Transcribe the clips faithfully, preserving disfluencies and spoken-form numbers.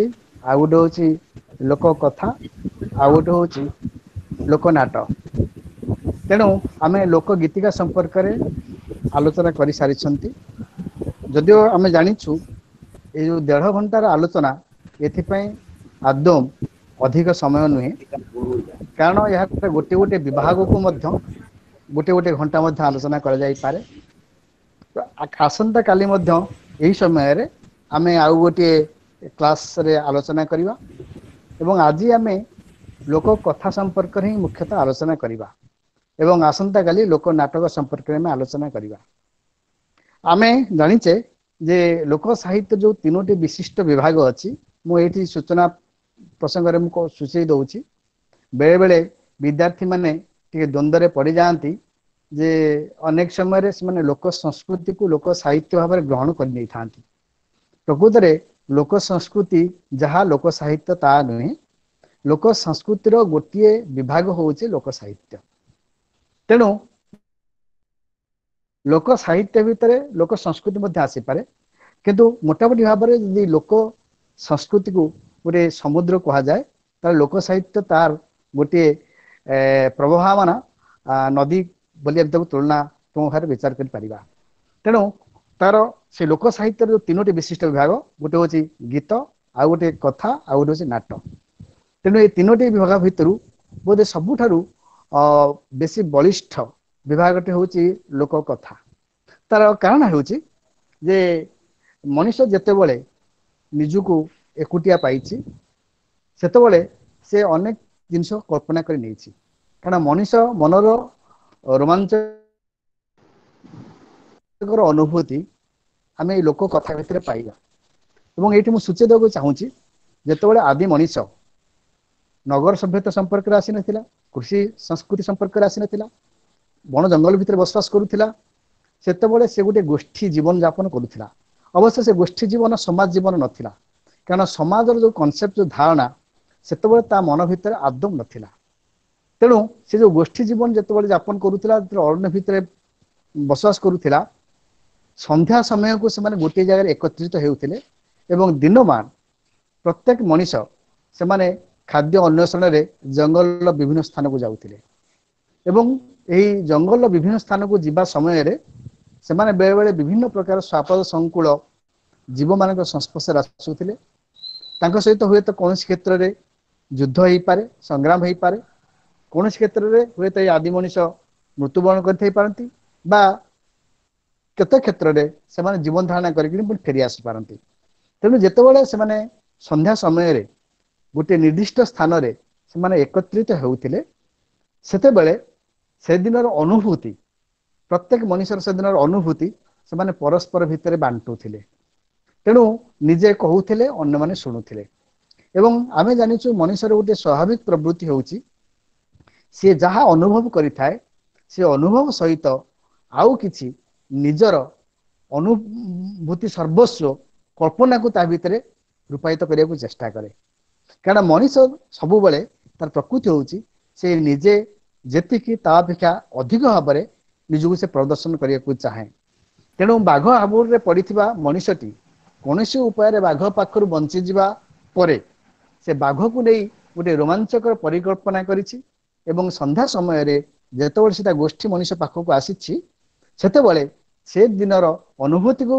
ସଂସ୍କୃତି, ଆଉ ଗୋଟେ ହଉଛି ଲୋକ କଥା, ଆଉ ଗୋଟେ ହଉଛି ଲୋକ ନାଟ। ତେଣୁ ଆମେ ଲୋକ ଗୀତିକା ସମ୍ପର୍କରେ ଆଲୋଚନା କରିସାରିଛନ୍ତି। ଯଦିଓ ଆମେ ଜାଣିଛୁ ଏଇ ଯୋଉ ଦେଢ ଘଣ୍ଟାର ଆଲୋଚନା ଏଥିପାଇଁ ଆଦୌ ଅଧିକ ସମୟ ନୁହେଁ, କାରଣ ଏହା ଗୋଟେ ଗୋଟେ ବିଭାଗକୁ ମଧ୍ୟ ଗୋଟେ ଗୋଟେ ଘଣ୍ଟା ମଧ୍ୟ ଆଲୋଚନା କରାଯାଇପାରେ। ଆସନ୍ତା କାଲି ମଧ୍ୟ ଏହି ସମୟରେ ଆମେ ଆଉ ଗୋଟିଏ କ୍ଲାସରେ ଆଲୋଚନା କରିବା ଏବଂ ଆଜି ଆମେ ଲୋକ କଥା ସମ୍ପର୍କରେ ହିଁ ମୁଖ୍ୟତଃ ଆଲୋଚନା କରିବା ଏବଂ ଆସନ୍ତାକାଲି ଲୋକ ନାଟକ ସମ୍ପର୍କରେ ଆମେ ଆଲୋଚନା କରିବା। ଆମେ ଜାଣିଛେ ଯେ ଲୋକ ସାହିତ୍ୟ ଯୋଉ ତିନୋଟି ବିଶିଷ୍ଟ ବିଭାଗ ଅଛି, ମୁଁ ଏଇଠି ସୂଚନା ପ୍ରସଙ୍ଗରେ ମୁଁ ସୂଚେଇ ଦଉଛି, ବେଳେ ବେଳେ ବିଦ୍ୟାର୍ଥୀ ମାନେ ଟିକେ ଦ୍ୱନ୍ଦ୍ୱରେ ପଡ଼ିଯାଆନ୍ତି ଯେ ଅନେକ ସମୟରେ ସେମାନେ ଲୋକ ସଂସ୍କୃତିକୁ ଲୋକ ସାହିତ୍ୟ ଭାବରେ ଗ୍ରହଣ କରିନେଇଥାନ୍ତି। ପ୍ରକୃତରେ ଲୋକ ସଂସ୍କୃତି ଯାହା ଲୋକ ସାହିତ୍ୟ ତାହା ନୁହେଁ। ଲୋକ ସଂସ୍କୃତିର ଗୋଟିଏ ବିଭାଗ ହଉଛି ଲୋକ ସାହିତ୍ୟ। ତେଣୁ ଲୋକ ସାହିତ୍ୟ ଭିତରେ ଲୋକ ସଂସ୍କୃତି ମଧ୍ୟ ଆସିପାରେ, କିନ୍ତୁ ମୋଟାମୋଟି ଭାବରେ ଯଦି ଲୋକ ସଂସ୍କୃତିକୁ ଗୋଟେ ସମୁଦ୍ର କୁହାଯାଏ, ତାହେଲେ ଲୋକ ସାହିତ୍ୟ ତାର ଗୋଟିଏ ପ୍ରବହମାନ ନଦୀ ବୋଲି ଆମେ ତାକୁ ତୁଳନାତ୍ମକ ଭାବରେ ବିଚାର କରିପାରିବା। ତେଣୁ ତାର ସେ ଲୋକ ସାହିତ୍ୟର ଯୋଉ ତିନୋଟି ବିଶିଷ୍ଟ ବିଭାଗ, ଗୋଟେ ହଉଛି ଗୀତ, ଆଉ ଗୋଟେ କଥା, ଆଉ ଗୋଟେ ହଉଛି ନାଟ। ତେଣୁ ଏଇ ତିନୋଟି ବିଭାଗ ଭିତରୁ ବୋଧେ ସବୁଠାରୁ ଅ ବେଶୀ ବଳିଷ୍ଠ ବିଭାଗଟି ହଉଛି ଲୋକ କଥା। ତାର କାରଣ ହେଉଛି ଯେ ମଣିଷ ଯେତେବେଳେ ନିଜକୁ ଏକୁଟିଆ ପାଇଛି, ସେତେବେଳେ ସେ ଅନେକ ଜିନିଷ କଳ୍ପନା କରି ନେଇଛି। କାରଣ ମଣିଷ ମନର ରୋମାଞ୍ଚ ଅନୁଭୂତି ଆମେ ଏଇ ଲୋକ କଥା ଭିତରେ ପାଇବା। ଏବଂ ଏଇଠି ମୁଁ ସୂଚେଇ ଦେବାକୁ ଚାହୁଁଛି, ଯେତେବେଳେ ଆଦି ମଣିଷ ନଗର ସଭ୍ୟତା ସମ୍ପର୍କରେ ଆସିନଥିଲା, କୃଷି ସଂସ୍କୃତି ସମ୍ପର୍କରେ ଆସିନଥିଲା, ବଣ ଜଙ୍ଗଲ ଭିତରେ ବସବାସ କରୁଥିଲା, ସେତେବେଳେ ସେ ଗୋଟେ ଗୋଷ୍ଠୀ ଜୀବନ ଯାପନ କରୁଥିଲା। ଅବଶ୍ୟ ସେ ଗୋଷ୍ଠୀ ଜୀବନ ସମାଜ ଜୀବନ ନଥିଲା, କାରଣ ସମାଜର ଯୋଉ କନସେପ୍ଟ, ଯୋଉ ଧାରଣା ସେତେବେଳେ ତା ମନ ଭିତରେ ଆଦୌ ନଥିଲା। ତେଣୁ ସେ ଯୋଉ ଗୋଷ୍ଠୀ ଜୀବନ ଯେତେବେଳେ ଯାପନ କରୁଥିଲା, ଯେତେବେଳେ ଅରଣ୍ୟ ଭିତରେ ବସବାସ କରୁଥିଲା, ସନ୍ଧ୍ୟା ସମୟକୁ ସେମାନେ ଗୋଟିଏ ଜାଗାରେ ଏକତ୍ରିତ ହେଉଥିଲେ ଏବଂ ଦିନମାନ ପ୍ରତ୍ୟେକ ମଣିଷ ସେମାନେ ଖାଦ୍ୟ ଅନ୍ୱେଷଣରେ ଜଙ୍ଗଲର ବିଭିନ୍ନ ସ୍ଥାନକୁ ଯାଉଥିଲେ। ଏବଂ ଏହି ଜଙ୍ଗଲର ବିଭିନ୍ନ ସ୍ଥାନକୁ ଯିବା ସମୟରେ ସେମାନେ ବେଳେବେଳେ ବିଭିନ୍ନ ପ୍ରକାର ଶ୍ୱାପଦ ସଂକୁଳ ଜୀବମାନଙ୍କ ସଂସ୍ପର୍ଶରେ ଆସୁଥିଲେ। ତାଙ୍କ ସହିତ ହୁଏତ କୌଣସି କ୍ଷେତ୍ରରେ ଯୁଦ୍ଧ ହେଇପାରେ, ସଂଗ୍ରାମ ହେଇପାରେ, କୌଣସି କ୍ଷେତ୍ରରେ ହୁଏତ ଏଇ ଆଦି ମଣିଷ ମୃତ୍ୟୁବରଣ କରିଥାଇ ପାରନ୍ତି ବା କେତେ କ୍ଷେତ୍ରରେ ସେମାନେ ଜୀବନ ଧାରଣା କରିକି ପୁଣି ଫେରି ଆସିପାରନ୍ତି। ତେଣୁ ଯେତେବେଳେ ସେମାନେ ସନ୍ଧ୍ୟା ସମୟରେ ଗୋଟିଏ ନିର୍ଦ୍ଦିଷ୍ଟ ସ୍ଥାନରେ ସେମାନେ ଏକତ୍ରିତ ହେଉଥିଲେ, ସେତେବେଳେ ସେଦିନର ଅନୁଭୂତି, ପ୍ରତ୍ୟେକ ମଣିଷର ସେଦିନର ଅନୁଭୂତି ସେମାନେ ପରସ୍ପର ଭିତରେ ବାଣ୍ଟୁଥିଲେ। ତେଣୁ ନିଜେ କହୁଥିଲେ, ଅନ୍ୟମାନେ ଶୁଣୁଥିଲେ। ଏବଂ ଆମେ ଜାଣିଛୁ ମଣିଷର ଗୋଟିଏ ସ୍ୱାଭାବିକ ପ୍ରବୃତ୍ତି ହେଉଛି ସିଏ ଯାହା ଅନୁଭବ କରିଥାଏ ସେ ଅନୁଭବ ସହିତ ଆଉ କିଛି ନିଜର ଅନୁଭୂତି ସର୍ବସ୍ୱ କଳ୍ପନାକୁ ତା ଭିତରେ ରୂପାୟିତ କରିବାକୁ ଚେଷ୍ଟା କରେ। କାରଣ ମଣିଷ ସବୁବେଳେ ତାର ପ୍ରକୃତି ହେଉଛି ସେ ନିଜେ ଯେତିକି ତା ଅପେକ୍ଷା ଅଧିକ ଭାବରେ ନିଜକୁ ସେ ପ୍ରଦର୍ଶନ କରିବାକୁ ଚାହେଁ। ତେଣୁ ବାଘ ହାବୁଡ଼ରେ ପଡ଼ିଥିବା ମଣିଷଟି କୌଣସି ଉପାୟରେ ବାଘ ପାଖରୁ ବଞ୍ଚିଯିବା ପରେ ସେ ବାଘକୁ ନେଇ ଗୋଟେ ରୋମାଞ୍ଚକର ପରିକଳ୍ପନା କରିଛି ଏବଂ ସନ୍ଧ୍ୟା ସମୟରେ ଯେତେବେଳେ ସେ ତା ଗୋଷ୍ଠୀ ମଣିଷ ପାଖକୁ ଆସିଛି, ସେତେବେଳେ ସେ ଦିନର ଅନୁଭୂତିକୁ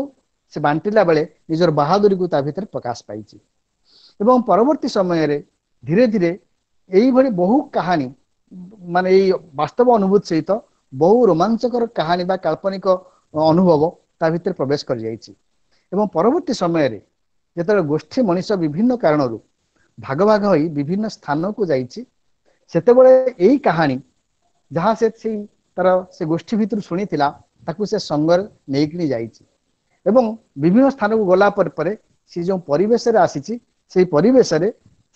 ସେ ବାଣ୍ଟିଲା ବେଳେ ନିଜର ବାହାଦୁରୀକୁ ତା ଭିତରେ ପ୍ରକାଶ ପାଇଛି। ଏବଂ ପରବର୍ତ୍ତୀ ସମୟରେ ଧୀରେ ଧୀରେ ଏଇଭଳି ବହୁ କାହାଣୀ, ମାନେ ଏଇ ବାସ୍ତବ ଅନୁଭୂତି ସହିତ ବହୁ ରୋମାଞ୍ଚକର କାହାଣୀ ବା କାଳ୍ପନିକ ଅନୁଭବ ତା ଭିତରେ ପ୍ରବେଶ କରିଯାଇଛି। ଏବଂ ପରବର୍ତ୍ତୀ ସମୟରେ ଯେତେବେଳେ ଗୋଷ୍ଠୀ ମଣିଷ ବିଭିନ୍ନ କାରଣରୁ ଭାଗ ଭାଗ ହୋଇ ବିଭିନ୍ନ ସ୍ଥାନକୁ ଯାଇଛି, ସେତେବେଳେ ଏଇ କାହାଣୀ ଯାହା ସେ ସେଇ ତାର ସେ ଗୋଷ୍ଠୀ ଭିତରୁ ଶୁଣିଥିଲା ତାକୁ ସେ ସଙ୍ଗରେ ନେଇକିନି ଯାଇଛି। ଏବଂ ବିଭିନ୍ନ ସ୍ଥାନକୁ ଗଲା ପରେ ପରେ ସେ ଯେଉଁ ପରିବେଶରେ ଆସିଛି, ସେଇ ପରିବେଶରେ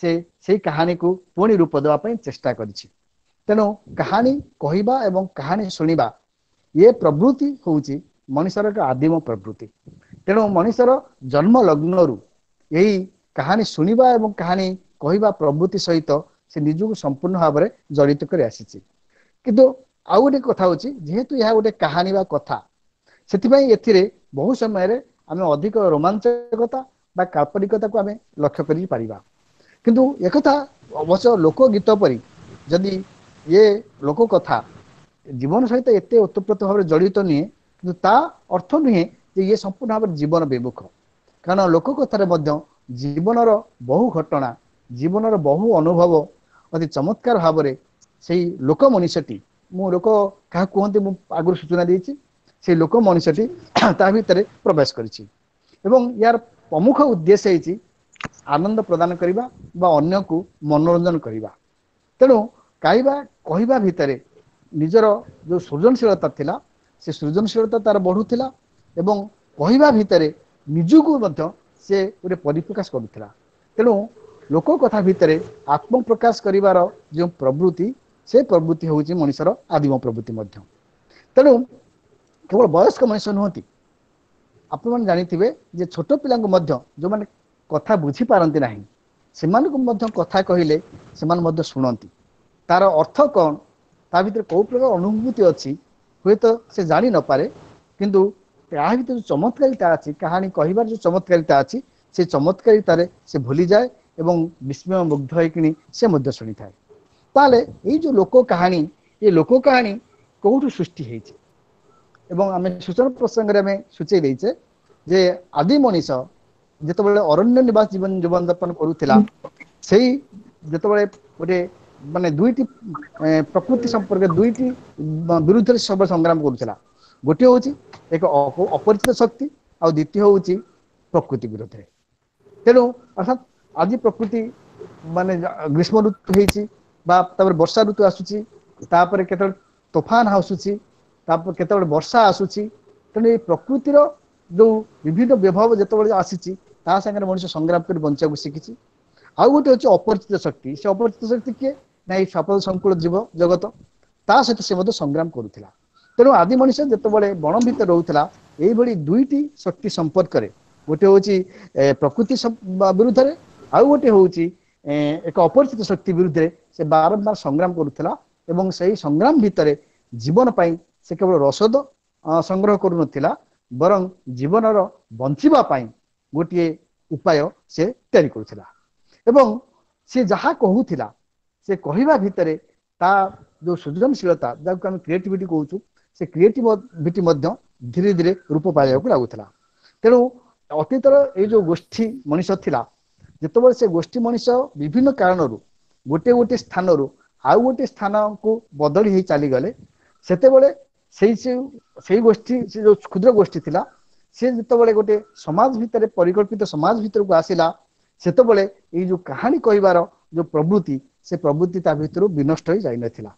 ସେ ସେଇ କାହାଣୀକୁ ପୁଣି ରୂପ ଦେବା ପାଇଁ ଚେଷ୍ଟା କରିଛି। ତେଣୁ କାହାଣୀ କହିବା ଏବଂ କାହାଣୀ ଶୁଣିବା ଇଏ ପ୍ରବୃତ୍ତି ହେଉଛି ମଣିଷର ଏକ ଆଦିମ ପ୍ରବୃତ୍ତି। ତେଣୁ ମଣିଷର ଜନ୍ମ ଲଗ୍ନରୁ ଏଇ କାହାଣୀ ଶୁଣିବା ଏବଂ କାହାଣୀ କହିବା ପ୍ରବୃତ୍ତି ସହିତ ସେ ନିଜକୁ ସମ୍ପୂର୍ଣ୍ଣ ଭାବରେ ଜଡ଼ିତ କରି ଆସିଛି। କିନ୍ତୁ ଆଉ ଗୋଟେ କଥା ହଉଛି, ଯେହେତୁ ଏହା ଗୋଟେ କାହାଣୀ ବା କଥା, ସେଥିପାଇଁ ଏଥିରେ ବହୁ ସମୟରେ ଆମେ ଅଧିକ ରୋମାଞ୍ଚକତା ବା କାଳ୍ପନିକତାକୁ ଆମେ ଲକ୍ଷ୍ୟ କରିପାରିବା। କିନ୍ତୁ ଏକଥା ଅବଶ୍ୟ ଲୋକ ଗୀତ ପରି ଯଦି ଇଏ ଲୋକ କଥା ଜୀବନ ସହିତ ଏତେ ଓତପ୍ରୋତ ଭାବରେ ଜଡ଼ିତ ନୁହେଁ, କିନ୍ତୁ ତା ଅର୍ଥ ନୁହେଁ ଯେ ଇଏ ସମ୍ପୂର୍ଣ୍ଣ ଭାବରେ ଜୀବନ ବିମୁଖ। କାରଣ ଲୋକ କଥାରେ ମଧ୍ୟ ଜୀବନର ବହୁ ଘଟଣା, ଜୀବନର ବହୁ ଅନୁଭବ ଅତି ଚମତ୍କାର ଭାବରେ ସେଇ ଲୋକ ମଣିଷଟି, ମୁଁ ଲୋକ କାହାକୁ କୁହନ୍ତି ମୁଁ ଆଗରୁ ସୂଚନା ଦେଇଛି, ସେଇ ଲୋକ ମଣିଷଟି ତା ଭିତରେ ପ୍ରବେଶ କରିଛି। ଏବଂ ୟାର ପ୍ରମୁଖ ଉଦ୍ଦେଶ୍ୟ ହେଇଛି ଆନନ୍ଦ ପ୍ରଦାନ କରିବା ବା ଅନ୍ୟକୁ ମନୋରଞ୍ଜନ କରିବା। ତେଣୁ ଗାଇବା କହିବା ଭିତରେ ନିଜର ଯୋଉ ସୃଜନଶୀଳତା ଥିଲା, ସେ ସୃଜନଶୀଳତା ତାର ବଢୁଥିଲା ଏବଂ କହିବା ଭିତରେ ନିଜକୁ ମଧ୍ୟ ସେ ଗୋଟେ ପରିପ୍ରକାଶ କରୁଥିଲା। ତେଣୁ ଲୋକ କଥା ଭିତରେ ଆତ୍ମପ୍ରକାଶ କରିବାର ଯେଉଁ ପ୍ରବୃତ୍ତି, ସେ ପ୍ରବୃତ୍ତି ହେଉଛି ମଣିଷର ଆଦିମ ପ୍ରବୃତ୍ତି ମଧ୍ୟ। ତେଣୁ କେବଳ ବୟସ୍କ ମଣିଷ ନୁହନ୍ତି, ଆପଣମାନେ ଜାଣିଥିବେ ଯେ ଛୋଟ ପିଲାଙ୍କୁ ମଧ୍ୟ, ଯେଉଁମାନେ କଥା ବୁଝିପାରନ୍ତି ନାହିଁ, ସେମାନଙ୍କୁ ମଧ୍ୟ କଥା କହିଲେ ସେମାନେ ମଧ୍ୟ ଶୁଣନ୍ତି। ତାର ଅର୍ଥ କଣ, ତା ଭିତରେ କୋଉ ପ୍ରକାର ଅନୁଭୂତି ଅଛି ହୁଏତ ସେ ଜାଣି ନପାରେ, କିନ୍ତୁ ତା ଭିତରେ ଯୋଉ ଚମତ୍କାରିତା ଅଛି, କାହାଣୀ କହିବାର ଯୋଉ ଚମତ୍କାରିତା ଅଛି, ସେ ଚମତ୍କାରିତାରେ ସେ ଭୁଲିଯାଏ ଏବଂ ବିସ୍ମୟ ମୁଗ୍ଧ ହେଇକିଣି ସେ ମଧ୍ୟ ଶୁଣିଥାଏ। ତାହେଲେ ଏଇ ଯୋଉ ଲୋକ କାହାଣୀ, ଏ ଲୋକ କାହାଣୀ କୋଉଠୁ ସୃଷ୍ଟି ହେଇଛି? ଏବଂ ଆମେ ସୂଚନା ପ୍ରସଙ୍ଗରେ ଆମେ ସୂଚେଇ ଦେଇଛେ ଯେ ଆଦି ମଣିଷ ଯେତେବେଳେ ଅରଣ୍ୟ ନିବାସ ଜୀବନ ଜୀବନ ଯାପନ କରୁଥିଲା, ସେଇ ଯେତେବେଳେ ଗୋଟେ ମାନେ ଦୁଇଟି ପ୍ରକୃତି ସମ୍ପର୍କରେ ଦୁଇଟି ବିରୁଦ୍ଧରେ ସବୁ ସଂଗ୍ରାମ କରୁଥିଲା। ଗୋଟିଏ ହଉଛି ଏକ ଅପରିଚିତ ଶକ୍ତି, ଆଉ ଦ୍ୱିତୀୟ ହଉଛି ପ୍ରକୃତି ବିରୁଦ୍ଧରେ। ତେଣୁ ଅର୍ଥାତ୍ ଆଜି ପ୍ରକୃତି ମାନେ ଗ୍ରୀଷ୍ମ ଋତୁ ହେଇଛି ବା ତାପରେ ବର୍ଷା ଋତୁ ଆସୁଛି, ତାପରେ କେତେବେଳେ ତୋଫାନ ଆସୁଛି, ତାପରେ କେତେବେଳେ ବର୍ଷା ଆସୁଛି। ତେଣୁ ଏଇ ପ୍ରକୃତିର ଯୋଉ ବିଭିନ୍ନ ବିଭବ ଯେତେବେଳେ ଆସିଛି, ତା ସାଙ୍ଗରେ ମଣିଷ ସଂଗ୍ରାମ କରି ବଞ୍ଚିବାକୁ ଶିଖିଛି। ଆଉ ଗୋଟେ ହଉଛି ଅପରିଚିତ ଶକ୍ତି। ସେ ଅପରିଚିତ ଶକ୍ତି କିଏ ନା ଏଇ ସପଦ ସଂକୁଳ ଜୀବ ଜଗତ, ତା ସହିତ ସେ ମଧ୍ୟ ସଂଗ୍ରାମ କରୁଥିଲା। ତେଣୁ ଆଦି ମଣିଷ ଯେତେବେଳେ ବଣ ଭିତରେ ରହୁଥିଲା, ଏଇଭଳି ଦୁଇଟି ଶକ୍ତି ସମ୍ପର୍କରେ, ଗୋଟେ ହଉଛି ପ୍ରକୃତି ବିରୁଦ୍ଧରେ, ଆଉ ଗୋଟେ ହଉଛି ଏକ ଅପରିଚିତ ଶକ୍ତି ବିରୁଦ୍ଧରେ ସେ ବାରମ୍ବାର ସଂଗ୍ରାମ କରୁଥିଲା। ଏବଂ ସେଇ ସଂଗ୍ରାମ ଭିତରେ ଜୀବନ ପାଇଁ ସେ କେବଳ ରସଦ ସଂଗ୍ରହ କରୁନଥିଲା, ବରଂ ଜୀବନର ବଞ୍ଚିବା ପାଇଁ ଗୋଟିଏ ଉପାୟ ସେ ତିଆରି କରୁଥିଲା। ଏବଂ ସେ ଯାହା କହୁଥିଲା, ସେ କହିବା ଭିତରେ ତା ଯୋଉ ସୃଜନଶୀଳତା, ଯାହାକୁ ଆମେ କ୍ରିଏଟିଭିଟି କହୁଛୁ, ସେ କ୍ରିଏଟିଭିଟି ମଧ୍ୟ ଧୀରେ ଧୀରେ ରୂପ ପାଇବାକୁ ଲାଗୁଥିଲା। ତେଣୁ ଅତୀତର ଏଇ ଯୋଉ ଗୋଷ୍ଠୀ ମଣିଷ ଥିଲା, ଯେତେବେଳେ ସେ ଗୋଷ୍ଠୀ ମଣିଷ ବିଭିନ୍ନ କାରଣରୁ ଗୋଟିଏ ଗୋଟିଏ ସ୍ଥାନରୁ ଆଉ ଗୋଟିଏ ସ୍ଥାନକୁ ବଦଳି ହେଇ ଚାଲିଗଲେ, ସେତେବେଳେ ସେଇ ସେଇ ଗୋଷ୍ଠୀ, ସେ ଯୋଉ କ୍ଷୁଦ୍ର ଗୋଷ୍ଠୀ ଥିଲା, ସେ ଯେତେବେଳେ ଗୋଟେ ସମାଜ ଭିତରେ, ପରିକଳ୍ପିତ ସମାଜ ଭିତରକୁ ଆସିଲା, ସେତେବେଳେ ଏଇ ଯୋଉ କାହାଣୀ କହିବାର ଯୋଉ ପ୍ରବୃତ୍ତି, ସେ ପ୍ରବୃତ୍ତି ତା ଭିତରୁ ବିନଷ୍ଟ ହେଇ ଯାଇନଥିଲା।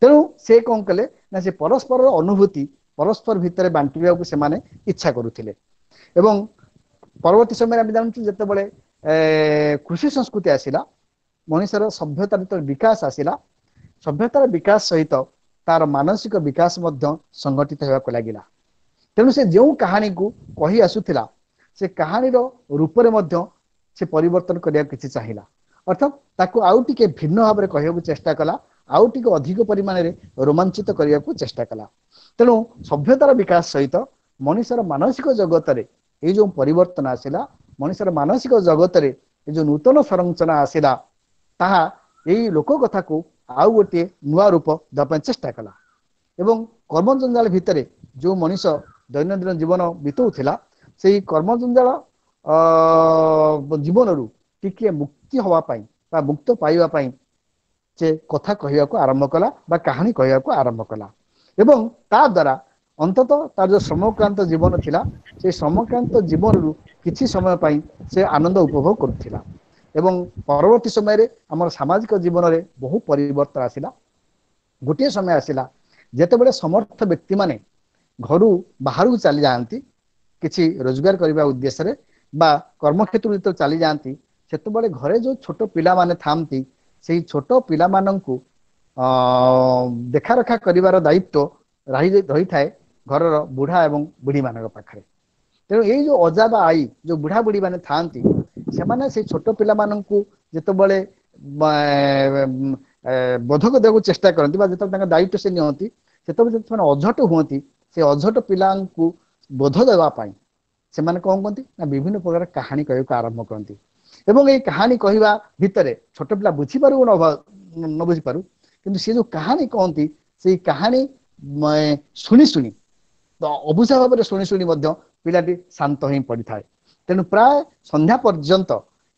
ତେଣୁ ସେ କଣ କଲେ ନା ସେ ପରସ୍ପରର ଅନୁଭୂତି ପରସ୍ପର ଭିତରେ ବାଣ୍ଟିବାକୁ ସେମାନେ ଇଚ୍ଛା କରୁଥିଲେ। ଏବଂ ପରବର୍ତ୍ତୀ ସମୟରେ ଆମେ ଜାଣୁଛୁ, ଯେତେବେଳେ କୃଷି ସଂସ୍କୃତି ଆସିଲା, ମଣିଷର ସଭ୍ୟତାର ଯେତେବେଳେ ବିକାଶ ଆସିଲା, ସଭ୍ୟତାର ବିକାଶ ସହିତ ତାର ମାନସିକ ବିକାଶ ମଧ୍ୟ ସଂଗଠିତ ହେବାକୁ ଲାଗିଲା। ତେଣୁ ସେ ଯେଉଁ କାହାଣୀକୁ କହି ଆସୁଥିଲା, ସେ କାହାଣୀର ରୂପରେ ମଧ୍ୟ ସେ ପରିବର୍ତ୍ତନ କରିବାକୁ କିଛି ଚାହିଁଲା। ଅର୍ଥାତ୍ ତାକୁ ଆଉ ଟିକେ ଭିନ୍ନ ଭାବରେ କହିବାକୁ ଚେଷ୍ଟା କଲା, ଆଉ ଟିକେ ଅଧିକ ପରିମାଣରେ ରୋମାଞ୍ଚିତ କରିବାକୁ ଚେଷ୍ଟା କଲା। ତେଣୁ ସଭ୍ୟତାର ବିକାଶ ସହିତ ମଣିଷର ମାନସିକ ଜଗତରେ ଏଇ ଯୋଉ ପରିବର୍ତ୍ତନ ଆସିଲା, ମଣିଷର ମାନସିକ ଜଗତରେ ଏ ଯୋଉ ନୂତନ ସଂରଚନା ଆସିଲା, ତାହା ଏଇ ଲୋକ କଥାକୁ ଆଉ ଗୋଟିଏ ନୂଆ ରୂପ ଦେବା ପାଇଁ ଚେଷ୍ଟା କଲା। ଏବଂ କର୍ମଜଞ୍ଜାଳ ଭିତରେ ଯୋଉ ମଣିଷ ଦୈନନ୍ଦିନ ଜୀବନ ବିତଉଥିଲା, ସେଇ କର୍ମଜଞ୍ଜାଳ ଜୀବନରୁ ଟିକିଏ ମୁକ୍ତି ହବା ପାଇଁ ବା ମୁକ୍ତ ପାଇବା ପାଇଁ ସେ କଥା କହିବାକୁ ଆରମ୍ଭ କଲା ବା କାହାଣୀ କହିବାକୁ ଆରମ୍ଭ କଲା। ଏବଂ ତା ଦ୍ୱାରା ଅନ୍ତତଃ ତାର ଯୋଉ ଶ୍ରମକ୍ରାନ୍ତ ଜୀବନ ଥିଲା, ସେଇ ଶ୍ରମକ୍ରାନ୍ତ ଜୀବନରୁ କିଛି ସମୟ ପାଇଁ ସେ ଆନନ୍ଦ ଉପଭୋଗ କରୁଥିଲା। ଏବଂ ପରବର୍ତ୍ତୀ ସମୟରେ ଆମର ସାମାଜିକ ଜୀବନରେ ବହୁ ପରିବର୍ତ୍ତନ ଆସିଲା। ଗୋଟିଏ ସମୟ ଆସିଲା ଯେତେବେଳେ ସମର୍ଥ ବ୍ୟକ୍ତିମାନେ ଘରୁ ବାହାରକୁ ଚାଲି ଯାଆନ୍ତି କିଛି ରୋଜଗାର କରିବା ଉଦ୍ଦେଶ୍ୟରେ ବା କର୍ମକ୍ଷେତ୍ରକୁ ଯେତେବେଳେ ଚାଲି ଯାଆନ୍ତି, ସେତେବେଳେ ଘରେ ଯୋଉ ଛୋଟ ପିଲାମାନେ ଥାଆନ୍ତି, ସେଇ ଛୋଟ ପିଲାମାନଙ୍କୁ ଅ ଦେଖାରଖା କରିବାର ଦାୟିତ୍ୱ ରହି ରହିଥାଏ ଘରର ବୁଢା ଏବଂ ବୁଢୀ ମାନଙ୍କ ପାଖରେ। ତେଣୁ ଏଇ ଯୋଉ ଅଜା ବା ଆଈ, ଯୋଉ ବୁଢା ବୁଢୀ ମାନେ ଥାଆନ୍ତି, ସେମାନେ ସେଇ ଛୋଟ ପିଲାମାନଙ୍କୁ ଯେତେବେଳେ ବୋଧକ ଦେବାକୁ ଚେଷ୍ଟା କରନ୍ତି ବା ଯେତେବେଳେ ତାଙ୍କ ଦାୟିତ୍ୱ ସେ ନିଅନ୍ତି, ସେତେବେଳେ ଯଦି ସେମାନେ ଅଝଟ ହୁଅନ୍ତି, ସେ ଅଝଟ ପିଲାଙ୍କୁ ବୋଧ ଦେବା ପାଇଁ ସେମାନେ କଣ କହନ୍ତି ନା ବିଭିନ୍ନ ପ୍ରକାର କାହାଣୀ କହିବାକୁ ଆରମ୍ଭ କରନ୍ତି। ଏବଂ ଏଇ କାହାଣୀ କହିବା ଭିତରେ ଛୋଟ ପିଲା ବୁଝିପାରୁ ନ ବୁଝିପାରୁ, କିନ୍ତୁ ସେ ଯୋଉ କାହାଣୀ କହନ୍ତି ସେଇ କାହାଣୀ ଶୁଣି ଶୁଣି, ଅବୁଝା ଭାବରେ ଶୁଣି ଶୁଣି ମଧ୍ୟ ପିଲାଟି ଶାନ୍ତ ହେଇ ପଡିଥାଏ। ତେଣୁ ପ୍ରାୟ ସନ୍ଧ୍ୟା ପର୍ଯ୍ୟନ୍ତ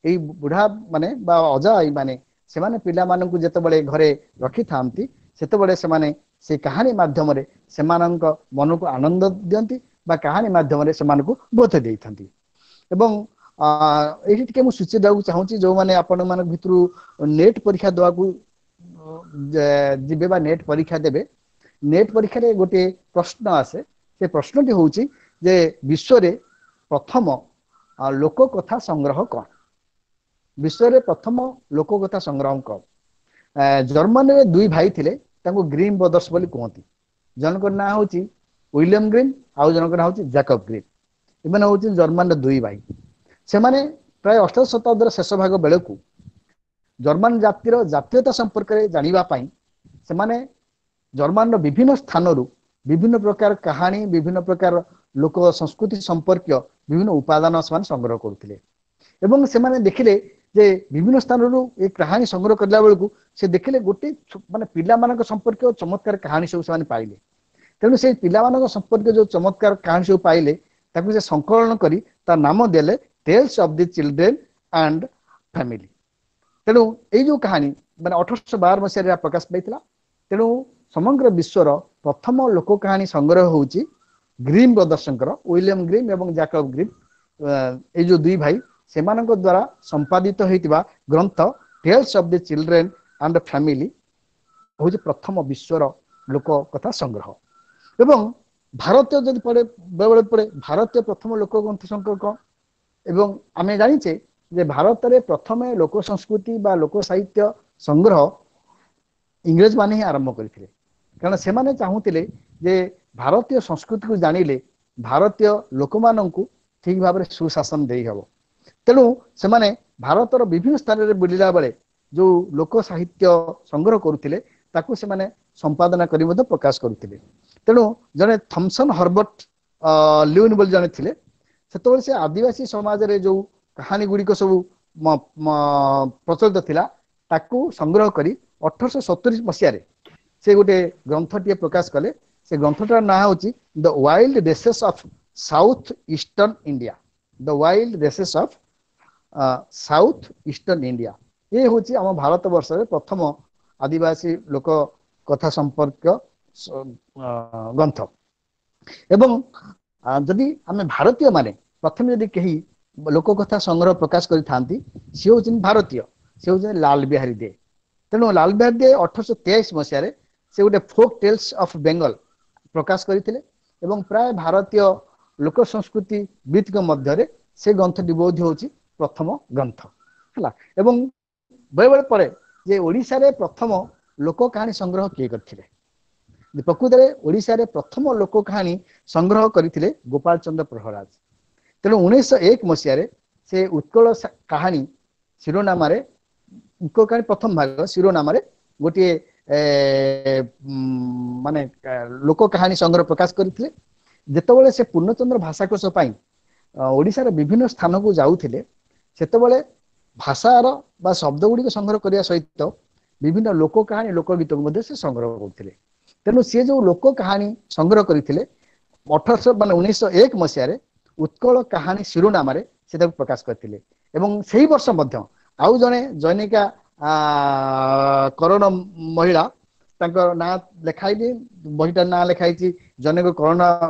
ଏଇ ବୁଢା ମାନେ ବା ଅଜା ଆଈ ମାନେ ସେମାନେ ପିଲାମାନଙ୍କୁ ଯେତେବେଳେ ଘରେ ରଖିଥାନ୍ତି, ସେତେବେଳେ ସେମାନେ ସେଇ କାହାଣୀ ମାଧ୍ୟମରେ ସେମାନଙ୍କ ମନକୁ ଆନନ୍ଦ ଦିଅନ୍ତି ବା କାହାଣୀ ମାଧ୍ୟମରେ ସେମାନଙ୍କୁ ବୋଧ ଦେଇଥାନ୍ତି। ଏବଂ ଏଇଠି ଟିକେ ମୁଁ ସୂଚେଇ ଦେବାକୁ ଚାହୁଁଛି, ଯୋଉମାନେ ଆପଣମାନଙ୍କ ଭିତରୁ ନେଟ୍ ପରୀକ୍ଷା ଦେବାକୁ ଯିବେ ବା ନେଟ୍ ପରୀକ୍ଷା ଦେବେ, ନେଟ୍ ପରୀକ୍ଷାରେ ଗୋଟିଏ ପ୍ରଶ୍ନ ଆସେ। ସେ ପ୍ରଶ୍ନଟି ହଉଛି ଯେ ବିଶ୍ୱରେ ପ୍ରଥମ ଲୋକ କଥା ସଂଗ୍ରହ କଣ? ବିଶ୍ୱରେ ପ୍ରଥମ ଲୋକ କଥା ସଂଗ୍ରହ କଣ? ଜର୍ମାନୀରେ ଦୁଇ ଭାଇ ଥିଲେ, ତାଙ୍କୁ ଗ୍ରୀନ୍ ବ୍ରଦର୍ସ ବୋଲି କୁହନ୍ତି। ଜଣଙ୍କର ନାଁ ହଉଛି ୱିଲିୟମ ଗ୍ରୀନ୍, ଆଉ ଜଣଙ୍କର ନାଁ ହଉଛି ଜାକବ ଗ୍ରୀନ୍। ଏମାନେ ହଉଛନ୍ତି ଜର୍ମାନୀର ଦୁଇ ଭାଇ। ସେମାନେ ପ୍ରାୟ ଅଷ୍ଟାଦଶ ଶତାବ୍ଦୀର ଶେଷ ଭାଗ ବେଳକୁ ଜର୍ମାନ ଜାତିର ଜାତୀୟତା ସମ୍ପର୍କରେ ଜାଣିବା ପାଇଁ ସେମାନେ ଜର୍ମାନର ବିଭିନ୍ନ ସ୍ଥାନରୁ ବିଭିନ୍ନ ପ୍ରକାର କାହାଣୀ, ବିଭିନ୍ନ ପ୍ରକାର ଲୋକ ସଂସ୍କୃତି ସମ୍ପର୍କୀୟ ବିଭିନ୍ନ ଉପାଦାନ ସେମାନେ ସଂଗ୍ରହ କରୁଥିଲେ। ଏବଂ ସେମାନେ ଦେଖିଲେ ଯେ ବିଭିନ୍ନ ସ୍ଥାନରୁ ଏ କାହାଣୀ ସଂଗ୍ରହ କରିଲା ବେଳକୁ ସେ ଦେଖିଲେ ଗୋଟେ ମାନେ ପିଲାମାନଙ୍କ ସମ୍ପର୍କୀୟ ଚମତ୍କାର କାହାଣୀ ସବୁ ସେମାନେ ପାଇଲେ। ତେଣୁ ସେଇ ପିଲାମାନଙ୍କ ସମ୍ପର୍କୀୟ ଯୋଉ ଚମତ୍କାର କାହାଣୀ ସବୁ ପାଇଲେ ତାକୁ ସେ ସଂକଳନ କରି ତା ନାମ ଦେଲେ tales of the children and family. ତେଣୁ ଏଇ ଯୋଉ କାହାଣୀ ମାନେ ଅଠରଶହ ବାର ମସିହାରେ ଏହା ପ୍ରକାଶ ପାଇଥିଲା। ତେଣୁ ସମଗ୍ର ବିଶ୍ୱର ପ୍ରଥମ ଲୋକ କାହାଣୀ ସଂଗ୍ରହ ହଉଛି ଗ୍ରୀମ୍ ବ୍ରଦର୍ସଙ୍କର, ୱିଲିୟମ ଗ୍ରୀମ୍ ଏବଂ ଜାକବ ଗ୍ରୀମ୍, ଏଇ ଯୋଉ ଦୁଇ ଭାଇ ସେମାନଙ୍କ ଦ୍ୱାରା ସମ୍ପାଦିତ ହୋଇଥିବା ଗ୍ରନ୍ଥ tales of the children and family ହଉଛି ପ୍ରଥମ ବିଶ୍ୱର ଲୋକ କଥା ସଂଗ୍ରହ। ଏବଂ ଭାରତୀୟ ଯଦି ପଡେ, ବେଳେବେଳେ ପଡେ ଭାରତୀୟ ପ୍ରଥମ ଲୋକ ଗ୍ରନ୍ଥ ସଂଗ୍ରହ କଣ? ଏବଂ ଆମେ ଜାଣିଛେ ଯେ ଭାରତରେ ପ୍ରଥମେ ଲୋକ ସଂସ୍କୃତି ବା ଲୋକ ସାହିତ୍ୟ ସଂଗ୍ରହ ଇଂରେଜ ମାନେ ହିଁ ଆରମ୍ଭ କରିଥିଲେ। କାରଣ ସେମାନେ ଚାହୁଁଥିଲେ ଯେ ଭାରତୀୟ ସଂସ୍କୃତିକୁ ଜାଣିଲେ ଭାରତୀୟ ଲୋକମାନଙ୍କୁ ଠିକ ଭାବରେ ସୁଶାସନ ଦେଇହେବ। ତେଣୁ ସେମାନେ ଭାରତର ବିଭିନ୍ନ ସ୍ଥାନରେ ବୁଲିଲା ବେଳେ ଯୋଉ ଲୋକ ସାହିତ୍ୟ ସଂଗ୍ରହ କରୁଥିଲେ ତାକୁ ସେମାନେ ସମ୍ପାଦନା କରି ମଧ୍ୟ ପ୍ରକାଶ କରୁଥିଲେ। ତେଣୁ ଜଣେ ଥମସନ ହର୍ବର୍ଟ ଲିଉନ ବୋଲି ଜଣେ ଥିଲେ, ସେତେବେଳେ ସେ ଆଦିବାସୀ ସମାଜରେ ଯୋଉ କାହାଣୀ ଗୁଡ଼ିକ ସବୁ ପ୍ରଚଳିତ ଥିଲା ତାକୁ ସଂଗ୍ରହ କରି ଅଠରଶହ ସତୁରି ମସିହାରେ ସେ ଗୋଟେ ଗ୍ରନ୍ଥଟିଏ ପ୍ରକାଶ କଲେ। ସେ ଗ୍ରନ୍ଥଟାର ନାଁ ହଉଛି the wild races of south eastern India. The wild races of south eastern India. ଇଏ ହଉଛି ଆମ ଭାରତ ବର୍ଷରେ ପ୍ରଥମ ଆଦିବାସୀ ଲୋକ କଥା ସମ୍ପର୍କ ଗ୍ରନ୍ଥ। ଏବଂ ଯଦି ଆମେ ଭାରତୀୟ ମାନେ ପ୍ରଥମେ ଯଦି କେହି ଲୋକ କଥା ସଂଗ୍ରହ ପ୍ରକାଶ କରିଥାନ୍ତି, ସିଏ ହଉଛନ୍ତି ଭାରତୀୟ, ସେ ହଉଛନ୍ତି ଲାଲ ବିହାରୀ ଦେ। ତେଣୁ ଲାଲ ବିହାରୀ ଦେ ଅଠରଶହ ତେଇଶ ମସିହାରେ ସେ ଗୋଟେ ଫୋକ୍ ଟେଲ୍ସ ଅଫ ବେଙ୍ଗଲ ପ୍ରକାଶ କରିଥିଲେ ଏବଂ ପ୍ରାୟ ଭାରତୀୟ ଲୋକ ସଂସ୍କୃତି ବିତ୍ଙ୍କ ମଧ୍ୟରେ ସେ ଗ୍ରନ୍ଥଟି ବୋଧ ହଉଛି ପ୍ରଥମ ଗ୍ରନ୍ଥ ହେଲା। ଏବଂ ବେଳେବେଳେ ପରେ ଯେ ଓଡ଼ିଶାରେ ପ୍ରଥମ ଲୋକ କାହାଣୀ ସଂଗ୍ରହ କିଏ କରିଥିଲେ? ପ୍ରକୃତରେ ଓଡ଼ିଶାରେ ପ୍ରଥମ ଲୋକ କାହାଣୀ ସଂଗ୍ରହ କରିଥିଲେ ଗୋପାଳ ଚନ୍ଦ୍ର ପ୍ରହରାଜ। ତେଣୁ ଉଣେଇଶହ ଏକ ମସିହାରେ ସେ ଉତ୍କଳ କାହାଣୀ ଶିରୋନାମାରେ, ଉତ୍କଳ କାହାଣୀ ପ୍ରଥମ ଭାଗ ଶିରୋନାମାରେ ଗୋଟିଏ ମାନେ ଲୋକ କାହାଣୀ ସଂଗ୍ରହ ପ୍ରକାଶ କରିଥିଲେ। ଯେତେବେଳେ ସେ ପୂର୍ଣ୍ଣଚନ୍ଦ୍ର ଭାଷାକୋଷ ପାଇଁ ଓଡ଼ିଶାର ବିଭିନ୍ନ ସ୍ଥାନକୁ ଯାଉଥିଲେ, ସେତେବେଳେ ଭାଷାର ବା ଶବ୍ଦ ଗୁଡ଼ିକ ସଂଗ୍ରହ କରିବା ସହିତ ବିଭିନ୍ନ ଲୋକ କାହାଣୀ, ଲୋକ ଗୀତକୁ ମଧ୍ୟ ସେ ସଂଗ୍ରହ କରୁଥିଲେ। ତେଣୁ ସିଏ ଯୋଉ ଲୋକ କାହାଣୀ ସଂଗ୍ରହ କରିଥିଲେ ଅଠରଶହ ମାନେ ଉଣେଇଶହ ଏକ ମସିହାରେ ଉତ୍କଳ କାହାଣୀ ଶିରୋନାମାରେ ସେ ତାକୁ ପ୍ରକାଶ କରିଥିଲେ। ଏବଂ ସେଇ ବର୍ଷ ମଧ୍ୟ ଆଉ ଜଣେ ଜନୈକା କରଣ ମହିଳା, ତାଙ୍କ ନାଁ ଲେଖା ହେଇନି, ବହିଟାର ନାଁ ଲେଖା ହେଇଛି ଜନୈକ କରଣ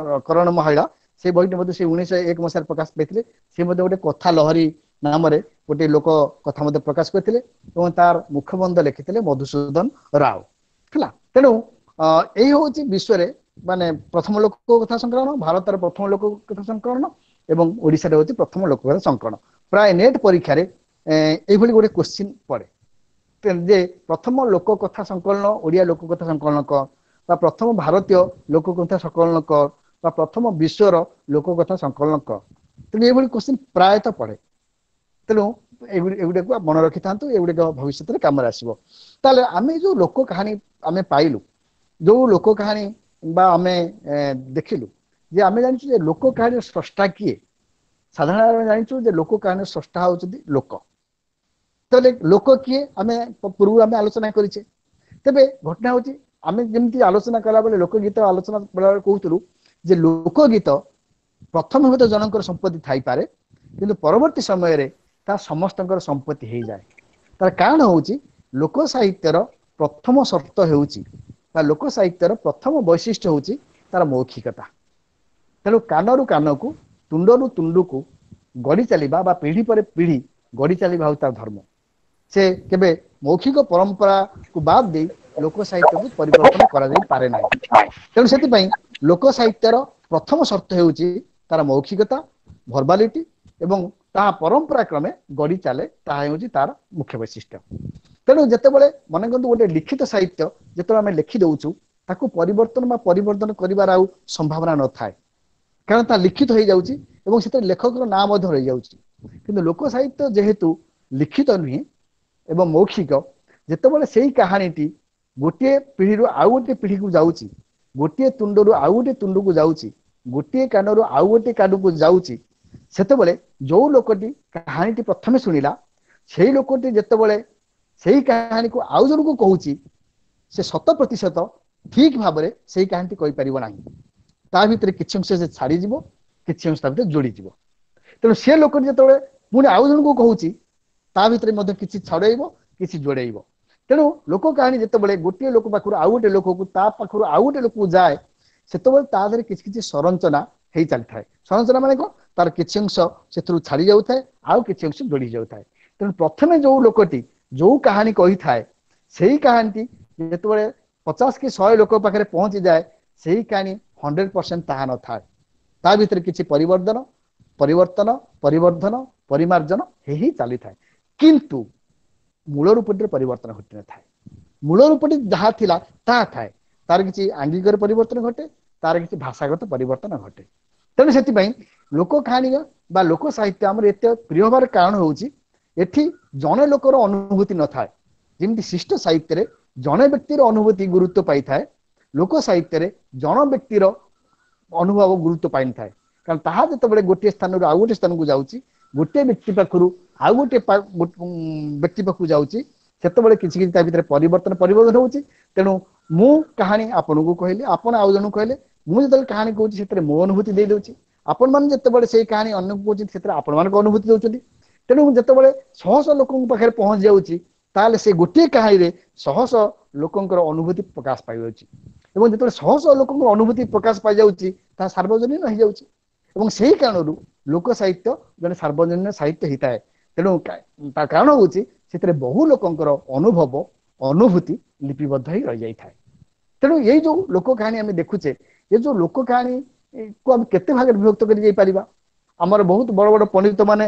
କରଣ ମହିଳା, ସେ ବହିଟି ମଧ୍ୟ ସେ ଉଣେଇଶହ ଏକ ମସିହାରେ ପ୍ରକାଶ ପାଇଥିଲେ। ସେ ମଧ୍ୟ ଗୋଟେ କଥା ଲହରୀ ନାମରେ ଗୋଟେ ଲୋକ କଥା ମଧ୍ୟ ପ୍ରକାଶ କରିଥିଲେ ଏବଂ ତାର ମୁଖବନ୍ଧ ଲେଖିଥିଲେ ମଧୁସୂଦନ ରାଓ ହେଲା। ତେଣୁ ଏଇ ହଉଛି ବିଶ୍ୱରେ ମାନେ ପ୍ରଥମ ଲୋକ କଥା ସଂକଳନ, ଭାରତର ପ୍ରଥମ ଲୋକ କଥା ସଂକଳନ ଏବଂ ଓଡ଼ିଶାରେ ହଉଛି ପ୍ରଥମ ଲୋକ କଥା ସଂକଳନ। ପ୍ରାୟ ନେଟ୍ ପରୀକ୍ଷାରେ ଏଇଭଳି ଗୋଟେ କୋଶ୍ଚିନ୍ ପଡେ ଯେ ପ୍ରଥମ ଲୋକ କଥା ସଂକଳନ, ଓଡ଼ିଆ ଲୋକ କଥା ସଂକଳନ କର, ବା ପ୍ରଥମ ଭାରତୀୟ ଲୋକ କଥା ସଂକଳନ କର, ବା ପ୍ରଥମ ବିଶ୍ୱର ଲୋକ କଥା ସଂକଳନ କର। ତେଣୁ ଏଇଭଳି କୋଶ୍ଚିନ୍ ପ୍ରାୟତଃ ପଡେ। ତେଣୁ ଏଗୁଡିକୁ ମନେ ରଖିଥାନ୍ତୁ, ଏଗୁଡିକ ଭବିଷ୍ୟତରେ କାମରେ ଆସିବ। ତାହେଲେ ଆମେ ଯୋଉ ଲୋକ କାହାଣୀ ଆମେ ପାଇଲୁ, ଯୋଉ ଲୋକ କାହାଣୀ ବା ଆମେ ଦେଖିଲୁ ଯେ ଆମେ ଜାଣିଛୁ ଯେ ଲୋକ କାହାଣୀର ସ୍ରଷ୍ଟା କିଏ? ସାଧାରଣ ଆମେ ଜାଣିଛୁ ଯେ ଲୋକ କାହାଣୀର ସ୍ରଷ୍ଟା ହଉଛନ୍ତି ଲୋକ। ତାହେଲେ ଲୋକ କିଏ, ଆମେ ପୂର୍ବରୁ ଆମେ ଆଲୋଚନା କରିଛେ। ତେବେ ଘଟଣା ହଉଛି, ଆମେ ଯେମିତି ଆଲୋଚନା କଲାବେଳେ, ଲୋକଗୀତ ଆଲୋଚନା କଲାବେଳେ କହୁଥିଲୁ ଯେ ଲୋକଗୀତ ପ୍ରଥମେ ହୁଏତ ଜଣଙ୍କର ସମ୍ପତ୍ତି ଥାଇପାରେ, କିନ୍ତୁ ପରବର୍ତ୍ତୀ ସମୟରେ ତାହା ସମସ୍ତଙ୍କର ସମ୍ପତ୍ତି ହେଇଯାଏ। ତାର କାରଣ ହଉଛି, ଲୋକ ସାହିତ୍ୟର ପ୍ରଥମ ସର୍ତ୍ତ ହେଉଛି ବା ଲୋକ ସାହିତ୍ୟର ପ୍ରଥମ ବୈଶିଷ୍ଟ୍ୟ ହଉଛି ତାର ମୌଖିକତା। ତେଣୁ କାନରୁ କାନକୁ, ତୁଣ୍ଡରୁ ତୁଣ୍ଡକୁ ଗଢି ଚାଲିବା ବା ପିଢି ପରେ ପିଢି ଗଢି ଚାଲିବା ହଉଛି ତାର ଧର୍ମ। ସେ କେବେ ମୌଖିକ ପରମ୍ପରାକୁ ବାଦ ଦେଇ ଲୋକ ସାହିତ୍ୟକୁ ପରିବର୍ତ୍ତନ କରାଯାଇ ପାରେ ନାହିଁ। ତେଣୁ ସେଥିପାଇଁ ଲୋକ ସାହିତ୍ୟର ପ୍ରଥମ ସର୍ତ୍ତ ହେଉଛି ତାର ମୌଖିକତା, ଭର୍ବାଲିଟି, ଏବଂ ତାହା ପରମ୍ପରା କ୍ରମେ ଗଢି ଚାଲେ, ତାହା ହେଉଛି ତାର ମୁଖ୍ୟ ବୈଶିଷ୍ଟ୍ୟ। ତେଣୁ ଯେତେବେଳେ ମନେ କରନ୍ତୁ ଗୋଟେ ଲିଖିତ ସାହିତ୍ୟ ଯେତେବେଳେ ଆମେ ଲେଖି ଦଉଛୁ, ତାକୁ ପରିବର୍ତ୍ତନ ବା ପରିବର୍ତ୍ତନ କରିବାର ଆଉ ସମ୍ଭାବନା ନଥାଏ, କାରଣ ତା ଲିଖିତ ହେଇଯାଉଛି ଏବଂ ସେଥିରେ ଲେଖକର ନାଁ ମଧ୍ୟ ରହିଯାଉଛି। କିନ୍ତୁ ଲୋକ ସାହିତ୍ୟ ଯେହେତୁ ଲିଖିତ ନୁହେଁ ଏବଂ ମୌଖିକ, ଯେତେବେଳେ ସେଇ କାହାଣୀଟି ଗୋଟିଏ ପିଢିରୁ ଆଉ ଗୋଟିଏ ପିଢିକୁ ଯାଉଛି, ଗୋଟିଏ ତୁଣ୍ଡରୁ ଆଉ ଗୋଟିଏ ତୁଣ୍ଡକୁ ଯାଉଛି, ଗୋଟିଏ କାନରୁ ଆଉ ଗୋଟିଏ କାନକୁ ଯାଉଛି, ସେତେବେଳେ ଯୋଉ ଲୋକଟି କାହାଣୀଟି ପ୍ରଥମେ ଶୁଣିଲା, ସେଇ ଲୋକଟି ଯେତେବେଳେ ସେଇ କାହାଣୀକୁ ଆଉ ଜଣକୁ କହୁଛି, ସେ ଶତ ପ୍ରତିଶତ ଠିକ ଭାବରେ ସେଇ କାହାଣୀଟି କହିପାରିବ ନାହିଁ। ତା ଭିତରେ କିଛି ଅଂଶ ସେ ଛାଡିଯିବ, କିଛି ଅଂଶ ତା ଭିତରେ ଯୋଡିଯିବ। ତେଣୁ ସେ ଲୋକଟି ଯେତେବେଳେ ପୁଣି ଆଉ ଜଣକୁ କହୁଛି, ତା ଭିତରେ ମଧ୍ୟ କିଛି ଛଡେଇବ, କିଛି ଯୋଡେଇବ। ତେଣୁ ଲୋକ କାହାଣୀ ଯେତେବେଳେ ଗୋଟିଏ ଲୋକ ପାଖରୁ ଆଉ ଗୋଟେ ଲୋକକୁ, ତା ପାଖରୁ ଆଉ ଗୋଟେ ଲୋକକୁ ଯାଏ, ସେତେବେଳେ ତା ଦେହରେ କିଛି କିଛି ସଂରଚନା ହେଇ ଚାଲିଥାଏ। ସଂରଚନା ମାନେ କଣ? ତାର କିଛି ଅଂଶ ସେଥିରୁ ଛାଡି ଯାଉଥାଏ, ଆଉ କିଛି ଅଂଶ ଯୋଡି ଯାଉଥାଏ। ତେଣୁ ପ୍ରଥମେ ଯୋଉ ଲୋକଟି ଯୋଉ କାହାଣୀ କହିଥାଏ, ସେଇ କାହାଣୀଟି ଯେତେବେଳେ ପଚାଶ କି ଶହେ ଲୋକ ପାଖରେ ପହଞ୍ଚିଯାଏ, ସେଇ କାହାଣୀ ହଣ୍ଡ୍ରେଡ ପରସେଣ୍ଟ ତାହା ନଥାଏ। ତା ଭିତରେ କିଛି ପରିବର୍ତ୍ତନ ପରିବର୍ତ୍ତନ ପରିବର୍ଦ୍ଧନ, ପରିମାର୍ଜନ ହେଇ ହିଁ ଚାଲିଥାଏ, କିନ୍ତୁ ମୂଳ ରୂପଟିରେ ପରିବର୍ତ୍ତନ ଘଟିନଥାଏ। ମୂଳ ରୂପଟି ଯାହା ଥିଲା ତାହା ଥାଏ। ତାର କିଛି ଆଙ୍ଗିକରେ ପରିବର୍ତ୍ତନ ଘଟେ, ତାର କିଛି ଭାଷାଗତ ପରିବର୍ତ୍ତନ ଘଟେ। ତେଣୁ ସେଥିପାଇଁ ଲୋକ କାହାଣୀ ବା ଲୋକ ସାହିତ୍ୟ ଆମର ଏତେ ପ୍ରିୟ ହବାର କାରଣ ହଉଛି, ଏଠି ଜଣେ ଲୋକର ଅନୁଭୂତି ନଥାଏ। ଯେମିତି ଶିଷ୍ଟ ସାହିତ୍ୟରେ ଜଣେ ବ୍ୟକ୍ତିର ଅନୁଭୂତି ଗୁରୁତ୍ୱ ପାଇଥାଏ, ଲୋକ ସାହିତ୍ୟରେ ଜଣ ବ୍ୟକ୍ତିର ଅନୁଭବ ଗୁରୁତ୍ୱ ପାଇନଥାଏ। କାରଣ ତାହା ଯେତେବେଳେ ଗୋଟିଏ ସ୍ଥାନରୁ ଆଉ ଗୋଟିଏ ସ୍ଥାନକୁ ଯାଉଛି, ଗୋଟିଏ ବ୍ୟକ୍ତି ପାଖରୁ ଆଉ ଗୋଟିଏ ବ୍ୟକ୍ତି ପାଖକୁ ଯାଉଛି, ସେତେବେଳେ କିଛି କିଛି ତା ଭିତରେ ପରିବର୍ତ୍ତନ ପରିବର୍ତ୍ତନ ହଉଛି। ତେଣୁ ମୁଁ କାହାଣୀ ଆପଣଙ୍କୁ କହିଲି, ଆପଣ ଆଉ ଜଣଙ୍କୁ କହିଲେ, ମୁଁ ଯେତେବେଳେ କାହାଣୀ କହୁଛି ସେଥିରେ ମୋ ଅନୁଭୂତି ଦେଇଦଉଛି, ଆପଣମାନେ ଯେତେବେଳେ ସେଇ କାହାଣୀ ଅନ୍ୟକୁ କହୁଛନ୍ତି ସେଥିରେ ଆପଣମାନଙ୍କ ଅନୁଭୂତି ଦଉଛନ୍ତି। ତେଣୁ ଯେତେବେଳେ ଶହ ଶହ ଲୋକଙ୍କ ପାଖରେ ପହଞ୍ଚି ଯାଉଛି, ତାହେଲେ ସେ ଗୋଟିଏ କାହାଣୀରେ ଶହ ଶହ ଲୋକଙ୍କର ଅନୁଭୂତି ପ୍ରକାଶ ପାଇଯାଉଛି, ଏବଂ ଯେତେବେଳେ ଶହ ଶହ ଲୋକଙ୍କର ଅନୁଭୂତି ପ୍ରକାଶ ପାଇଯାଉଛି, ତାହା ସାର୍ବଜନୀନ ହେଇଯାଉଛି, ଏବଂ ସେଇ କାରଣରୁ ଲୋକ ସାହିତ୍ୟ ଜଣେ ସାର୍ବଜନୀନ ସାହିତ୍ୟ ହେଇଥାଏ। ତେଣୁ ତା କାରଣ ହଉଛି ସେଥିରେ ବହୁ ଲୋକଙ୍କର ଅନୁଭବ, ଅନୁଭୂତି ଲିପିବଦ୍ଧ ହେଇ ରହିଯାଇଥାଏ। ତେଣୁ ଏଇ ଯୋଉ ଲୋକ କାହାଣୀ ଆମେ ଦେଖୁଛେ, ଏ ଯୋଉ ଲୋକ କାହାଣୀ କୁ ଆମେ କେତେ ଭାଗରେ ବିଭକ୍ତ କରି ଯାଇପାରିବା? ଆମର ବହୁତ ବଡ ବଡ ପଣ୍ଡିତ ମାନେ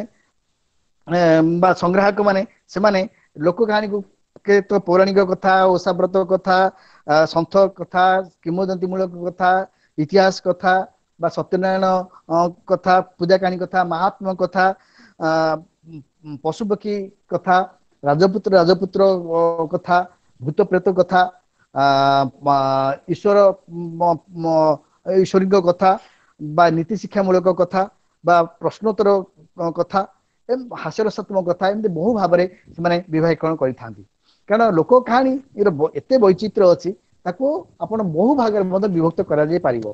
ବା ସଂଗ୍ରାହକ ମାନେ, ସେମାନେ ଲୋକ କାହାଣୀକୁ କେତେ ପୌରାଣିକ କଥା, ଓଷାବ୍ରତ କଥା, ସନ୍ଥ କଥା, କିମ୍ବଦନ୍ତୀ ମୂଳକ କଥା, ଇତିହାସ କଥା ବା ସତ୍ୟନାରାୟଣ କଥା, ପୂଜା କାହାଣୀ କଥା, ମହାତ୍ମା କଥା, ପଶୁପକ୍ଷୀ କଥା, ରାଜପୁତ୍ର ରାଜପୁତ୍ର କଥା, ଭୂତ ପ୍ରେତ କଥା, ଈଶ୍ୱର ଈଶ୍ୱରୀଙ୍କ କଥା ବା ନୀତି ଶିକ୍ଷାମୂଳକ କଥା ବା ପ୍ରଶ୍ନୋତ୍ତର କଥା, ହାସ୍ୟରସାତ୍ମକ କଥା, ଏମିତି ବହୁ ଭାବରେ ସେମାନେ ବିଭାଗୀକରଣ କରିଥାନ୍ତି। କାରଣ ଲୋକ କାହାଣୀର ଏତେ ବୈଚିତ୍ର୍ୟ ଅଛି, ତାକୁ ଆପଣ ବହୁ ଭାଗରେ ମଧ୍ୟ ବିଭକ୍ତ କରାଯାଇ ପାରିବ।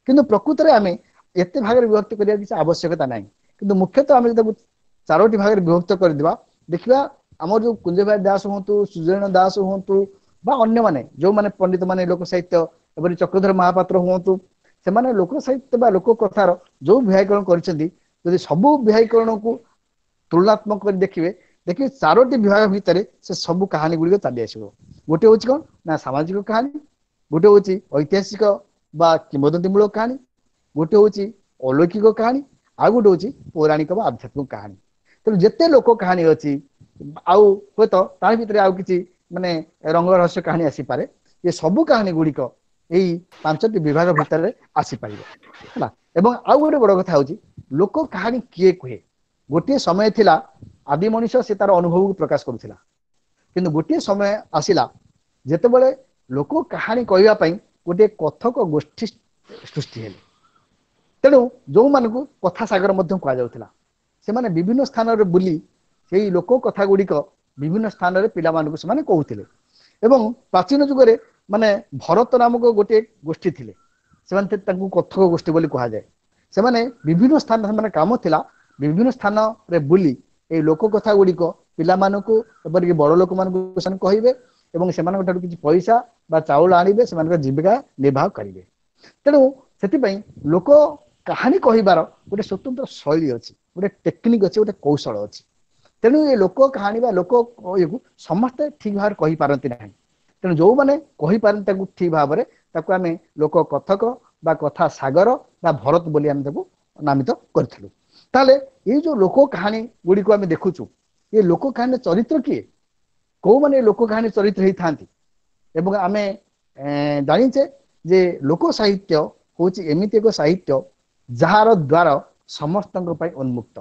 କିନ୍ତୁ ପ୍ରକୃତରେ ଆମେ ଏତେ ଭାଗରେ ବିଭକ୍ତ କରିବା କିଛି ଆବଶ୍ୟକତା ନାହିଁ। କିନ୍ତୁ ମୁଖ୍ୟତଃ ଆମେ ତାକୁ ଚାରୋଟି ଭାଗରେ ବିଭକ୍ତ କରିଦେବା, ଦେଖିବା ଆମର ଯୋଉ କୁଞ୍ଜବିହାରୀ ଦାସ ହୁଅନ୍ତୁ, ସୁଜନ ଦାସ ହୁଅନ୍ତୁ ବା ଅନ୍ୟମାନେ ଯୋଉମାନେ ପଣ୍ଡିତ ମାନେ ଲୋକ ସାହିତ୍ୟ, ଏପରି ଚକ୍ରଧର ମହାପାତ୍ର ହୁଅନ୍ତୁ, ସେମାନେ ଲୋକ ସାହିତ୍ୟ ବା ଲୋକ କଥାର ଯୋଉ ବିଭାଗୀକରଣ କରିଛନ୍ତି, ଯଦି ସବୁ ବିଭାଗୀକରଣକୁ ତୁଳନାତ୍ମକ କରି ଦେଖିବେ, ଦେଖିବେ ଚାରୋଟି ବିଭାଗ ଭିତରେ ସେ ସବୁ କାହାଣୀ ଗୁଡ଼ିକ ଚାଲି ଆସିବ। ଗୋଟେ ହଉଛି କଣ ନା ସାମାଜିକ କାହାଣୀ, ଗୋଟେ ହଉଛି ଐତିହାସିକ ବା କିମ୍ବଦନ୍ତୀ ମୂଳକ କାହାଣୀ, ଗୋଟେ ହଉଛି ଅଲୌକିକ କାହାଣୀ, ଆଉ ଗୋଟେ ହଉଛି ପୌରାଣିକ ବା ଆଧ୍ୟାତ୍ମିକ କାହାଣୀ। ତେଣୁ ଯେତେ ଲୋକ କାହାଣୀ ଅଛି, ଆଉ ହୁଏତ ତା ଭିତରେ ଆଉ କିଛି ମାନେ ରଙ୍ଗ ରହସ୍ୟ କାହାଣୀ ଆସିପାରେ, ଏ ସବୁ କାହାଣୀ ଗୁଡ଼ିକ ଏଇ ପାଞ୍ଚଟି ବିଭାଗ ଭିତରେ ଆସିପାରିବ ହେଲା। ଏବଂ ଆଉ ଗୋଟେ ବଡ କଥା ହଉଛି, ଲୋକ କାହାଣୀ କିଏ କୁହେ? ଗୋଟିଏ ସମୟ ଥିଲା ଆଦି ମଣିଷ ସେ ତାର ଅନୁଭବକୁ ପ୍ରକାଶ କରୁଥିଲା, କିନ୍ତୁ ଗୋଟିଏ ସମୟ ଆସିଲା ଯେତେବେଳେ ଲୋକ କାହାଣୀ କହିବା ପାଇଁ ଗୋଟିଏ କଥକ ଗୋଷ୍ଠୀ ସୃଷ୍ଟି ହେଲେ। ତେଣୁ ଯୋଉମାନଙ୍କୁ କଥା ସାଗର ମଧ୍ୟ କୁହାଯାଉଥିଲା। ସେମାନେ ବିଭିନ୍ନ ସ୍ଥାନରେ ବୁଲି ସେଇ ଲୋକ କଥା ଗୁଡିକ ବିଭିନ୍ନ ସ୍ଥାନରେ ପିଲାମାନଙ୍କୁ ସେମାନେ କହୁଥିଲେ। ଏବଂ ପ୍ରାଚୀନ ଯୁଗରେ ମାନେ ଭରତ ନାମକ ଗୋଟିଏ ଗୋଷ୍ଠୀ ଥିଲେ, ସେମାନେ ତାଙ୍କୁ କଥକ ଗୋଷ୍ଠୀ ବୋଲି କୁହାଯାଏ। ସେମାନେ ବିଭିନ୍ନ ସ୍ଥାନ, ସେମାନେ କାମ ଥିଲା ବିଭିନ୍ନ ସ୍ଥାନରେ ବୁଲି ଏଇ ଲୋକ କଥା ଗୁଡିକ ପିଲାମାନଙ୍କୁ ଏପରିକି ବଡ ଲୋକମାନଙ୍କୁ ସେମାନେ କହିବେ ଏବଂ ସେମାନଙ୍କ ଠାରୁ କିଛି ପଇସା ବା ଚାଉଳ ଆଣିବେ, ସେମାନଙ୍କର ଜୀବିକା ନିର୍ବାହ କରିବେ। ତେଣୁ ସେଥିପାଇଁ ଲୋକ କାହାଣୀ କହିବାର ଗୋଟେ ସ୍ଵତନ୍ତ୍ର ଶୈଳୀ ଅଛି, ଗୋଟେ ଟେକ୍ନିକ ଅଛି, ଗୋଟେ କୌଶଳ ଅଛି। ତେଣୁ ଏ ଲୋକ କାହାଣୀ ବା ଲୋକ ଇଏକୁ ସମସ୍ତେ ଠିକ ଭାବରେ କହିପାରନ୍ତି ନାହିଁ। ତେଣୁ ଯୋଉମାନେ କହିପାରନ୍ତି ତାକୁ ଠିକ ଭାବରେ, ତାକୁ ଆମେ ଲୋକ କଥକ ବା କଥା ସାଗର ବା ଭରତ ବୋଲି ଆମେ ତାକୁ ନାମିତ କରିଥିଲୁ। ତାହେଲେ ଏଇ ଯୋଉ ଲୋକ କାହାଣୀ ଗୁଡିକୁ ଆମେ ଦେଖୁଛୁ, ଏ ଲୋକ କାହାଣୀର ଚରିତ୍ର କିଏ, କୋଉମାନେ ଲୋକ କାହାଣୀ ଚରିତ୍ର ହେଇଥାନ୍ତି? ଏବଂ ଆମେ ଜାଣିଛେ ଯେ ଲୋକ ସାହିତ୍ୟ ହଉଛି ଏମିତି ଏକ ସାହିତ୍ୟ ଯାହାର ଦ୍ଵାର ସମସ୍ତଙ୍କ ପାଇଁ ଉନ୍ମୁକ୍ତ,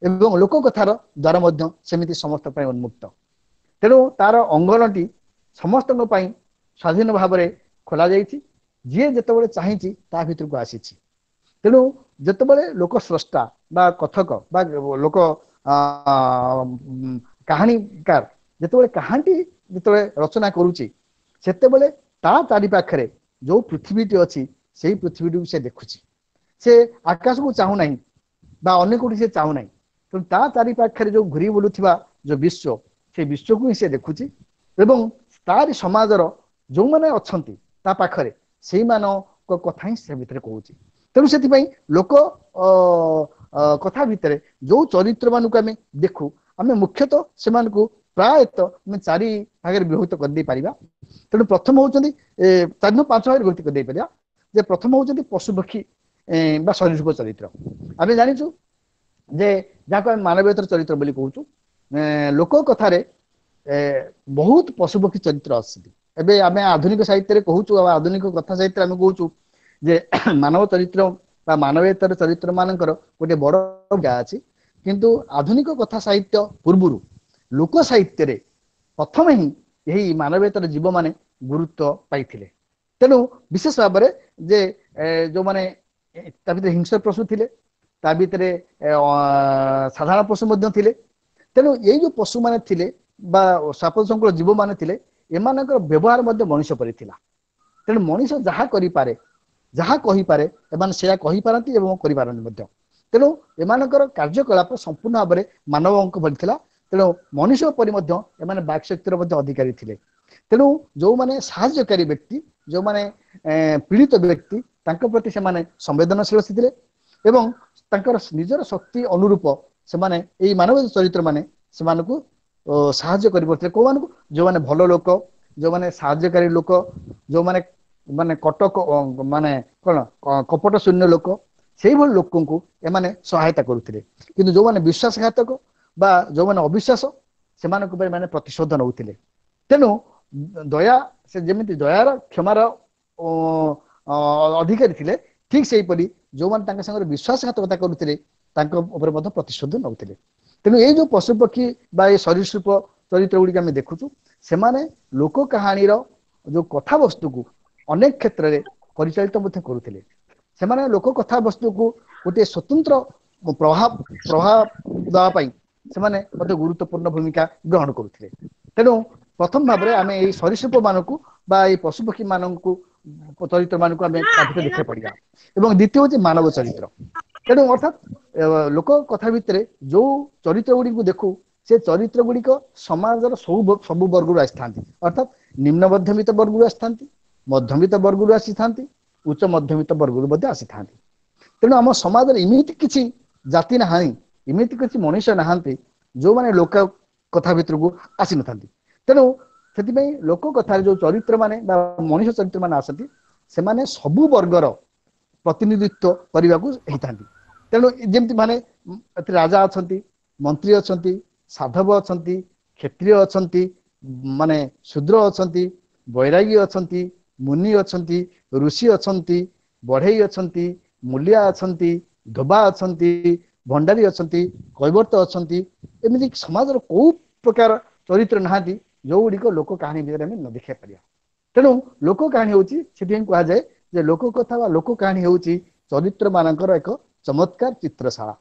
ଏବଂ ଲୋକ କଥାର ଦ୍ଵାର ମଧ୍ୟ ସେମିତି ସମସ୍ତଙ୍କ ପାଇଁ ଉନ୍ମୁକ୍ତ। ତେଣୁ ତାର ଅଙ୍ଗନଟି ସମସ୍ତଙ୍କ ପାଇଁ ସ୍ୱାଧୀନ ଭାବରେ ଖୋଲା ଯାଇଛି, ଯିଏ ଯେତେବେଳେ ଚାହିଁଛି ତା ଭିତରକୁ ଆସିଛି। ତେଣୁ ଯେତେବେଳେ ଲୋକ ସ୍ରଷ୍ଟା ବା କଥକ ବା ଲୋକ କାହାଣୀକାର ଯେତେବେଳେ କାହାଣୀଟି ଯେତେବେଳେ ରଚନା କରୁଛି, ସେତେବେଳେ ତା ଚାରି ପାଖରେ ଯୋଉ ପୃଥିବୀଟି ଅଛି ସେଇ ପୃଥିବୀଟିକୁ ସେ ଦେଖୁଛି। ସେ ଆକାଶକୁ ଚାହୁଁନାହିଁ ବା ଅନ୍ୟ କୋଉଠି ସେ ଚାହୁଁନାହିଁ। ତେଣୁ ତା ଚାରି ପାଖରେ ଯୋଉ ଘୁରି ବୁଲୁଥିବା ଯୋଉ ବିଶ୍ୱ, ସେ ବିଶ୍ୱକୁ ହିଁ ସେ ଦେଖୁଛି ଏବଂ ତାରି ସମାଜର ଯୋଉମାନେ ଅଛନ୍ତି ତା ପାଖରେ ସେଇମାନଙ୍କ କଥା ହିଁ ସେ ଭିତରେ କହୁଛି। ତେଣୁ ସେଥିପାଇଁ ଲୋକ କଥା ଭିତରେ ଯୋଉ ଚରିତ୍ର ମାନଙ୍କୁ ଆମେ ଦେଖୁ, ଆମେ ମୁଖ୍ୟତଃ ସେମାନଙ୍କୁ ପ୍ରାୟତଃ ଆମେ ଚାରି ଭାଗରେ ବିଭକ୍ତ କରିଦେଇ ପାରିବା। ତେଣୁ ପ୍ରଥମ ହଉଛନ୍ତି ଏ ଚାରି ପାଞ୍ଚ ଭାଗରେ ବିଭକ୍ତ କରିଦେଇ ପାରିବା। ଯେ ପ୍ରଥମ ହଉଛନ୍ତି ପଶୁପକ୍ଷୀ ବା ସରୀସୃପ ଚରିତ୍ର। ଆମେ ଜାଣିଛୁ ଯେ ଯାହାକୁ ଆମେ ମାନବୀୟତର ଚରିତ୍ର ବୋଲି କହୁଛୁ। ଲୋକ କଥାରେ ବହୁତ ପଶୁପକ୍ଷୀ ଚରିତ୍ର ଅଛନ୍ତି। ଏବେ ଆମେ ଆଧୁନିକ ସାହିତ୍ୟରେ କହୁଛୁ ଆଉ ଆଧୁନିକ କଥା ସାହିତ୍ୟରେ ଆମେ କହୁଛୁ ଯେ ମାନବ ଚରିତ୍ର ବା ମାନବେତର ଚରିତ୍ର ମାନଙ୍କର ଗୋଟେ ବଡ ଭୂମିକା ଅଛି। କିନ୍ତୁ ଆଧୁନିକ କଥା ସାହିତ୍ୟ ପୂର୍ବରୁ ଲୋକ ସାହିତ୍ୟରେ ପ୍ରଥମେ ହିଁ ଏହି ମାନବେତର ଜୀବମାନେ ଗୁରୁତ୍ୱ ପାଇଥିଲେ। ତେଣୁ ବିଶେଷ ଭାବରେ ଯେ ଯୋଉମାନେ ତା ଭିତରେ ହିଂସ୍ର ପଶୁ ଥିଲେ, ତା ଭିତରେ ସାଧାରଣ ପଶୁ ମଧ୍ୟ ଥିଲେ। ତେଣୁ ଏଇ ଯୋଉ ପଶୁମାନେ ଥିଲେ ବା ସାପ ସଂକୁଳ ଜୀବମାନେ ଥିଲେ, ଏମାନଙ୍କର ବ୍ୟବହାର ମଧ୍ୟ ମଣିଷ ପରି ଥିଲା। ତେଣୁ ମଣିଷ ଯାହା କରିପାରେ, ଯାହା କହିପାରେ, ଏମାନେ ସେୟା କହିପାରନ୍ତି ଏବଂ କରିପାରନ୍ତି ମଧ୍ୟ। ତେଣୁ ଏମାନଙ୍କର କାର୍ଯ୍ୟକଳାପ ସମ୍ପୂର୍ଣ୍ଣ ଭାବରେ ମାନବଙ୍କ ଭଳି ଥିଲା। ତେଣୁ ମଣିଷ ପରି ମଧ୍ୟ ଏମାନେ ବାକଶକ୍ତିର ମଧ୍ୟ ଅଧିକାରୀ ଥିଲେ। ତେଣୁ ଯୋଉମାନେ ସାହାଯ୍ୟକାରୀ ବ୍ୟକ୍ତି, ଯୋଉମାନେ ପୀଡ଼ିତ ବ୍ୟକ୍ତି, ତାଙ୍କ ପ୍ରତି ସେମାନେ ସମ୍ବେଦନଶୀଳ ଥିଲେ ଏବଂ ତାଙ୍କର ନିଜର ଶକ୍ତି ଅନୁରୂପ ସେମାନେ ଏଇ ମାନବ ଚରିତ୍ର ମାନେ ସେମାନଙ୍କୁ ସାହାଯ୍ୟ କରିପାରୁଥିଲେ। କୋଉମାନଙ୍କୁ? ଯୋଉମାନେ ଭଲ ଲୋକ, ଯୋଉମାନେ ସାହାଯ୍ୟକାରୀ ଲୋକ, ଯୋଉମାନେ ମାନେ କଟକ ମାନେ କଣ କପଟ ଶୂନ୍ୟ ଲୋକ, ସେଇଭଳି ଲୋକଙ୍କୁ ଏମାନେ ସହାୟତା କରୁଥିଲେ। କିନ୍ତୁ ଯୋଉମାନେ ବିଶ୍ୱାସଘାତକ ବା ଯୋଉମାନେ ଅବିଶ୍ୱାସ, ସେମାନଙ୍କ ଉପରେ ମାନେ ପ୍ରତିଶୋଧ ନେଉଥିଲେ। ତେଣୁ ଦୟା, ସେ ଯେମିତି ଦୟାର କ୍ଷମାର ଅଧିକାରୀ ଥିଲେ, ଠିକ ସେଇପରି ଯୋଉମାନେ ତାଙ୍କ ସାଙ୍ଗରେ ବିଶ୍ୱାସଘାତକତା କରୁଥିଲେ ତାଙ୍କ ଉପରେ ମଧ୍ୟ ପ୍ରତିଶୋଧ ନେଉଥିଲେ। ତେଣୁ ଏଇ ଯୋଉ ପଶୁପକ୍ଷୀ ବା ଏଇ ସରୀସୃପ ଚରିତ୍ର ଗୁଡିକ ଆମେ ଦେଖୁଛୁ, ସେମାନେ ଲୋକ କାହାଣୀର ଯୋଉ କଥାବସ୍ତୁକୁ ଅନେକ କ୍ଷେତ୍ରରେ ପରିଚାଳିତ ମଧ୍ୟ କରୁଥିଲେ। ସେମାନେ ଲୋକ କଥାବସ୍ତୁକୁ ଗୋଟିଏ ସ୍ୱତନ୍ତ୍ର ପ୍ରଭାବ ପ୍ରଭାବ ଦେବା ପାଇଁ ସେମାନେ ମଧ୍ୟ ଗୁରୁତ୍ୱପୂର୍ଣ୍ଣ ଭୂମିକା ଗ୍ରହଣ କରୁଥିଲେ। ତେଣୁ ପ୍ରଥମ ଭାବରେ ଆମେ ଏଇ ସରୀସୃପ ମାନଙ୍କୁ ବା ଏଇ ପଶୁପକ୍ଷୀ ମାନଙ୍କୁ ଚରିତ୍ର ମାନଙ୍କୁ ଆମେ ତା ଭିତରେ ଦେଖିବାକୁ ପଡିବା। ଏବଂ ଦ୍ୱିତୀୟ ହଉଛି ମାନବ ଚରିତ୍ର। ତେଣୁ ଅର୍ଥାତ୍ ଲୋକ କଥା ଭିତରେ ଯୋଉ ଚରିତ୍ର ଗୁଡିକୁ ଦେଖୁ, ସେ ଚରିତ୍ର ଗୁଡିକ ସମାଜର ସବୁ ସବୁ ବର୍ଗରୁ ଆସିଥାନ୍ତି। ଅର୍ଥାତ୍ ନିମ୍ନ ମଧ୍ୟବିତ୍ତ ବର୍ଗରୁ ଆସିଥାନ୍ତି, ମଧ୍ୟବିତ୍ତ ବର୍ଗରୁ ଆସିଥାନ୍ତି, ଉଚ୍ଚ ମଧ୍ୟବିତ୍ତ ବର୍ଗରୁ ମଧ୍ୟ ଆସିଥାନ୍ତି। ତେଣୁ ଆମ ସମାଜରେ ଏମିତି କିଛି ଜାତି ନାହିଁ, ଏମିତି କିଛି ମଣିଷ ନାହାନ୍ତି ଯୋଉମାନେ ଲୋକ କଥା ଭିତରକୁ ଆସିନଥାନ୍ତି। ତେଣୁ ସେଥିପାଇଁ ଲୋକ କଥାରେ ଯୋଉ ଚରିତ୍ର ମାନେ ବା ମଣିଷ ଚରିତ୍ର ମାନେ ଆସନ୍ତି, ସେମାନେ ସବୁ ବର୍ଗର ପ୍ରତିନିଧିତ୍ୱ କରିବାକୁ ହେଇଥାନ୍ତି। ତେଣୁ ଯେମିତି ମାନେ ଏଥିରେ ରାଜା ଅଛନ୍ତି, ମନ୍ତ୍ରୀ ଅଛନ୍ତି, ସାଧବ ଅଛନ୍ତି, କ୍ଷତ୍ରିୟ ଅଛନ୍ତି, ମାନେ ଶୂଦ୍ର ଅଛନ୍ତି, ବୈରାଗୀ ଅଛନ୍ତି, ମୁନି ଅଛନ୍ତି, ଋଷି ଅଛନ୍ତି, ବଢେଇ ଅଛନ୍ତି, ମୂଲିଆ ଅଛନ୍ତି, ଧୋବା ଅଛନ୍ତି, ଭଣ୍ଡାରୀ ଅଛନ୍ତି, କୈବର୍ତ୍ତ ଅଛନ୍ତି। ଏମିତି ସମାଜର କୋଉ ପ୍ରକାର ଚରିତ୍ର ନାହାନ୍ତି ଯୋଉଗୁଡ଼ିକ ଲୋକ କାହାଣୀ ଭିତରେ ଆମେ ନ ଦେଖିବାକୁ ପାରିବା। ତେଣୁ ଲୋକ କାହାଣୀ ହଉଛି, ସେଥିପାଇଁ କୁହାଯାଏ ଯେ ଲୋକ କଥା ବା ଲୋକ କାହାଣୀ ହଉଛି ଚରିତ୍ର ମାନଙ୍କର ଏକ ଚମତ୍କାର ଚିତ୍ରଶାଳା।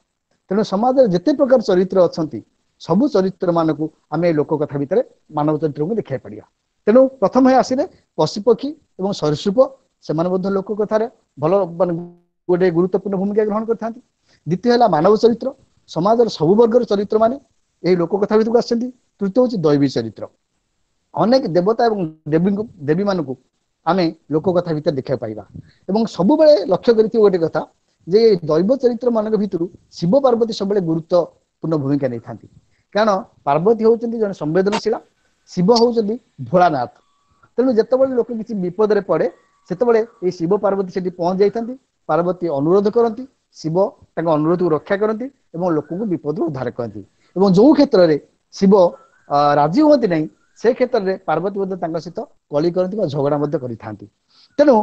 ତେଣୁ ସମାଜରେ ଯେତେ ପ୍ରକାର ଚରିତ୍ର ଅଛନ୍ତି, ସବୁ ଚରିତ୍ର ମାନଙ୍କୁ ଆମେ ଲୋକ କଥା ଭିତରେ ମାନବ ଚରିତ୍ରକୁ ଦେଖିବାକୁ ପାରିବା। ତେଣୁ ପ୍ରଥମେ ଆସିଲେ ପଶୁପକ୍ଷୀ ଏବଂ ସରୀସୃପ, ସେମାନେ ମଧ୍ୟ ଲୋକ କଥାରେ ଭଲ ମାନେ ଗୋଟେ ଗୁରୁତ୍ୱପୂର୍ଣ୍ଣ ଭୂମିକା ଗ୍ରହଣ କରିଥାନ୍ତି। ଦ୍ୱିତୀୟ ହେଲା ମାନବ ଚରିତ୍ର, ସମାଜର ସବୁ ବର୍ଗର ଚରିତ୍ର ମାନେ ଏହି ଲୋକ କଥା ଭିତରକୁ ଆସିଛନ୍ତି। ତୃତୀୟ ହଉଛି ଦୈବୀ ଚରିତ୍ର, ଅନେକ ଦେବତା ଏବଂ ଦେବୀଙ୍କୁ ଦେବୀ ମାନଙ୍କୁ ଆମେ ଲୋକ କଥା ଭିତରେ ଦେଖିବାକୁ ପାଇବା। ଏବଂ ସବୁବେଳେ ଲକ୍ଷ୍ୟ କରିଥିବ ଗୋଟେ କଥା ଯେ ଦୈବ ଚରିତ୍ର ମାନଙ୍କ ଭିତରୁ ଶିବ ପାର୍ବତୀ ସବୁବେଳେ ଗୁରୁତ୍ୱପୂର୍ଣ୍ଣ ଭୂମିକା ନେଇଥାନ୍ତି। କାରଣ ପାର୍ବତୀ ହଉଛନ୍ତି ଜଣେ ସମ୍ବେଦନଶୀଳ, ଶିବ ହଉଛନ୍ତି ଭୋଳାନାଥ। ତେଣୁ ଯେତେବେଳେ ଲୋକ କିଛି ବିପଦରେ ପଡେ, ସେତେବେଳେ ଏଇ ଶିବ ପାର୍ବତୀ ସେଠି ପହଞ୍ଚି ଯାଇଥାନ୍ତି। ପାର୍ବତୀ ଅନୁରୋଧ କରନ୍ତି, ଶିବ ତାଙ୍କ ଅନୁରୋଧକୁ ରକ୍ଷା କରନ୍ତି ଏବଂ ଲୋକଙ୍କୁ ବିପଦରୁ ଉଦ୍ଧାର କରନ୍ତି। ଏବଂ ଯୋଉ କ୍ଷେତ୍ରରେ ଶିବ ରାଜି ହୁଅନ୍ତି ନାହିଁ, ସେ କ୍ଷେତ୍ରରେ ପାର୍ବତୀ ମଧ୍ୟ ତାଙ୍କ ସହିତ କଳି କରନ୍ତି ବା ଝଗଡା ମଧ୍ୟ କରିଥାନ୍ତି। ତେଣୁ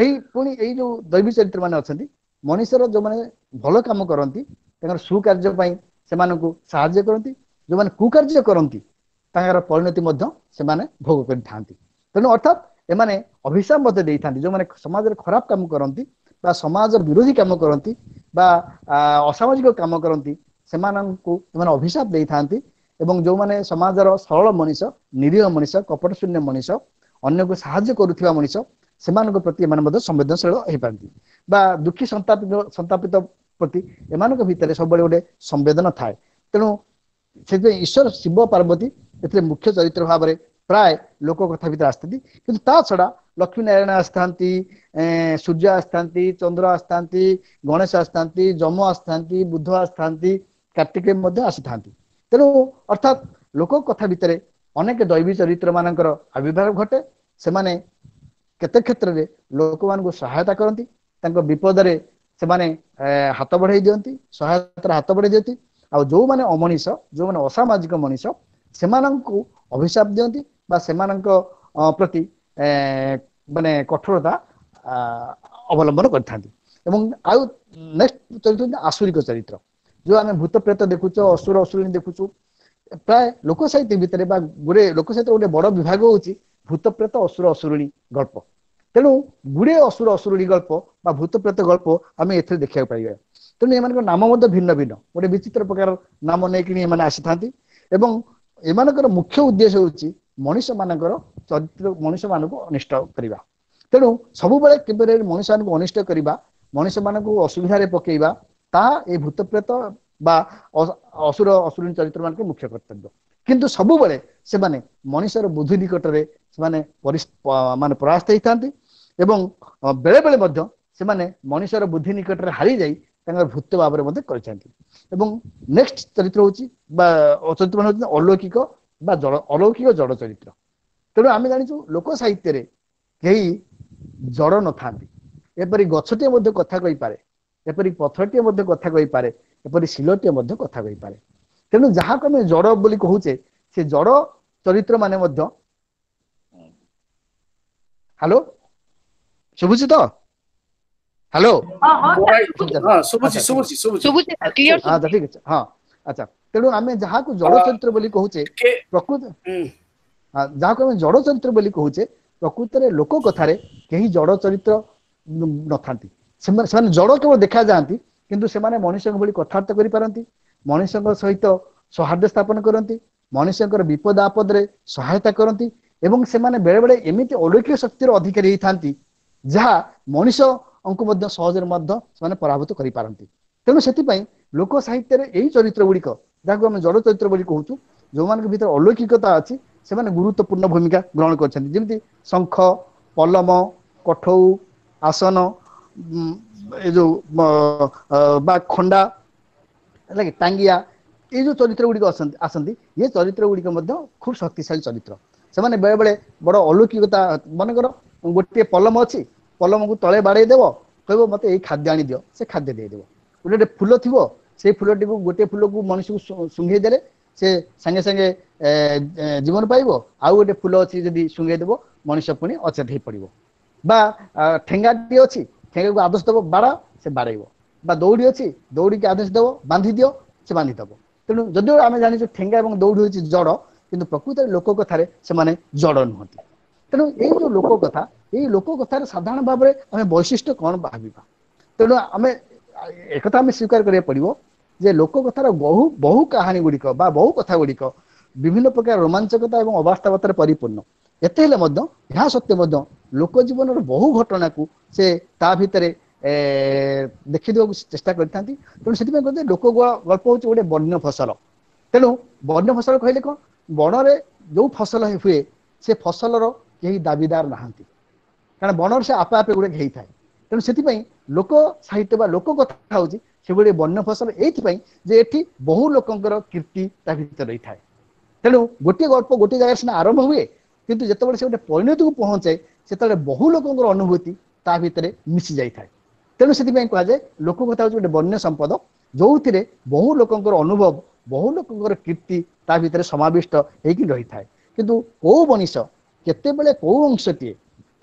ଏଇ ପୁଣି ଏଇ ଯୋଉ ଦୈବୀ ଚରିତ୍ର ମାନେ ଅଛନ୍ତି, ମଣିଷର ଯୋଉମାନେ ଭଲ କାମ କରନ୍ତି ତାଙ୍କର ସୁକାର୍ଯ୍ୟ ପାଇଁ ସେମାନଙ୍କୁ ସାହାଯ୍ୟ କରନ୍ତି, ଯୋଉମାନେ କୁକାର୍ଯ୍ୟ କରନ୍ତି ତାଙ୍କର ପରିଣତି ମଧ୍ୟ ସେମାନେ ଭୋଗ କରିଥାନ୍ତି। ତେଣୁ ଅର୍ଥାତ୍ ଏମାନେ ଅଭିଶାପ ମଧ୍ୟ ଦେଇଥାନ୍ତି। ଯୋଉମାନେ ସମାଜରେ ଖରାପ କାମ କରନ୍ତି ବା ସମାଜ ବିରୋଧୀ କାମ କରନ୍ତି ବା ଅସାମାଜିକ କାମ କରନ୍ତି, ସେମାନଙ୍କୁ ଏମାନେ ଅଭିଶାପ ଦେଇଥାନ୍ତି। ଏବଂ ଯୋଉମାନେ ସମାଜର ସରଳ ମଣିଷ, ନିରୀହ ମଣିଷ, କପଟ ଶୂନ୍ୟ ମଣିଷ, ଅନ୍ୟକୁ ସାହାଯ୍ୟ କରୁଥିବା ମଣିଷ, ସେମାନଙ୍କ ପ୍ରତି ଏମାନେ ମଧ୍ୟ ସମ୍ବେଦନଶୀଳ ହେଇପାରନ୍ତି। ବା ଦୁଃଖୀ ସନ୍ତାପିତ ସନ୍ତାପିତ ପ୍ରତି ଏମାନଙ୍କ ଭିତରେ ସବୁବେଳେ ଗୋଟେ ସମ୍ବେଦନ ଥାଏ। ତେଣୁ ସେଥିପାଇଁ ଈଶ୍ୱର ଶିବ ପାର୍ବତୀ ଏଥିରେ ମୁଖ୍ୟ ଚରିତ୍ର ଭାବରେ ପ୍ରାୟ ଲୋକ କଥା ଭିତରେ ଆସିଥାନ୍ତି। କିନ୍ତୁ ତା ଛଡା ଲକ୍ଷ୍ମୀ ନାରାୟଣ ଆସିଥାନ୍ତି, ସୂର୍ଯ୍ୟ ଆସିଥାନ୍ତି, ଚନ୍ଦ୍ର ଆସିଥାନ୍ତି, ଗଣେଶ ଆସିଥାନ୍ତି, ଯମ ଆସିଥାନ୍ତି, ବୁଦ୍ଧ ଆସିଥାନ୍ତି, କାର୍ତ୍ତିକେୟ ମଧ୍ୟ ଆସିଥାନ୍ତି। ତେଣୁ ଅର୍ଥାତ୍ ଲୋକ କଥା ଭିତରେ ଅନେକ ଦୈବୀ ଚରିତ୍ର ମାନଙ୍କର ଆବିର୍ଭାବ ଘଟେ। ସେମାନେ କେତେ କ୍ଷେତ୍ରରେ ଲୋକମାନଙ୍କୁ ସହାୟତା କରନ୍ତି, ତାଙ୍କ ବିପଦରେ ସେମାନେ ହାତ ବଢେଇ ଦିଅନ୍ତି, ସହାୟତାର ହାତ ବଢେଇ ଦିଅନ୍ତି। ଆଉ ଯୋଉମାନେ ଅମଣିଷ, ଯୋଉମାନେ ଅସାମାଜିକ ମଣିଷ, ସେମାନଙ୍କୁ ଅଭିଶାପ ଦିଅନ୍ତି ବା ସେମାନଙ୍କ ପ୍ରତି ମାନେ କଠୋରତା ଅବଲମ୍ବନ କରିଥାନ୍ତି। ଏବଂ ଆଉ ନେକ୍ସଟ ଚରିତ୍ର ଆସୁରିକ ଚରିତ୍ର, ଯୋଉ ଆମେ ଭୂତ ପ୍ରେତ ଦେଖୁଛୁ, ଅସୁର ଅସୁରିଣୀ ଦେଖୁଛୁ, ପ୍ରାୟ ଲୋକ ସାହିତ୍ୟ ଭିତରେ ବା ଗୋଟେ ଲୋକ ସାହିତ୍ୟ ଗୋଟେ ବଡ ବିଭାଗ ହଉଛି ଭୂତ ପ୍ରେତ ଅସୁର ଅସୁରିଣୀ ଗଳ୍ପ। ତେଣୁ ଗୁଡିଏ ଅସୁର ଅସୁରିଣୀ ଗଳ୍ପ ବା ଭୂତ ପ୍ରେତ ଗଳ୍ପ ଆମେ ଏଥିରେ ଦେଖିବାକୁ ପାଇବା। ତେଣୁ ଏମାନଙ୍କ ନାମ ମଧ୍ୟ ଭିନ୍ନ ଭିନ୍ନ, ଗୋଟେ ବିଚିତ୍ର ପ୍ରକାର ନାମ ନେଇକିନି ଏମାନେ ଆସିଥାନ୍ତି। ଏବଂ ଏମାନଙ୍କର ମୁଖ୍ୟ ଉଦ୍ଦେଶ୍ୟ ହଉଛି ମଣିଷ ମାନଙ୍କର ଚରିତ୍ର, ମଣିଷ ମାନଙ୍କୁ ଅନିଷ୍ଟ କରିବା। ତେଣୁ ସବୁବେଳେ କେବେ ମଣିଷ ମାନଙ୍କୁ ଅନିଷ୍ଟ କରିବା, ମଣିଷ ମାନଙ୍କୁ ଅସୁବିଧାରେ ପକେଇବା, ତାହା ଏଇ ଭୂତପ୍ରେତ ବା ଅସୁର ଅସୁରିଣୀ ଚରିତ୍ର ମାନଙ୍କର ମୁଖ୍ୟ କର୍ତ୍ତବ୍ୟ। କିନ୍ତୁ ସବୁବେଳେ ସେମାନେ ମଣିଷର ବୁଦ୍ଧି ନିକଟରେ ସେମାନେ ମାନେ ପରାସ୍ତ ହେଇଥାନ୍ତି। ଏବଂ ବେଳେ ବେଳେ ମଧ୍ୟ ସେମାନେ ମଣିଷର ବୁଦ୍ଧି ନିକଟରେ ହାରିଯାଇ ତାଙ୍କର ଭୂତ ଭାବରେ ମଧ୍ୟ କରିଥାନ୍ତି। ଏବଂ ନେକ୍ସଟ ଚରିତ୍ର ହଉଛି ବା ଚରିତ୍ର ମାନେ ହଉଛନ୍ତି ଅଲୌକିକ ବା ଜଳ, ଅଲୌକିକ ଜଡ଼ ଚରିତ୍ର। ତେଣୁ ଆମେ ଜାଣିଛୁ ଲୋକ ସାହିତ୍ୟରେ କେହି ଜଡ଼ ନଥାନ୍ତି। ଏପରି ଗଛଟିଏ ମଧ୍ୟ କଥା କହିପାରେ, ଏପରି ପଥରଟିଏ ମଧ୍ୟ କଥା କହିପାରେ, ଏପରି ଶିଲଟିଏ ମଧ୍ୟ କଥା କହିପାରେ। ତେଣୁ ଯାହାକୁ ଆମେ ଜଡ଼ ବୋଲି କହୁଛେ, ସେ ଜଡ଼ ଚରିତ୍ର ମାନେ ମଧ୍ୟ। ହ୍ୟାଲୋ, ଶୁଭୁଛି ତ? ହ୍ୟାଲୋ, ଆଚ୍ଛା ଠିକ ଅଛି, ହଁ ଆଚ୍ଛା। ତେଣୁ ଆମେ ଯାହାକୁ ଜଡ଼ ଚରିତ୍ର ବୋଲି କହୁଛେ, ପ୍ରକୃତ ଯାହାକୁ ଆମେ ଜଡ଼ ଚରିତ୍ର ବୋଲି କହୁଛେ, ପ୍ରକୃତରେ ଲୋକ କଥାରେ କେହି ଜଡ଼ ଚରିତ୍ର ନଥାନ୍ତି। ସେମାନେ ସେମାନେ ଜଡ଼ କେବଳ ଦେଖାଯାଆନ୍ତି, କିନ୍ତୁ ସେମାନେ ମଣିଷଙ୍କ ଭଳି କଥାବାର୍ତ୍ତା କରିପାରନ୍ତି, ମଣିଷଙ୍କ ସହିତ ସୌହାର୍ଦ୍ଦ୍ୟ ସ୍ଥାପନ କରନ୍ତି, ମଣିଷଙ୍କର ବିପଦ ଆପଦରେ ସହାୟତା କରନ୍ତି। ଏବଂ ସେମାନେ ବେଳେ ବେଳେ ଏମିତି ଅଲୌକିକ ଶକ୍ତିର ଅଧିକାରୀ ହେଇଥାନ୍ତି ଯାହା ମଣିଷଙ୍କୁ ମଧ୍ୟ ସହଜରେ ମଧ୍ୟ ସେମାନେ ପରାଭୂତ କରିପାରନ୍ତି। ତେଣୁ ସେଥିପାଇଁ ଲୋକ ସାହିତ୍ୟରେ ଏଇ ଚରିତ୍ର ଗୁଡ଼ିକ, ଯାହାକୁ ଆମେ ଜଡ଼ ଚରିତ୍ର ବୋଲି କହୁଛୁ, ଯୋଉମାନଙ୍କ ଭିତରେ ଅଲୌକିକତା ଅଛି, ସେମାନେ ଗୁରୁତ୍ୱପୂର୍ଣ୍ଣ ଭୂମିକା ଗ୍ରହଣ କରିଛନ୍ତି। ଯେମିତି ଶଙ୍ଖ, ପଲମ, କଠଉ, ଆସନ, ଏ ଯୋଉ ବା ଖଣ୍ଡା, ହେଲା କି ଟାଙ୍ଗିଆ, ଏଇ ଯୋଉ ଚରିତ୍ର ଗୁଡ଼ିକ ଅଛନ୍ତି ଆସନ୍ତି, ଏ ଚରିତ୍ର ଗୁଡ଼ିକ ମଧ୍ୟ ଖୁବ ଶକ୍ତିଶାଳୀ ଚରିତ୍ର। ସେମାନେ ବେଳେ ବେଳେ ବଡ ଅଲୌକିକତା, ମନେକର ଗୋଟିଏ ପଲମ ଅଛି, ପଲମକୁ ତଳେ ବାଡେଇ ଦେବ, କହିବ ମତେ ଏଇ ଖାଦ୍ୟ ଆଣିଦିଅ, ସେ ଖାଦ୍ୟ ଦେଇଦେବ। ଗୋଟେ ଗୋଟେ ଫୁଲ ଥିବ, ସେଇ ଫୁଲଟିକୁ ଗୋଟିଏ ଫୁଲକୁ ମଣିଷକୁ ଶୁଙ୍ଘେଇ ଦେଲେ ସେ ସାଙ୍ଗେ ସାଙ୍ଗେ ଜୀବନ ପାଇବ। ଆଉ ଗୋଟେ ଫୁଲ ଅଛି, ଯଦି ଶୁଙ୍ଘେଇ ଦେବ ମଣିଷ ପୁଣି ଅଚେତ ହେଇ ପଡିବ। ବା ଠେଙ୍ଗାଟିଏ ଅଛି, ଠେଙ୍ଗାକୁ ଆଦେଶ ଦେବ ବାଡା, ସେ ବାଡେଇବ। ବା ଦଉଡି ଅଛି, ଦଉଡ଼ିକି ଆଦେଶ ଦେବ ବାନ୍ଧି ଦିଅ, ସେ ବାନ୍ଧିଦବ। ତେଣୁ ଯଦିଓ ଆମେ ଜାଣିଛୁ ଠେଙ୍ଗା ଏବଂ ଦଉଡ଼ି ହଉଛି ଜଡ଼, କିନ୍ତୁ ପ୍ରକୃତରେ ଲୋକ କଥାରେ ସେମାନେ ଜଡ଼ ନୁହନ୍ତି। ତେଣୁ ଏଇ ଯୋଉ ଲୋକ କଥା, ଏଇ ଲୋକ କଥାରେ ସାଧାରଣ ଭାବରେ ଆମେ ବୈଶିଷ୍ଟ୍ୟ କଣ ଭାବିବା? ତେଣୁ ଆମେ ଏକଥା ଆମେ ସ୍ୱୀକାର କରିବାକୁ ପଡିବ ଯେ ଲୋକ କଥାର ବହୁ ବହୁ କାହାଣୀ ଗୁଡିକ ବା ବହୁ କଥା ଗୁଡିକ ବିଭିନ୍ନ ପ୍ରକାର ରୋମାଞ୍ଚକତା ଏବଂ ଅବାସ୍ତବତାରେ ପରିପୂର୍ଣ୍ଣ। ଏତେ ହେଲେ ମଧ୍ୟ ଏହା ସତ୍ତ୍ୱେ ମଧ୍ୟ ଲୋକ ଜୀବନର ବହୁ ଘଟଣାକୁ ସେ ତା ଭିତରେ ଏ ଦେଖିଦେବାକୁ ଚେଷ୍ଟା କରିଥାନ୍ତି। ତେଣୁ ସେଥିପାଇଁ କୁହନ୍ତି ଲୋକ ଗଳ୍ପ ହଉଛି ଗୋଟେ ବନ୍ୟ ଫସଲ। ତେଣୁ ବନ୍ୟ ଫସଲ କହିଲେ କଣ, ବଣରେ ଯୋଉ ଫସଲ ହୁଏ ସେ ଫସଲର କେହି ଦାବିଦାର ନାହାନ୍ତି, କାରଣ ବଣରେ ସେ ଆପେ ଆପେ ଗୁଡିକ ହେଇଥାଏ। ତେଣୁ ସେଥିପାଇଁ ଲୋକ ସାହିତ୍ୟ ବା ଲୋକ କଥା ହଉଛି ସେଭଳି ବନ୍ୟ ଫସଲ, ଏଇଥିପାଇଁ ଯେ ଏଠି ବହୁ ଲୋକଙ୍କର କୀର୍ତ୍ତି ତା ଭିତରେ ରହିଥାଏ। ତେଣୁ ଗୋଟିଏ ଗଳ୍ପ ଗୋଟିଏ ଜାଗାରେ ସିନା ଆରମ୍ଭ ହୁଏ, କିନ୍ତୁ ଯେତେବେଳେ ସେ ଗୋଟେ ପରିଣତିକୁ ପହଞ୍ଚେ ସେତେବେଳେ ବହୁ ଲୋକଙ୍କର ଅନୁଭୂତି ତା ଭିତରେ ମିଶି ଯାଇଥାଏ। ତେଣୁ ସେଥିପାଇଁ କୁହାଯାଏ ଲୋକ କଥା ହଉଛି ଗୋଟେ ବନ୍ୟ ସମ୍ପଦ, ଯୋଉଥିରେ ବହୁ ଲୋକଙ୍କର ଅନୁଭବ, ବହୁ ଲୋକଙ୍କର କୀର୍ତ୍ତି ତା ଭିତରେ ସମାବିଷ୍ଟ ହେଇକି ରହିଥାଏ। କିନ୍ତୁ କୋଉ ମଣିଷ କେତେବେଳେ କୋଉ ଅଂଶଟିଏ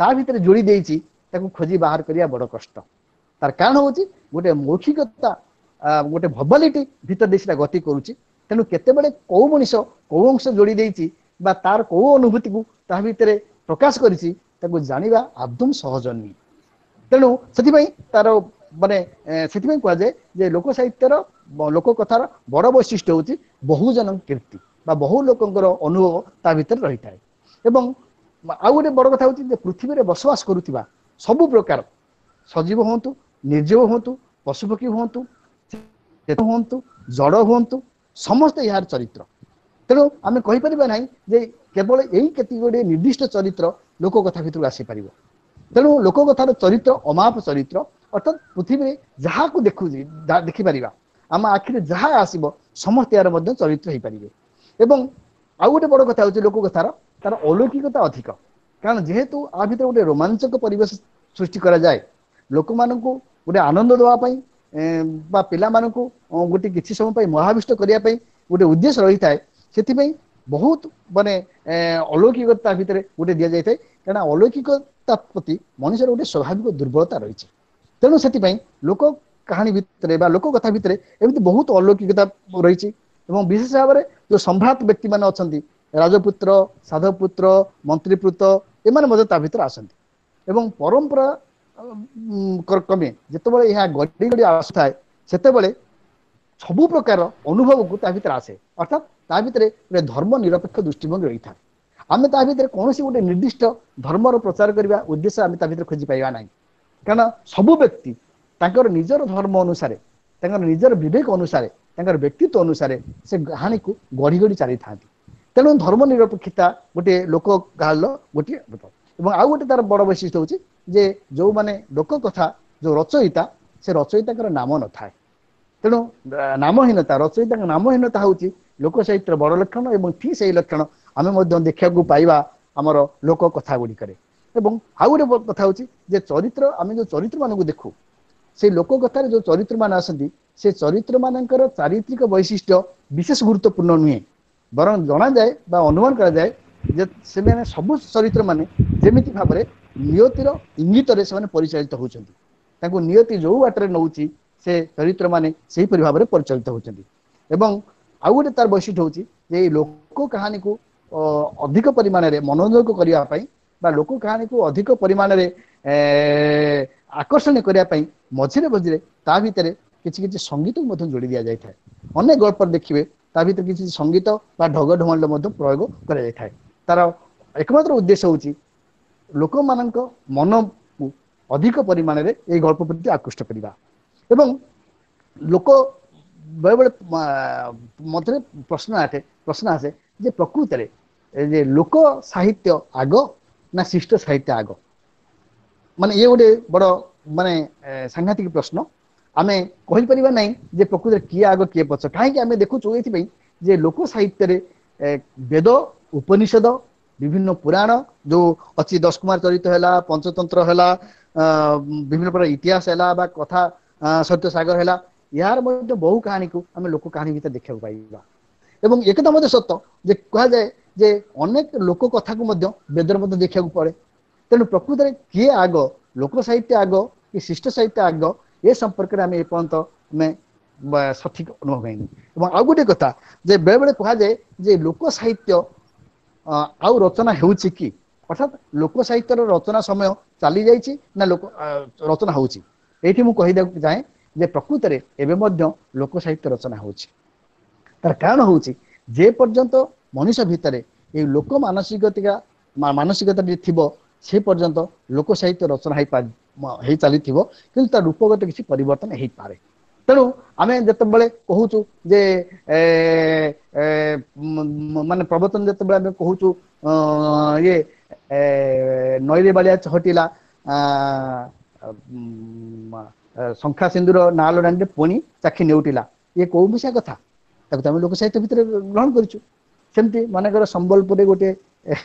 ତା ଭିତରେ ଯୋଡ଼ି ଦେଇଛି ତାକୁ ଖୋଜି ବାହାର କରିବା ବଡ କଷ୍ଟ। ତାର କାରଣ ହଉଛି ଗୋଟେ ମୌଖିକତା, ଗୋଟେ ଭବାଲିଟି ଭିତରେ ଦେଇ ସେଟା ଗତି କରୁଛି। ତେଣୁ କେତେବେଳେ କୋଉ ମଣିଷ କୋଉ ଅଂଶ ଯୋଡ଼ି ଦେଇଛି ବା ତାର କୋଉ ଅନୁଭୂତିକୁ ତା ଭିତରେ ପ୍ରକାଶ କରିଛି ତାକୁ ଜାଣିବା ଆଦୌ ସହଜ ନୁହେଁ। ତେଣୁ ସେଥିପାଇଁ ତାର ମାନେ ସେଥିପାଇଁ କୁହାଯାଏ ଯେ ଲୋକ ସାହିତ୍ୟର ଲୋକ କଥାର ବଡ ବୈଶିଷ୍ଟ୍ୟ ହଉଛି ବହୁଜନ କୀର୍ତ୍ତି ବା ବହୁ ଲୋକଙ୍କର ଅନୁଭବ ତା ଭିତରେ ରହିଥାଏ। ଏବଂ ଆଉ ଗୋଟେ ବଡ କଥା ହଉଛି ଯେ ପୃଥିବୀରେ ବସବାସ କରୁଥିବା ସବୁ ପ୍ରକାର ସଜୀବ ହୁଅନ୍ତୁ, ନିର୍ଜୀବ ହୁଅନ୍ତୁ, ପଶୁପକ୍ଷୀ ହୁଅନ୍ତୁ, ହୁଅନ୍ତୁ, ଜଡ଼ ହୁଅନ୍ତୁ, ସମସ୍ତେ ଏହାର ଚରିତ୍ର। ତେଣୁ ଆମେ କହିପାରିବା ନାହିଁ ଯେ କେବଳ ଏଇ କେତିକି ଗୁଡ଼ିଏ ନିର୍ଦ୍ଦିଷ୍ଟ ଚରିତ୍ର ଲୋକ କଥା ଭିତରକୁ ଆସିପାରିବ। ତେଣୁ ଲୋକ କଥାର ଚରିତ୍ର ଅମାପ ଚରିତ୍ର, ଅର୍ଥାତ୍ ପୃଥିବୀରେ ଯାହାକୁ ଦେଖୁଛି ଦେଖିପାରିବା, ଆମ ଆଖିରେ ଯାହା ଆସିବ ସମସ୍ତେ ଏହାର ମଧ୍ୟ ଚରିତ୍ର ହେଇପାରିବେ। ଏବଂ ଆଉ ଗୋଟେ ବଡ କଥା ହଉଛି ଲୋକ କଥାର ତାର ଅଲୌକିକତା ଅଧିକ, କାରଣ ଯେହେତୁ ଆ ଭିତରେ ଗୋଟେ ରୋମାଞ୍ଚକ ପରିବେଶ ସୃଷ୍ଟି କରାଯାଏ ଲୋକମାନଙ୍କୁ ଗୋଟେ ଆନନ୍ଦ ଦେବା ପାଇଁ ବା ପିଲାମାନଙ୍କୁ ଗୋଟେ କିଛି ସମୟ ପାଇଁ ମହାବିଷ୍ଟ କରିବା ପାଇଁ ଗୋଟେ ଉଦ୍ଦେଶ୍ୟ ରହିଥାଏ। ସେଥିପାଇଁ ବହୁତ ମାନେ ଅଲୌକିକତା ଭିତରେ ଗୋଟେ ଦିଆଯାଇଥାଏ, କାରଣ ଅଲୌକିକତା ପ୍ରତି ମଣିଷର ଗୋଟେ ସ୍ୱାଭାବିକ ଦୁର୍ବଳତା ରହିଛି। ତେଣୁ ସେଥିପାଇଁ ଲୋକ କାହାଣୀ ଭିତରେ ବା ଲୋକ କଥା ଭିତରେ ଏମିତି ବହୁତ ଅଲୌକିକତା ରହିଛି। ଏବଂ ବିଶେଷ ଭାବରେ ଯୋଉ ସମ୍ଭ୍ରାନ୍ତ ବ୍ୟକ୍ତି ମାନେ ଅଛନ୍ତି, ରାଜପୁତ୍ର, ସାଧବପୁତ୍ର, ମନ୍ତ୍ରୀପୁତ୍ର, ଏମାନେ ମଧ୍ୟ ତା ଭିତରେ ଆସନ୍ତି। ଏବଂ ପରମ୍ପରା କ୍ରମେ ଯେତେବେଳେ ଏହା ଗଡ଼ି ଗଡ଼ି ଆସୁଥାଏ ସେତେବେଳେ ସବୁ ପ୍ରକାର ଅନୁଭବକୁ ତା ଭିତରେ ଆସେ, ଅର୍ଥାତ୍ ତା ଭିତରେ ଗୋଟେ ଧର୍ମ ନିରପେକ୍ଷ ଦୃଷ୍ଟିଭଙ୍ଗୀ ରହିଥାଏ। ଆମେ ତା ଭିତରେ କୌଣସି ଗୋଟେ ନିର୍ଦ୍ଦିଷ୍ଟ ଧର୍ମର ପ୍ରଚାର କରିବା ଉଦ୍ଦେଶ୍ୟ ଆମେ ତା ଭିତରେ ଖୋଜି ପାଇବା ନାହିଁ, କାରଣ ସବୁ ବ୍ୟକ୍ତି ତାଙ୍କର ନିଜର ଧର୍ମ ଅନୁସାରେ, ତାଙ୍କର ନିଜର ବିବେକ ଅନୁସାରେ, ତାଙ୍କର ବ୍ୟକ୍ତିତ୍ୱ ଅନୁସାରେ ସେ କାହାଣୀକୁ ଗଢ଼ି ଗଢ଼ି ଚାଲିଥାନ୍ତି। ତେଣୁ ଧର୍ମ ନିରପେକ୍ଷତା ଗୋଟିଏ ଲୋକ କାହାଣୀର ଗୋଟିଏ ରୂପ। ଏବଂ ଆଉ ଗୋଟେ ତାର ବଡ ବୈଶିଷ୍ଟ୍ୟ ହଉଛି ଯେ ଯୋଉମାନେ ଲୋକ କଥା ଯୋଉ ରଚୟିତା, ସେ ରଚୟିତାଙ୍କର ନାମ ନଥାଏ। ତେଣୁ ନାମହୀନତା, ରଚୟିତାଙ୍କ ନାମହୀନତା ହଉଛି ଲୋକ ସାହିତ୍ୟର ବଡ ଲକ୍ଷଣ। ଏବଂ ଠିକ ସେଇ ଲକ୍ଷଣ ଆମେ ମଧ୍ୟ ଦେଖିବାକୁ ପାଇବା ଆମର ଲୋକ କଥା ଗୁଡିକରେ। ଏବଂ ଆଉ ଗୋଟେ କଥା ହଉଛି ଯେ ଚରିତ୍ର, ଆମେ ଯୋଉ ଚରିତ୍ର ମାନଙ୍କୁ ଦେଖୁ, ସେଇ ଲୋକ କଥାରେ ଯୋଉ ଚରିତ୍ର ମାନେ ଆସନ୍ତି ସେ ଚରିତ୍ର ମାନଙ୍କର ଚାରିତ୍ରିକ ବୈଶିଷ୍ଟ୍ୟ ବିଶେଷ ଗୁରୁତ୍ୱପୂର୍ଣ୍ଣ ନୁହେଁ, ବରଂ ଜଣାଯାଏ ବା ଅନୁମାନ କରାଯାଏ ଯେ ସେମାନେ ସବୁ ଚରିତ୍ର ମାନେ ଯେମିତି ଭାବରେ ନିୟତିର ଇଙ୍ଗିତରେ ସେମାନେ ପରିଚାଳିତ ହଉଛନ୍ତି, ତାଙ୍କୁ ନିୟତି ଯୋଉ ବାଟରେ ନଉଛି ସେ ଚରିତ୍ର ମାନେ ସେହିପରି ଭାବରେ ପରିଚାଳିତ ହଉଛନ୍ତି। ଏବଂ ଆଉ ଗୋଟେ ତାର ବୈଶିଷ୍ଟ୍ୟ ହଉଛି ଯେ ଏଇ ଲୋକ କାହାଣୀକୁ ଅଧିକ ପରିମାଣରେ ମନୋଯୋଗ କରିବା ପାଇଁ ବା ଲୋକ କାହାଣୀକୁ ଅଧିକ ପରିମାଣରେ ଆକର୍ଷଣୀୟ କରିବା ପାଇଁ ମଝିରେ ମଝିରେ ତା ଭିତରେ କିଛି କିଛି ସଙ୍ଗୀତକୁ ମଧ୍ୟ ଯୋଡ଼ି ଦିଆଯାଇଥାଏ। ଅନେକ ଗଳ୍ପରେ ଦେଖିବେ ତା ଭିତରେ କିଛି ସଙ୍ଗୀତ ବା ଢଗ ଢମାଳିର ମଧ୍ୟ ପ୍ରୟୋଗ କରାଯାଇଥାଏ। ତାର ଏକମାତ୍ର ଉଦ୍ଦେଶ୍ୟ ହଉଛି ଲୋକମାନଙ୍କ ମନକୁ ଅଧିକ ପରିମାଣରେ ଏଇ ଗଳ୍ପ ପ୍ରତି ଆକୃଷ୍ଟ କରିବା। ଏବଂ ଲୋକ ବେଳେବେଳେ ମଧ୍ୟରେ ପ୍ରଶ୍ନ ଆସେ ପ୍ରଶ୍ନ ଆସେ ଯେ ପ୍ରକୃତରେ ଯେ ଲୋକ ସାହିତ୍ୟ ଆଗ ନା ଶିଷ୍ଟ ସାହିତ୍ୟ ଆଗ, ମାନେ ଇଏ ଗୋଟେ ବଡ ମାନେ ସାଂଘାତିକ ପ୍ରଶ୍ନ। ଆମେ କହିପାରିବା ନାହିଁ ଯେ ପ୍ରକୃତରେ କିଏ ଆଗ କିଏ ପଛ। କାହିଁକି ଆମେ ଦେଖୁଛୁ ଏଇଥିପାଇଁ ଯେ ଲୋକ ସାହିତ୍ୟରେ ବେଦ, ଉପନିଷଦ, ବିଭିନ୍ନ ପୁରାଣ ଯୋଉ ଅଛି, ଦଶକୁମାର ଚରିତ ହେଲା, ପଞ୍ଚତନ୍ତ୍ର ହେଲା, ବିଭିନ୍ନ ପ୍ରକାର ଇତିହାସ ହେଲା ବା କଥା ସତ୍ୟ ସାଗର ହେଲା, ଏହାର ମଧ୍ୟ ବହୁ କାହାଣୀକୁ ଆମେ ଲୋକ କାହାଣୀ ଭିତରେ ଦେଖିବାକୁ ପାଇବା। ଏବଂ ଏକଥା ମଧ୍ୟ ସତ ଯେ କୁହାଯାଏ ଯେ ଅନେକ ଲୋକ କଥାକୁ ମଧ୍ୟ ବେଦରେ ମଧ୍ୟ ଦେଖିବାକୁ ପଡେ। ତେଣୁ ପ୍ରକୃତରେ କିଏ ଆଗ, ଲୋକ ସାହିତ୍ୟ ଆଗ କି ଶିଷ୍ଟ ସାହିତ୍ୟ ଆଗ, ଏ ସମ୍ପର୍କରେ ଆମେ ଏପର୍ଯ୍ୟନ୍ତ ଆମେ ସଠିକ ଅନୁଭବ ହେଇନି। ଏବଂ ଆଉ ଗୋଟେ କଥା ଯେ ବେଳେବେଳେ କୁହାଯାଏ ଯେ ଲୋକ ସାହିତ୍ୟ ଆଉ ରଚନା ହେଉଛି କି, ଅର୍ଥାତ୍ ଲୋକ ସାହିତ୍ୟର ରଚନା ସମୟ ଚାଲି ଯାଇଛି ନା ଲୋକ ରଚନା ହଉଛି। ଏଇଠି ମୁଁ କହିଦେବାକୁ ଚାହେଁ ଯେ ପ୍ରକୃତରେ ଏବେ ମଧ୍ୟ ଲୋକ ସାହିତ୍ୟ ରଚନା ହଉଛି। ତାର କାରଣ ହଉଛି ଯେ ପର୍ଯ୍ୟନ୍ତ ମଣିଷ ଭିତରେ ଏଇ ଲୋକ ମାନସିକତା ମାନସିକତା ଥିବ, ସେ ପର୍ଯ୍ୟନ୍ତ ଲୋକ ସାହିତ୍ୟ ରଚନା ହେଇ ହେଇ ଚାଲିଥିବ, କିନ୍ତୁ ତା ରୂପଗତ କିଛି ପରିବର୍ତ୍ତନ ହେଇପାରେ। ତେଣୁ ଆମେ ଯେତେବେଳେ କହୁଛୁ ଯେ ମାନେ ପ୍ରବଚନ ଯେତେବେଳେ ଆମେ କହୁଛୁ ଇଏ ନଈରେ ବାଳିଆ ଚହଟିଲା, ଶଙ୍ଖା ସିନ୍ଦୁର ନାଲ ରାଣୀରେ ପୁଣି ଚାଖି ନେଉଟିଲା, ଇଏ କୋଉ ମିଶା କଥା? ତାକୁ ତ ଆମେ ଲୋକ ସାହିତ୍ୟ ଭିତରେ ଗ୍ରହଣ କରିଛୁ। ସେମିତି ମନେକର ସମ୍ବଲପୁରରେ ଗୋଟେ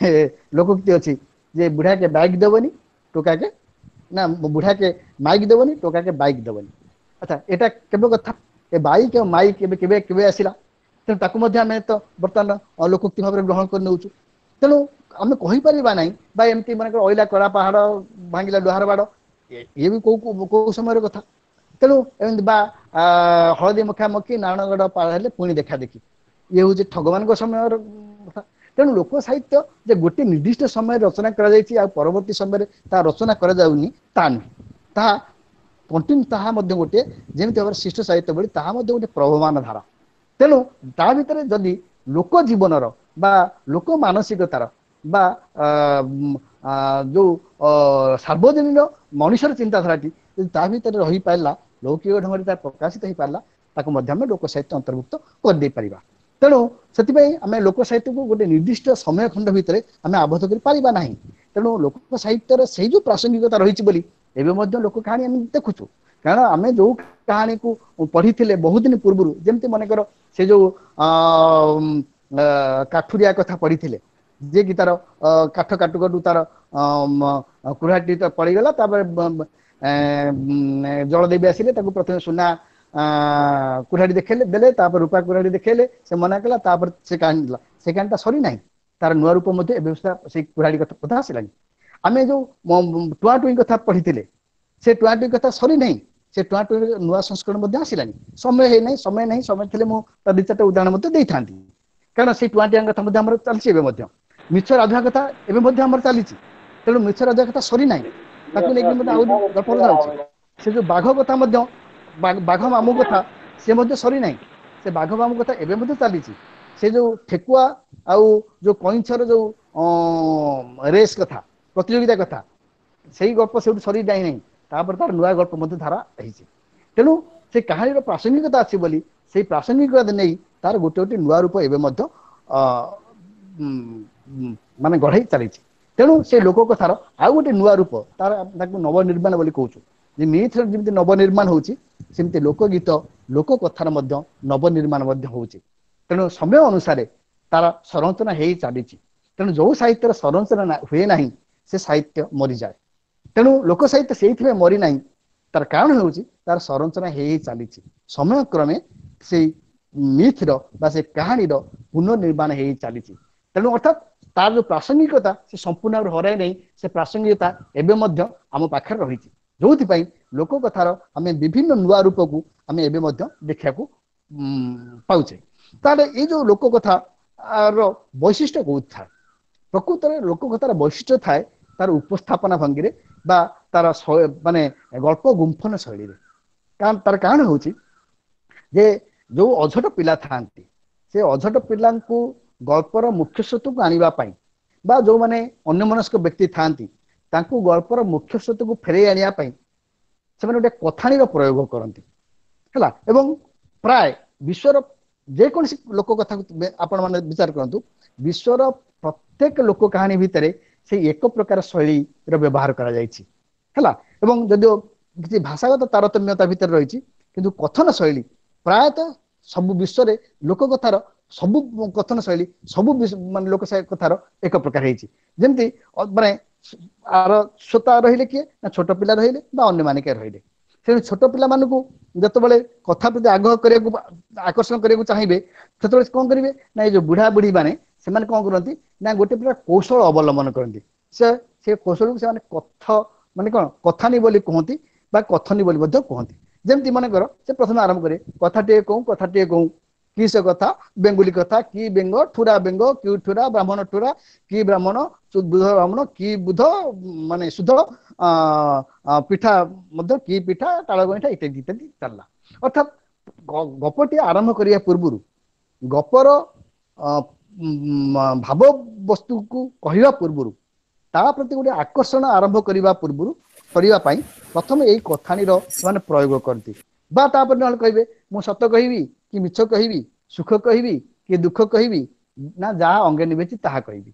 ଲୋକୋକ୍ତି ଅଛି ଯେ ବୁଢାକେ ବାଇକ୍ ଦେବନି ଟୋକାକେ, ନା ବୁଢାକେ ମାଇକ୍ ଦେବନି ଟୋକାକେ ବାଇକ୍ ଦେବନି। ଆଚ୍ଛା, ଏଇଟା କେବେ କଥା? ଏ ବାଇକ୍ ଆଉ ମାଇକ୍ ଏବେ କେବେ କେବେ ଆସିଲା? ତେଣୁ ତାକୁ ମଧ୍ୟ ଆମେ ତ ବର୍ତ୍ତମାନ ଲୋକୋକ୍ତି ଭାବରେ ଗ୍ରହଣ କରି ନେଉଛୁ। ତେଣୁ ଆମେ କହିପାରିବା ନାହିଁ ବା ଏମିତି ମନେକର ଅଇଲା କଳା ପାହାଡ ଭାଙ୍ଗିଲା ଲୁହାର ବାଡ, ଇଏ ବି କୋଉ କୋଉ ସମୟର କଥା? ତେଣୁ ଏମିତି ବା ହଳଦୀ ମୁଖା ମଖି ନାରାୟଣଗଡ଼ ପାର ହେଲେ ପୁଣି ଦେଖା ଦେଖି, ଇଏ ହଉଛି ଠଗମାନଙ୍କ ସମୟର କଥା। ତେଣୁ ଲୋକ ସାହିତ୍ୟ ଯେ ଗୋଟେ ନିର୍ଦ୍ଦିଷ୍ଟ ସମୟରେ ରଚନା କରାଯାଇଛି ଆଉ ପରବର୍ତ୍ତୀ ସମୟରେ ତା ରଚନା କରାଯାଉନି ତା ନୁହେଁ, ତାହା କଣ୍ଟିନ୍ୟୁ, ତାହା ମଧ୍ୟ ଗୋଟିଏ ଯେମିତି ଭାବରେ ଶିଷ୍ଟ ସାହିତ୍ୟ ଭଳି ତାହା ମଧ୍ୟ ଗୋଟେ ପ୍ରବହମାନ ଧାରା। ତେଣୁ ତା ଭିତରେ ଯଦି ଲୋକ ଜୀବନର ବା ଲୋକ ମାନସିକତାର ବା ଯୋଉ ସାର୍ବଜନୀନ ମଣିଷର ଚିନ୍ତାଧାରାଟି ଯଦି ତା ଭିତରେ ରହିପାରିଲା, ଲୌକିକ ଢଙ୍ଗରେ ତା ପ୍ରକାଶିତ ହେଇପାରିଲା, ତାକୁ ମଧ୍ୟ ଆମେ ଲୋକ ସାହିତ୍ୟ ଅନ୍ତର୍ଭୁକ୍ତ କରିଦେଇ ପାରିବା। ତେଣୁ ସେଥିପାଇଁ ଆମେ ଲୋକ ସାହିତ୍ୟକୁ ଗୋଟେ ନିର୍ଦ୍ଦିଷ୍ଟ ସମୟ ଖଣ୍ଡ ଭିତରେ ଆମେ ଆବଦ୍ଧ କରିପାରିବା ନାହିଁ। ତେଣୁ ଲୋକ ସାହିତ୍ୟର ସେଇ ଯୋଉ ପ୍ରାସଙ୍ଗିକତା ରହିଛି ବୋଲି ଏବେ ମଧ୍ୟ ଲୋକ କାହାଣୀ ଆମେ ଦେଖୁଛୁ। କାରଣ ଆମେ ଯୋଉ କାହାଣୀକୁ ପଢିଥିଲେ ବହୁତ ଦିନ ପୂର୍ବରୁ, ଯେମିତି ମନେକର ସେ ଯୋଉ ଅ କାଠୁରିଆ କଥା ପଢିଥିଲେ, ଯିଏ କି ତାର କାଠ କାଟୁ କାଟୁ ତାର କୁରାଢିଟି ତ ପଡିଗଲା, ତାପରେ ଜଳଦେବୀ ଆସିଲେ, ତାକୁ ପ୍ରଥମେ ସୁନା କୁରାଢି ଦେଖେଇଲେ ଦେଲେ, ତାପରେ ରୂପା କୁରାଢି ଦେଖେଇଲେ, ସେ ମନା କଲା, ତାପରେ ସେ କାହାଣୀ ଦେଲା। ସେ କାହାଣୀଟା ସରିନାହିଁ, ତାର ନୂଆ ରୂପ ମଧ୍ୟ ଏବେ ସେଇ କୁରାଢି କଥା ଆସିଲାଣି। ଆମେ ଯୋଉ ଟୁଆଁ ଟୁଇଁ କଥା ପଢିଥିଲେ, ସେ ଟୁଆଁ ଟୁଇଁ କଥା ସରିନାହିଁ, ସେ ଟୁଆଁ ଟୁଇଁ ନୂଆ ସଂସ୍କରଣ ମଧ୍ୟ ଆସିଲାଣି। ସମୟ ହେଇନାହିଁ, ସମୟ ନାହିଁ, ସମୟ ଥିଲେ ମୁଁ ତା ଦି ଚାରିଟା ଉଦାହରଣ ମଧ୍ୟ ଦେଇଥାନ୍ତି। କାରଣ ସେଇ ଟୁଆଁ ଟୁଆଁ କଥା ମଧ୍ୟ ଆମର ଚାଲିଛି ଏବେ ମଧ୍ୟ, ମିଛ ରାଧୁଆ କଥା ଏବେ ମଧ୍ୟ ଆମର ଚାଲିଛି। ତେଣୁ ମିଛ ରାଧୁଆ କଥା ସରିନାହିଁ, ତାକୁ ନେଇକି ମଧ୍ୟ ଆହୁରି ଗଳ୍ପ ରହୁଛି। ସେ ଯୋଉ ବାଘ କଥା ମଧ୍ୟ, ବାଘ ମାମୁଁ କଥା ସେ ମଧ୍ୟ ସରିନାହିଁ, ସେ ବାଘ ମାମୁଁ କଥା ଏବେ ମଧ୍ୟ ଚାଲିଛି। ସେ ଯୋଉ ଠେକୁଆ ଆଉ ଯୋଉ କଇଁଛର ଯୋଉ ରେସ୍ କଥା, ପ୍ରତିଯୋଗିତା କଥା, ସେଇ ଗଳ୍ପ ସେଇଠୁ ସରି ଯାଇ ନାହିଁ, ତାପରେ ତାର ନୂଆ ଗଳ୍ପ ମଧ୍ୟ ଧାରା ହେଇଛି। ତେଣୁ ସେ କାହାଣୀର ପ୍ରାସଙ୍ଗିକତା ଅଛି ବୋଲି ସେଇ ପ୍ରାସଙ୍ଗିକତା ନେଇ ତାର ଗୋଟେ ଗୋଟେ ନୂଆ ରୂପ ଏବେ ମଧ୍ୟ ମାନେ ଗଢ଼େଇ ଚାଲିଛି। ତେଣୁ ସେ ଲୋକ କଥାର ଆଉ ଗୋଟେ ନୂଆ ରୂପ ତାର, ତାକୁ ନବନିର୍ମାଣ ବୋଲି କହୁଛୁ। ଯେ ମିଥର ଯେମିତି ନବନିର୍ମାଣ ହଉଛି, ସେମିତି ଲୋକଗୀତ ଲୋକ କଥାର ମଧ୍ୟ ନବନିର୍ମାଣ ମଧ୍ୟ ହଉଛି। ତେଣୁ ସମୟ ଅନୁସାରେ ତାର ସଂରଚନା ହେଇ ଚାଲିଛି। ତେଣୁ ଯୋଉ ସାହିତ୍ୟର ସଂରଚନା ହୁଏ ନାହିଁ ସେ ସାହିତ୍ୟ ମରିଯାଏ। ତେଣୁ ଲୋକ ସାହିତ୍ୟ ସେଇଥିପାଇଁ ମରିନାହିଁ, ତାର କାରଣ ହେଉଛି ତାର ସଂରଚନା ହେଇ ଚାଲିଛି। ସମୟ କ୍ରମେ ସେଇ ମିଥର ବା ସେ କାହାଣୀର ପୁନର୍ନିର୍ମାଣ ହେଇ ଚାଲିଛି। ତେଣୁ ଅର୍ଥାତ୍ ତାର ଯୋଉ ପ୍ରାସଙ୍ଗିକତା ସେ ସମ୍ପୂର୍ଣ୍ଣ ଭାବରେ ହରାଇ ନାହିଁ, ସେ ପ୍ରାସଙ୍ଗିକତା ଏବେ ମଧ୍ୟ ଆମ ପାଖରେ ରହିଛି। ଯୋଉଥିପାଇଁ ଲୋକ କଥାର ଆମେ ବିଭିନ୍ନ ନୂଆ ରୂପକୁ ଆମେ ଏବେ ମଧ୍ୟ ଦେଖିବାକୁ ପାଉଛେ। ତାହେଲେ ଏଇ ଯୋଉ ଲୋକ କଥା ର ବୈଶିଷ୍ଟ୍ୟ କୋଉଠି ଥାଏ? ପ୍ରକୃତରେ ଲୋକ କଥାର ବୈଶିଷ୍ଟ୍ୟ ଥାଏ ତାର ଉପସ୍ଥାପନା ଭଙ୍ଗୀରେ ବା ତାର ମାନେ ଗଳ୍ପ ଗୁମ୍ଫନ ଶୈଳୀରେ। କାରଣ ତାର କାରଣ ହଉଛି ଯେ ଯୋଉ ଅଝଟ ପିଲା ଥାଆନ୍ତି, ସେ ଅଝଟ ପିଲାଙ୍କୁ ଗଳ୍ପର ମୁଖ୍ୟ ସ୍ରୋତକୁ ଆଣିବା ପାଇଁ ବା ଯୋଉମାନେ ଅନ୍ୟମନସ୍କ ବ୍ୟକ୍ତି ଥାଆନ୍ତି ତାଙ୍କୁ ଗଳ୍ପର ମୁଖ୍ୟ ସ୍ରୋତକୁ ଫେରେଇ ଆଣିବା ପାଇଁ ସେମାନେ ଗୋଟେ କଥାଣୀର ପ୍ରୟୋଗ କରନ୍ତି, ହେଲା। ଏବଂ ପ୍ରାୟ ବିଶ୍ୱର ଯେକୌଣସି ଲୋକ କଥାକୁ ଆପଣ ମାନେ ବିଚାର କରନ୍ତୁ, ବିଶ୍ୱର ପ୍ରତ୍ୟେକ ଲୋକ କାହାଣୀ ଭିତରେ ସେଇ ଏକ ପ୍ରକାର ଶୈଳୀର ବ୍ୟବହାର କରାଯାଇଛି, ହେଲା। ଏବଂ ଯଦିଓ କିଛି ଭାଷାଗତ ତାରତମ୍ୟତା ଭିତରେ ରହିଛି, କିନ୍ତୁ କଥନ ଶୈଳୀ ପ୍ରାୟତଃ ସବୁ ବିଶ୍ୱରେ ଲୋକ କଥାର ସବୁ କଥନ ଶୈଳୀ ସବୁ ମାନେ ଲୋକ କଥାର ଏକ ପ୍ରକାର ହେଇଛି। ଯେମିତି ମାନେ ଆର ଶ୍ରୋତା ରହିଲେ କିଏ ନା ଛୋଟ ପିଲା ରହିଲେ ବା ଅନ୍ୟମାନେ କିଏ ରହିଲେ। ତେଣୁ ଛୋଟ ପିଲାମାନଙ୍କୁ ଯେତେବେଳେ କଥା ପ୍ରତି ଆଗ୍ରହ କରିବାକୁ, ଆକର୍ଷଣ କରିବାକୁ ଚାହିଁବେ, ସେତେବେଳେ କଣ କରିବେ ନା ଏଇ ଯୋଉ ବୁଢା ବୁଢୀ ମାନେ ସେମାନେ କଣ କରନ୍ତି ନା ଗୋଟେ ପ୍ରକାର କୌଶଳ ଅବଲମ୍ବନ କରନ୍ତି। ସେ ସେ କୌଶଳକୁ ସେମାନେ କଥ ମାନେ କଣ କଥାନୀ ବୋଲି କୁହନ୍ତି ବା କଥନୀ ବୋଲି ମଧ୍ୟ କୁହନ୍ତି। ଯେମିତି ମନେକର ସେ ପ୍ରଥମେ ଆରମ୍ଭ କରେ, କଥାଟିଏ କହୁଁ କଥାଟିଏ କହୁଁ, କି ସେ କଥା ବେଙ୍ଗୁଲି କଥା, କି ବେଙ୍ଗ ଠୁରା ବେଙ୍ଗ, କି ଠୁରା ବ୍ରାହ୍ମଣ ଠୁରା, କି ବ୍ରାହ୍ମଣ ବୁଧ ବ୍ରାହ୍ମଣ, କି ବୁଧ ମାନେ ସୁଧ ପିଠା ମଧ୍ୟ କି ପିଠା ତାଳ ଗଇଁଠା ଇତ୍ୟାଦି ଇତ୍ୟାଦି ଚାଲିଲା। ଅର୍ଥାତ୍ ଗପଟି ଆରମ୍ଭ କରିବା ପୂର୍ବରୁ ଗପର ଭାବ ବସ୍ତୁକୁ କହିବା ପୂର୍ବରୁ ତା ପ୍ରତି ଗୋଟେ ଆକର୍ଷଣ ଆରମ୍ଭ କରିବା ପୂର୍ବରୁ କରିବା ପାଇଁ ପ୍ରଥମେ ଏଇ କଥାଣୀର ସେମାନେ ପ୍ରୟୋଗ କରନ୍ତି। ବା ତାପରେ ନହେଲେ କହିବେ ମୁଁ ସତ କହିବି କି ମିଛ କହିବି, ସୁଖ କହିବି କି ଦୁଃଖ କହିବି, ନା ଯାହା ଅଙ୍ଗେ ନିଭେଇଛି ତାହା କହିବି।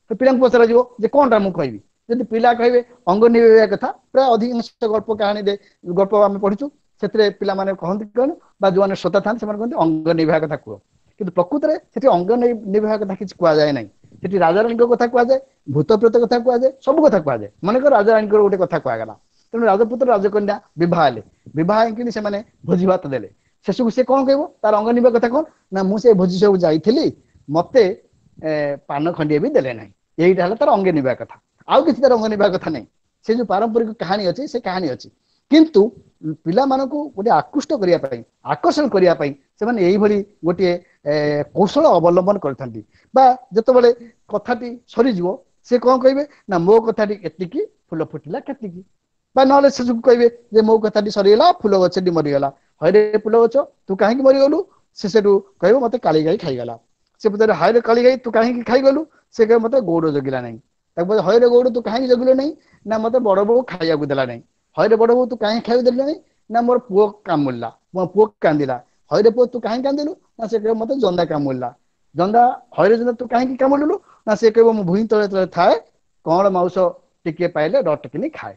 ତ ପିଲାଙ୍କୁ ପଚରାଯିବ ଯେ କଣଟା ମୁଁ କହିବି। ଯଦି ପିଲା କହିବେ ଅଙ୍ଗ ନିଭେଇବା କଥା, ପ୍ରାୟ ଅଧିକାଂଶ ଗଳ୍ପ କାହାଣୀରେ ଗଳ୍ପ ଆମେ ପଢିଛୁ ସେଥିରେ ପିଲାମାନେ କହନ୍ତି କଣ ବା ଯୋଉମାନେ ଶ୍ରୋତା ଥାନ୍ତି ସେମାନେ କହନ୍ତି ଅଙ୍ଗ ନିଭେଇବା କଥା କୁହ। କିନ୍ତୁ ପ୍ରକୃତରେ ସେଠି ଅଙ୍ଗ ନିଭେଇବା କଥା କିଛି କୁହାଯାଏ ନାହିଁ। ସେଠି ରାଜାରାଣୀଙ୍କ କଥା କୁହାଯାଏ, ଭୂତ ପ୍ରେତ କଥା କୁହାଯାଏ, ସବୁ କଥା କୁହାଯାଏ। ମନେକର ରାଜାରାଣୀଙ୍କର ଗୋଟେ କଥା କୁହାଗଲା, ତେଣୁ ରାଜପୁତ୍ର ରାଜକନ୍ୟା ବିବାହ ହେଲେ, ବିବାହ ହେଇକିନି ସେମାନେ ଭୋଜି ଭାତ ଦେଲେ। ଶେଷକୁ ସେ କଣ କହିବ, ତାର ଅଙ୍ଗ ନିଭେଇବା କଥା କଣ ନା ମୁଁ ସେ ଭୋଜି ସବୁ ଯାଇଥିଲି, ମତେ ପାନ ଖଣ୍ଡିଏ ବି ଦେଲେ ନାହିଁ। ଏଇଟା ହେଲା ତାର ଅଙ୍ଗେ ନିଭେଇବା କଥା, ଆଉ କିଛି ତାର ଅଙ୍ଗ ନିଭେଇବା କଥା ନାହିଁ। ସେ ଯୋଉ ପାରମ୍ପରିକ କାହାଣୀ ଅଛି ସେ କାହାଣୀ ଅଛି, କିନ୍ତୁ ପିଲାମାନଙ୍କୁ ଗୋଟେ ଆକୃଷ୍ଟ କରିବା ପାଇଁ, ଆକର୍ଷଣ କରିବା ପାଇଁ ସେମାନେ ଏଇଭଳି ଗୋଟିଏ କୌଶଳ ଅବଲମ୍ବନ କରିଥାନ୍ତି। ବା ଯେତେବେଳେ କଥାଟି ସରିଯିବ ସେ କଣ କହିବେ ନା ମୋ କଥାଟି ଏତିକି, ଫୁଲ ଫୁଟିଲା କେତିକି। ବା ନହେଲେ ସେସବୁ କହିବେ ଯେ ମୋ କଥାଟି ସରିଗଲା, ଫୁଲ ଗଛଟି ମରିଗଲା। ହଇରେ ଫୁଲ ଗଛ ତୁ କାହିଁକି ମରିଗଲୁ? ସେ ସେଠୁ କହିବ ମତେ କାଳି ଗାଈ ଖାଇଗଲା। ସେ ପଚାରେ ହଇରେ କାଳି ଗାଈ ତୁ କାହିଁକି ଖାଇଗଲୁ? ସେ କହିବ ମତେ ଗଉଡ଼ ଜଗିଲା ନାହିଁ। ତାକୁ ପଚାରେ ହଇରେ ଗଉଡ଼ ତୁ କାହିଁକି ଜଗିଲୁ ନାହିଁ? ନା ମତେ ବଡ ବୋଉ ଖାଇବାକୁ ଦେଲା ନାହିଁ। ହଇରେ ବଡ ବୋଉ ତୁ କାହିଁକି ଖାଇବାକୁ ଦେଲୁ ନାହିଁ? ନା ମୋର ପୁଅ କାମୁଡ଼ିଲା, ମୋ ପୁଅ କାନ୍ଦିଲା। ହଇରେ ପୁଅ ତୁ କାହିଁକି କାନ୍ଦିଲୁ? ନା ସେ କହିବ ମତେ ଜନ୍ଦା କାମୁଡ଼ିଲା। ଜନ୍ଦା ହଇରେ ଜନ୍ଦା ତୁ କାହିଁକି କାମୁଡ଼ିଲୁ? ନା ସେ କହିବ ମୁଁ ଭୂଇଁ ତଳେ ତଳେ ଥାଏ, କଅଁଳ ମାଉସ ଟିକେ ପାଇଲେ ରଟକିନି ଖାଏ।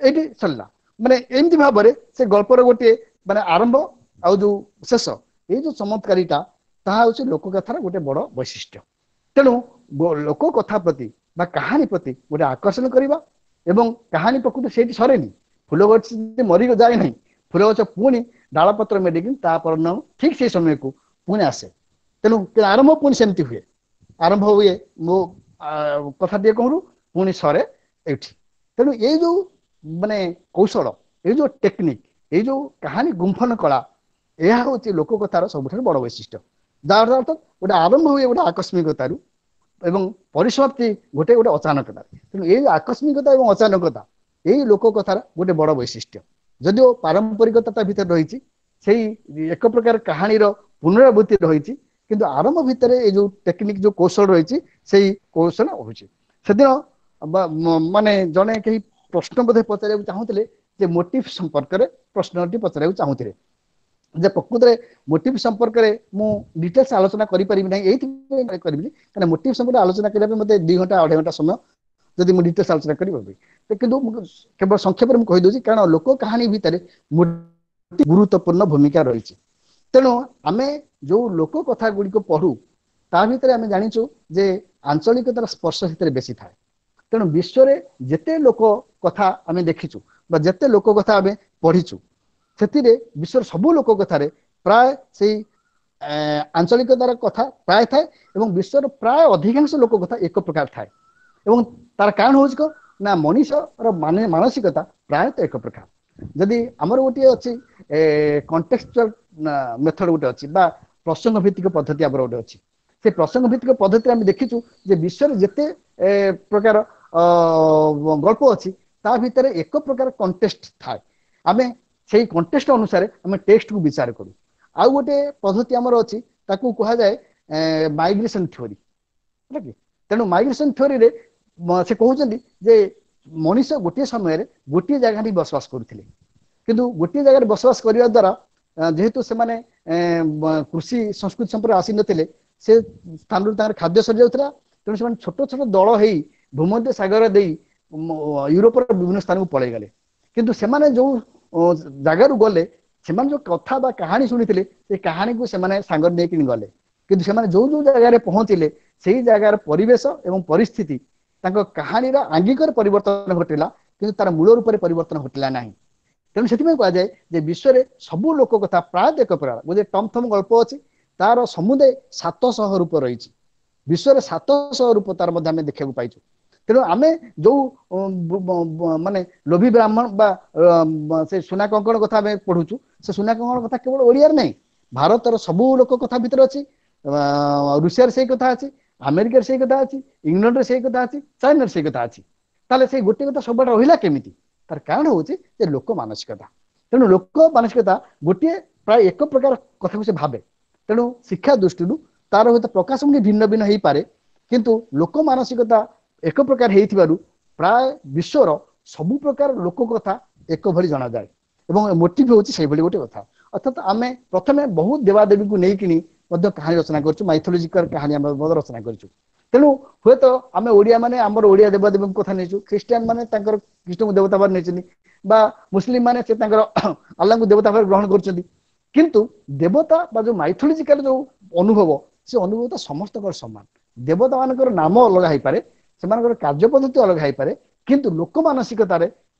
ଏଇଠି ସରିଲା। ମାନେ ଏମିତି ଭାବରେ ସେ ଗଳ୍ପର ଗୋଟିଏ ମାନେ ଆରମ୍ଭ ଆଉ ଯୋଉ ଶେଷ, ଏଇ ଯୋଉ ଚମତ୍କାରିତା ତାହା ହଉଛି ଲୋକକଥାର ଗୋଟେ ବଡ ବୈଶିଷ୍ଟ୍ୟ। ତେଣୁ ଲୋକ କଥା ପ୍ରତି ବା କାହାଣୀ ପ୍ରତି ଗୋଟେ ଆକର୍ଷଣ କରିବା, ଏବଂ କାହାଣୀ ପ୍ରକୃତି ସେଇଠି ସରେନି। ଫୁଲ ଗଛ ମରି ଯାଏ ନାହିଁ, ଫୁଲ ଗଛ ପୁଣି ଡାଳ ପତ୍ର ମେଡ଼ିକି ତା ପରଦିନ ଠିକ ସେଇ ସମୟକୁ ପୁଣି ଆସେ। ତେଣୁ ଆରମ୍ଭ ପୁଣି ସେମିତି ହୁଏ, ଆରମ୍ଭ ହୁଏ ମୋ କଥା ଟିକେ କହରୁ, ପୁଣି ସରେ ଏଇଠି। ତେଣୁ ଏଇ ଯୋଉ ମାନେ କୌଶଳ, ଏଇ ଯୋଉ ଟେକ୍ନିକ, ଏଇ ଯୋଉ କାହାଣୀ ଗୁମ୍ଫନ କଳା, ଏହା ହଉଛି ଲୋକ କଥାର ସବୁଠାରୁ ବଡ ବୈଶିଷ୍ଟ୍ୟ। ଯାହାର ଅର୍ଥ ଗୋଟେ ଆରମ୍ଭ ହୁଏ ଗୋଟେ ଆକସ୍ମିକତାରୁ ଏବଂ ପରିସମାପ୍ତି ଗୋଟେ ଗୋଟେ ଅଚାନକତା। ତେଣୁ ଏଇ ଆକସ୍ମିକତା ଏବଂ ଅଚାନକତା ଏଇ ଲୋକ କଥାର ଗୋଟେ ବଡ ବୈଶିଷ୍ଟ୍ୟ। ଯଦିଓ ପାରମ୍ପରିକତା ତା ଭିତରେ ରହିଛି, ସେଇ ଏକ ପ୍ରକାର କାହାଣୀର ପୁନରାବୃତ୍ତି ରହିଛି, କିନ୍ତୁ ଆରମ୍ଭ ଭିତରେ ଏଇ ଯୋଉ ଟେକ୍ନିକ, ଯୋଉ କୌଶଳ ରହିଛି, ସେଇ କୌଶଳ ରହୁଛି। ସେଦିନ ମାନେ ଜଣେ କେହି ପ୍ରଶ୍ନ ବୋଧେ ପଚାରିବାକୁ ଚାହୁଁଥିଲେ ଯେ ମୋଟିଭ ସମ୍ପର୍କରେ ପ୍ରଶ୍ନଟି ପଚାରିବାକୁ ଚାହୁଁଥିଲେ ଯେ ପ୍ରକୃତରେ ମୋଟିଭ ସମ୍ପର୍କରେ ମୁଁ ଡିଟେଲ୍ସ ଆଲୋଚନା କରିପାରିବି ନାହିଁ। ଏଇଥିପାଇଁ କରିବିନି କାରଣ ମୋଟିଭ ସମ୍ପର୍କରେ ଆଲୋଚନା କରିବା ପାଇଁ ମୋତେ ଦୁଇ ଘଣ୍ଟା ଅଢେଇ ଘଣ୍ଟା ସମୟ ଯଦି ମୁଁ ଡିଟେଲ୍ସ ଆଲୋଚନା କରିପାରିବି, କିନ୍ତୁ ମୁଁ କେବଳ ସଂକ୍ଷେପରେ ମୁଁ କହିଦଉଛି, କାରଣ ଲୋକ କାହାଣୀ ଭିତରେ ଗୁରୁତ୍ୱପୂର୍ଣ୍ଣ ଭୂମିକା ରହିଛି। ତେଣୁ ଆମେ ଯୋଉ ଲୋକ କଥା ଗୁଡ଼ିକ ପଢୁ ତା ଭିତରେ ଆମେ ଜାଣିଛୁ ଯେ ଆଞ୍ଚଳିକତାର ସ୍ପର୍ଶ ସେଥିରେ ବେଶୀ ଥାଏ। ତେଣୁ ବିଶ୍ୱରେ ଯେତେ ଲୋକ କଥା ଆମେ ଦେଖିଛୁ ବା ଯେତେ ଲୋକ କଥା ଆମେ ପଢିଛୁ, ସେଥିରେ ବିଶ୍ୱର ସବୁ ଲୋକ କଥାରେ ପ୍ରାୟ ସେଇ ଆଞ୍ଚଳିକତାର କଥା ପ୍ରାୟ ଥାଏ, ଏବଂ ବିଶ୍ୱର ପ୍ରାୟ ଅଧିକାଂଶ ଲୋକ କଥା ଏକ ପ୍ରକାର ଥାଏ। ଏବଂ ତାର କାରଣ ହଉଛି କଣ ନା ମଣିଷର ମାନେ ମାନସିକତା ପ୍ରାୟତଃ ଏକ ପ୍ରକାର। ଯଦି ଆମର ଗୋଟିଏ ଅଛି କଣ୍ଟେକ୍ସଚୁଆଲ ମେଥଡ ଗୋଟେ ଅଛି ବା ପ୍ରସଙ୍ଗ ଭିତ୍ତିକ ପଦ୍ଧତି ଆମର ଗୋଟେ ଅଛି, ସେ ପ୍ରସଙ୍ଗ ଭିତ୍ତିକ ପଦ୍ଧତିରେ ଆମେ ଦେଖିଛୁ ଯେ ବିଶ୍ୱରେ ଯେତେ ପ୍ରକାର ଗଳ୍ପ ଅଛି ତା ଭିତରେ ଏକ ପ୍ରକାର କଣ୍ଟେଷ୍ଟ ଥାଏ। ଆମେ ସେଇ କଣ୍ଟେଷ୍ଟ ଅନୁସାରେ ଆମେ ଟେକ୍ସଟକୁ ବିଚାର କରୁ। ଆଉ ଗୋଟେ ପଦ୍ଧତି ଆମର ଅଛି, ତାକୁ କୁହାଯାଏ ମାଇଗ୍ରେସନ ଥିଓରି, ହେଲା କି। ତେଣୁ ମାଇଗ୍ରେସନ ଥିଓରିରେ ସେ କହୁଛନ୍ତି ଯେ ମଣିଷ ଗୋଟିଏ ସମୟରେ ଗୋଟିଏ ଜାଗାରେ ବସବାସ କରୁଥିଲେ, କିନ୍ତୁ ଗୋଟିଏ ଜାଗାରେ ବସବାସ କରିବା ଦ୍ୱାରା ଯେହେତୁ ସେମାନେ କୃଷି ସଂସ୍କୃତି ସମ୍ପର୍କରେ ଆସିନଥିଲେ, ସେ ସ୍ଥାନରୁ ତାଙ୍କର ଖାଦ୍ୟ ସରିଯାଉଥିଲା। ତେଣୁ ସେମାନେ ଛୋଟ ଛୋଟ ଦଳ ହେଇ ଭୂମଧ୍ୟ ସାଗର ଦେଇ ୟୁରୋପର ବିଭିନ୍ନ ସ୍ଥାନକୁ ପଳେଇଗଲେ। କିନ୍ତୁ ସେମାନେ ଯୋଉ ଜାଗାରୁ ଗଲେ, ସେମାନେ ଯୋଉ କଥା ବା କାହାଣୀ ଶୁଣିଥିଲେ ସେ କାହାଣୀକୁ ସେମାନେ ସାଙ୍ଗରେ ନେଇକି ଗଲେ। କିନ୍ତୁ ସେମାନେ ଯୋଉ ଯୋଉ ଜାଗାରେ ପହଞ୍ଚିଲେ ସେଇ ଜାଗାର ପରିବେଶ ଏବଂ ପରିସ୍ଥିତି ତାଙ୍କ କାହାଣୀର ଆଙ୍ଗିକରେ ପରିବର୍ତ୍ତନ ଘଟିଲା, କିନ୍ତୁ ତାର ମୂଳ ରୂପରେ ପରିବର୍ତ୍ତନ ଘଟିଲା ନାହିଁ। ତେଣୁ ସେଥିପାଇଁ କୁହାଯାଏ ଯେ ବିଶ୍ୱରେ ସବୁ ଲୋକ କଥା ପ୍ରାୟତଃ ଏକ ପ୍ରକାର। ଗୋଟେ ଟମ୍ ଥମ୍ ଗଳ୍ପ ଅଛି, ତାର ସମୁଦାୟ ସାତଶହ ରୂପ ରହିଛି। ବିଶ୍ୱରେ ସାତଶହ ରୂପ ତାର ମଧ୍ୟ ଆମେ ଦେଖିବାକୁ ପାଇଛୁ। ତେଣୁ ଆମେ ଯୋଉ ମାନେ ଲୋଭୀ ବ୍ରାହ୍ମଣ ବା ସେ ସୁନା କଙ୍କଣ କଥା ଆମେ ପଢୁଛୁ, ସେ ସୁନା କଙ୍କଣ କଥା କେବଳ ଓଡ଼ିଆରେ ନାହିଁ, ଭାରତର ସବୁ ଲୋକ କଥା ଭିତରେ ଅଛି, ରୁଷିଆରେ ସେଇ କଥା ଅଛି, ଆମେରିକାରେ ସେଇ କଥା ଅଛି, ଇଂଲଣ୍ଡରେ ସେଇ କଥା ଅଛି, ଚାଇନାରେ ସେଇ କଥା ଅଛି। ତାହେଲେ ସେଇ ଗୋଟିଏ କଥା ସବୁଆଡେ ରହିଲା କେମିତି? ତାର କାରଣ ହଉଛି ଯେ ଲୋକ ମାନସିକତା। ତେଣୁ ଲୋକ ମାନସିକତା ଗୋଟିଏ ପ୍ରାୟ ଏକ ପ୍ରକାର କଥାକୁ ସେ ଭାବେ। ତେଣୁ ଶିକ୍ଷା ଦୃଷ୍ଟିରୁ ତାର ହୁଏତ ପ୍ରକାଶ ଭିନ୍ନ ଭିନ୍ନ ହେଇପାରେ, କିନ୍ତୁ ଲୋକ ମାନସିକତା ଏକ ପ୍ରକାର ହେଇଥିବାରୁ ପ୍ରାୟ ବିଶ୍ୱର ସବୁ ପ୍ରକାର ଲୋକ କଥା ଏକ ଭଳି ଜଣାଯାଏ, ଏବଂ ମୋଟିଭ ହଉଛି ସେଇଭଳି ଗୋଟେ କଥା। ଅର୍ଥାତ ଆମେ ପ୍ରଥମେ ବହୁତ ଦେବାଦେବୀଙ୍କୁ ନେଇକିନି ମଧ୍ୟ କାହାଣୀ ରଚନା କରିଛୁ, ମାଇଥୋଲୋଜିକାଲ କାହାଣୀ ଆମେ ମଧ୍ୟ ରଚନା କରିଛୁ। ତେଣୁ ହୁଏତ ଆମେ ଓଡ଼ିଆ ମାନେ ଆମର ଓଡ଼ିଆ ଦେବାଦେବୀଙ୍କ କଥା ନେଇଛୁ, ଖ୍ରୀଷ୍ଟିଆନ ମାନେ ତାଙ୍କର ଖ୍ରୀଷ୍ଟଙ୍କୁ ଦେବତା ଭାବରେ ନେଇଛନ୍ତି, ବା ମୁସଲିମ ମାନେ ସେ ତାଙ୍କର ଆଲ୍ଲାଙ୍କୁ ଦେବତା ଭାବରେ ଗ୍ରହଣ କରୁଛନ୍ତି। କିନ୍ତୁ ଦେବତା ବା ଯୋଉ ମାଇଥୋଲୋଜିକାଲ ଯୋଉ ଅନୁଭବ, ସେ ଅନୁଭବ ତ ସମସ୍ତଙ୍କର ସମାନ। ଦେବତା ମାନଙ୍କର ନାମ ଅଲଗା ହେଇପାରେ, ସେମାନଙ୍କର କାର୍ଯ୍ୟ ପଦ୍ଧତି ଅଲଗା ହେଇପାରେ, କିନ୍ତୁ ଲୋକ ମାନସିକତାରେ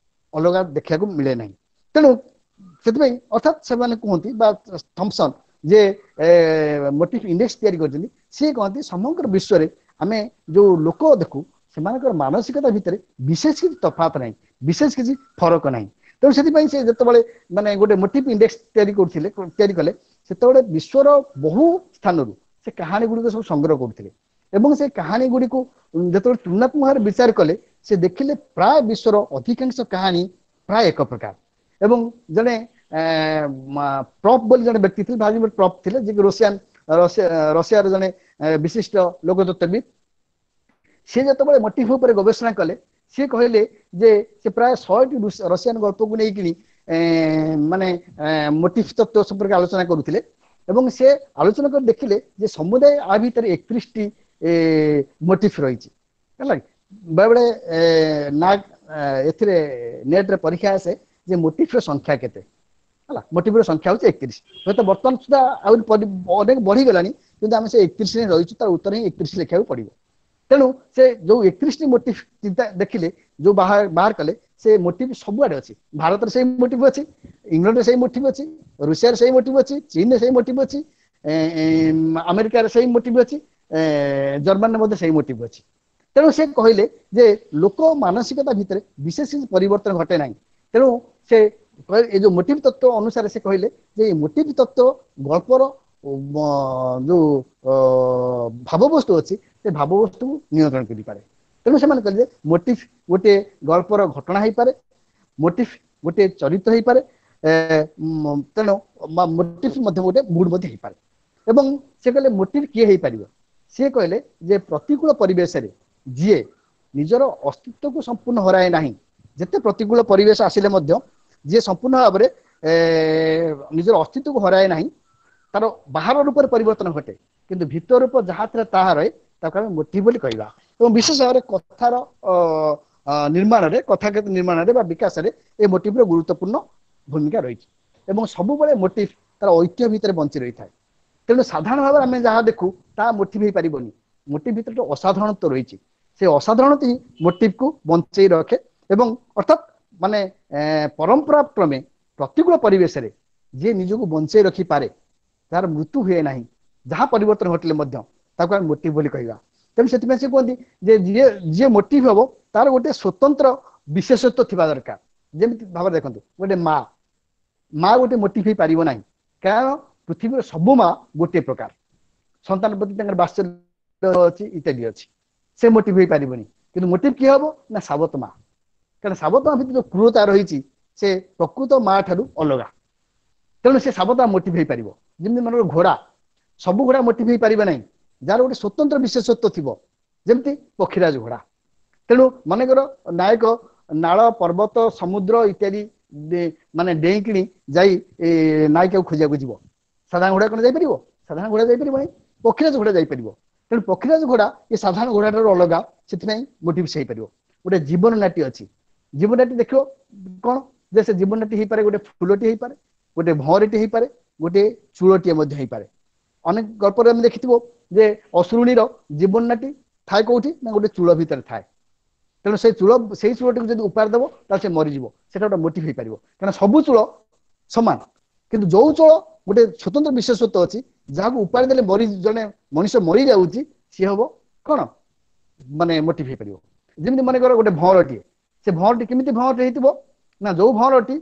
ଅଲଗା ଦେଖିବାକୁ ମିଳେ ନାହିଁ। ତେଣୁ ସେଥିପାଇଁ ଅର୍ଥାତ୍ ସେମାନେ କୁହନ୍ତି ବା ଥମ୍ପସନ୍ ଯେ ମୋଟିଭ ଇଣ୍ଡେକ୍ସ ତିଆରି କରିଛନ୍ତି, ସିଏ କହନ୍ତି ସମଗ୍ର ବିଶ୍ୱରେ ଆମେ ଯୋଉ ଲୋକ ଦେଖୁ ସେମାନଙ୍କର ମାନସିକତା ଭିତରେ ବିଶେଷ କିଛି ତଫାତ ନାହିଁ, ବିଶେଷ କିଛି ଫରକ ନାହିଁ। ତେଣୁ ସେଥିପାଇଁ ସେ ଯେତେବେଳେ ମାନେ ଗୋଟେ ମୋଟିଭ ଇଣ୍ଡେକ୍ସ ତିଆରି କରୁଥିଲେ, ତିଆରି କଲେ, ସେତେବେଳେ ବିଶ୍ୱର ବହୁ ସ୍ଥାନରୁ ସେ କାହାଣୀ ଗୁଡ଼ିକ ସବୁ ସଂଗ୍ରହ କରୁଥିଲେ, ଏବଂ ସେ କାହାଣୀ ଗୁଡ଼ିକୁ ଯେତେବେଳେ ତୁଳନାତ୍ମକ ଭାବରେ ବିଚାର କଲେ, ସେ ଦେଖିଲେ ପ୍ରାୟ ବିଶ୍ୱର ଅଧିକାଂଶ କାହାଣୀ ପ୍ରାୟ ଏକ ପ୍ରକାର। ଏବଂ ଜଣେ ପ୍ରପ୍ ବୋଲି ଜଣେ ବ୍ୟକ୍ତି ଥିଲେ, ଭ୍ଲାଦିମିର ପ୍ରପ୍ ଥିଲେ, ଯିଏକି ରୁଷିଆନ ରଷିଆର ଜଣେ ବିଶିଷ୍ଟ ଲୋକତତ୍ତ୍ୱବିତ୍। ସିଏ ଯେତେବେଳେ ମୋଟିଭ ଉପରେ ଗବେଷଣା କଲେ, ସିଏ କହିଲେ ଯେ ସେ ପ୍ରାୟ ଶହେଟି ରଷିଆନ ଗଳ୍ପକୁ ନେଇକିନି ମାନେ ମୋଟିଭ ତତ୍ତ୍ୱ ସମ୍ପର୍କରେ ଆଲୋଚନା କରୁଥିଲେ, ଏବଂ ସେ ଆଲୋଚନା କରି ଦେଖିଲେ ଯେ ସମୁଦାୟ ଆ ଭିତରେ ଏକତିରିଶଟି ମୋଟିଭ ରହିଛି। ହେଲା, ବେଳେବେଳେ ନା ଏଥିରେ ନେଟ୍ରେ ପରୀକ୍ଷା ଆସେ ଯେ ମୋଟିଭର ସଂଖ୍ୟା କେତେ। ହେଲା, ମୋଟିଭର ସଂଖ୍ୟା ହଉଛି ଏକତିରିଶ। ହୁଏତ ବର୍ତ୍ତମାନ ସୁଦ୍ଧା ଆହୁରି ଅନେକ ବଢିଗଲାଣି, କିନ୍ତୁ ଆମେ ସେ ଏକତିରିଶରେ ରହିଛୁ, ତାର ଉତ୍ତର ହିଁ ଏକତିରିଶ ଲେଖିବାକୁ ପଡିବ। ତେଣୁ ସେ ଯୋଉ ଏକତିରିଶଟି ମୋଟିଭ ଚିନ୍ତା ଦେଖିଲେ, ଯୋଉ ବାହାର ବାହାର କଲେ, ସେ ମୋଟିଭ ସବୁଆଡେ ଅଛି। ଭାରତରେ ସେଇ ମୋଟିଭ ଅଛି, ଇଂଲଣ୍ଡରେ ସେଇ ମୋଟିଭ ଅଛି, ରୁଷିଆରେ ସେଇ ମୋଟିଭ ଅଛି, ଚୀନରେ ସେଇ ମୋଟିଭ ଅଛି, ଆମେରିକାରେ ସେଇ ମୋଟିଭ ଅଛି, ଜର୍ମାନୀରେ ମଧ୍ୟ ସେଇ ମୋଟିଭ ଅଛି। ତେଣୁ ସେ କହିଲେ ଯେ ଲୋକ ମାନସିକତା ଭିତରେ ବିଶେଷ କିଛି ପରିବର୍ତ୍ତନ ଘଟେ ନାହିଁ। ତେଣୁ ସେ ଏ ଯୋଉ ମୋଟିଭ ତତ୍ତ୍ୱ ଅନୁସାରେ ସେ କହିଲେ ଯେ ଏଇ ମୋଟିଭ ତତ୍ତ୍ୱ ଗଳ୍ପର ଯୋଉ ଭାବବସ୍ତୁ ଅଛି, ସେ ଭାବବସ୍ତୁକୁ ନିୟନ୍ତ୍ରଣ କରିପାରେ। ତେଣୁ ସେମାନେ କହିଲେ ଯେ ମୋଟିଭ ଗୋଟିଏ ଗଳ୍ପର ଘଟଣା ହେଇପାରେ, ମୋଟିଭ ଗୋଟିଏ ଚରିତ୍ର ହେଇପାରେ, ତେଣୁ ମୋଟିଭ ମଧ୍ୟ ଗୋଟେ ମୁଡ୍ ମଧ୍ୟ ହେଇପାରେ। ଏବଂ ସେ କହିଲେ ମୋଟିଭ କିଏ ହେଇପାରିବ? ସିଏ କହିଲେ ଯେ ପ୍ରତିକୂଳ ପରିବେଶରେ ଯିଏ ନିଜର ଅସ୍ତିତ୍ୱକୁ ସମ୍ପୂର୍ଣ୍ଣ ହରାଏ ନାହିଁ, ଯେତେ ପ୍ରତିକୂଳ ପରିବେଶ ଆସିଲେ ମଧ୍ୟ ଯିଏ ସମ୍ପୂର୍ଣ୍ଣ ଭାବରେ ନିଜର ଅସ୍ତିତ୍ୱକୁ ହରାଏ ନାହିଁ, ତାର ବାହାର ରୂପରେ ପରିବର୍ତ୍ତନ ଘଟେ, କିନ୍ତୁ ଭିତର ରୂପ ଯାହା ଥିଲା ତାହା ରହେ, ତାକୁ ଆମେ ମୋଟିଭ ବୋଲି କହିବା। ଏବଂ ବିଶେଷ ଭାବରେ କଥାର ନିର୍ମାଣରେ, କଥା ନିର୍ମାଣରେ ବା ବିକାଶରେ ଏ ମୋଟିଭର ଗୁରୁତ୍ୱପୂର୍ଣ୍ଣ ଭୂମିକା ରହିଛି। ଏବଂ ସବୁବେଳେ ମୋଟିଭ ତାର ଐତିହ୍ୟ ଭିତରେ ବଞ୍ଚି ରହିଥାଏ। ତେଣୁ ସାଧାରଣ ଭାବରେ ଆମେ ଯାହା ଦେଖୁ ତାହା ମୋଟିଭ ହେଇପାରିବନି। ମୋଟିଭ ଭିତରେ ଅସାଧାରଣତ୍ୱ ରହିଛି, ସେ ଅସାଧାରଣତ୍ୱ ହିଁ ମୋଟିଭକୁ ବଞ୍ଚେଇ ରଖେ। ଏବଂ ଅର୍ଥାତ୍ ମାନେ ପରମ୍ପରା କ୍ରମେ ପ୍ରତିକୂଳ ପରିବେଶରେ ଯିଏ ନିଜକୁ ବଞ୍ଚେଇ ରଖିପାରେ, ତାର ମୃତ୍ୟୁ ହୁଏ ନାହିଁ, ଯାହା ପରିବର୍ତ୍ତନ ଘଟିଲେ ମଧ୍ୟ, ତାକୁ ଆମେ ମୋଟିଭ ବୋଲି କହିବା। ତେଣୁ ସେଥିପାଇଁ ସେ କୁହନ୍ତି ଯେ ଯିଏ ଯିଏ ମୋଟିଭ ହବ ତାର ଗୋଟେ ସ୍ୱତନ୍ତ୍ର ବିଶେଷତ୍ୱ ଥିବା ଦରକାର। ଯେମିତି ଭାବରେ ଦେଖନ୍ତୁ, ଗୋଟେ ମା ମା ଗୋଟେ ମୋଟିଭ ହେଇପାରିବ ନାହିଁ, କାରଣ ପୃଥିବୀର ସବୁ ମା ଗୋଟିଏ ପ୍ରକାର, ସନ୍ତାନ ପ୍ରତି ତାଙ୍କର ବାତ୍ସଲ୍ୟ ଅଛି ଇତ୍ୟାଦି ଅଛି, ସେ ମୋଟିଭ ହେଇପାରିବନି। କିନ୍ତୁ ମୋଟିଭ କିଏ ହବ ନା ସାବତ ମା, କାରଣ ସାବତ ମା ଭିତରେ ଯୋଉ କ୍ରୂରତା ରହିଛି ସେ ପ୍ରକୃତ ମା ଠାରୁ ଅଲଗା। ତେଣୁ ସେ ସାବତ ମା ମୋଟିଭ ହେଇପାରିବ। ଯେମିତି ମନେକର ଘୋଡ଼ା, ସବୁ ଘୋଡ଼ା ମୋଟିଭ ହେଇପାରିବେ ନାହିଁ, ଯାହାର ଗୋଟେ ସ୍ୱତନ୍ତ୍ର ବିଶେଷତ୍ୱ ଥିବ, ଯେମିତି ପକ୍ଷୀରାଜ ଘୋଡ଼ା। ତେଣୁ ମନେକର ନାୟକ ନାଳ, ପର୍ବତ, ସମୁଦ୍ର ଇତ୍ୟାଦି ମାନେ ଡେଇଁକିଣି ଯାଇ ନାୟିକାକୁ ଖୋଜିବାକୁ ଯିବ, ସାଧାରଣ ଘୋଡ଼ା କଣ ଯାଇପାରିବ? ସାଧାରଣ ଘୋଡ଼ା ଯାଇପାରିବ ନାହିଁ, ପକ୍ଷୀରାଜ ଘୋଡ଼ା ଯାଇପାରିବ। ତେଣୁ ପକ୍ଷୀରାଜ ଘୋଡ଼ା ଏ ସାଧାରଣ ଘୋଡ଼ା ଠାରୁ ଅଲଗା, ସେଥିପାଇଁ ମୋଟିଭ ସେ ହେଇପାରିବ। ଗୋଟେ ଜୀବନ ନାଟି ଅଛି, ଜୀବନ ନାଟି ଦେଖିବ କଣ ଯେ ସେ ଜୀବନ ନାଟି ହେଇପାରେ, ଗୋଟେ ଫୁଲଟି ହେଇପାରେ, ଗୋଟେ ଭଅଁରଟି ହେଇପାରେ, ଗୋଟେ ଚୂଳଟିଏ ମଧ୍ୟ ହେଇପାରେ। ଅନେକ ଗଳ୍ପରେ ଆମେ ଦେଖିଥିବ ଯେ ଅସୁରୁଣୀର ଜୀବନ ନାଟି ଥାଏ କୋଉଠି ନା ଗୋଟେ ଚୂଳ ଭିତରେ ଥାଏ। ତେଣୁ ସେଇ ଚୂଳ, ସେଇ ଚୂଳଟିକୁ ଯଦି ଉପାର ଦେବ ତାହେଲେ ସେ ମରିଯିବ, ସେଟା ଗୋଟେ ମୋଟିଭ ହେଇପାରିବ। କାରଣ ସବୁ ଚୂଳ ସମାନ, କିନ୍ତୁ ଯୋଉ ଚୂଳ ଗୋଟେ ସ୍ୱତନ୍ତ୍ର ବିଶେଷତ୍ୱ ଅଛି, ଯାହାକୁ ଉପାର ଦେଲେ ମରି ଜଣେ ମଣିଷ ମରିଯାଉଛି, ସିଏ ହବ କଣ ମାନେ ମୋଟିଭ ହେଇପାରିବ। ଯେମିତି ମନେକର ଗୋଟେ ଭଅଁରଟିଏ, ସେ ଭଅଁରଟି କେମିତି ଭଅଁରଟି ହେଇଥିବ ନା ଯୋଉ ଭଅଁରଟି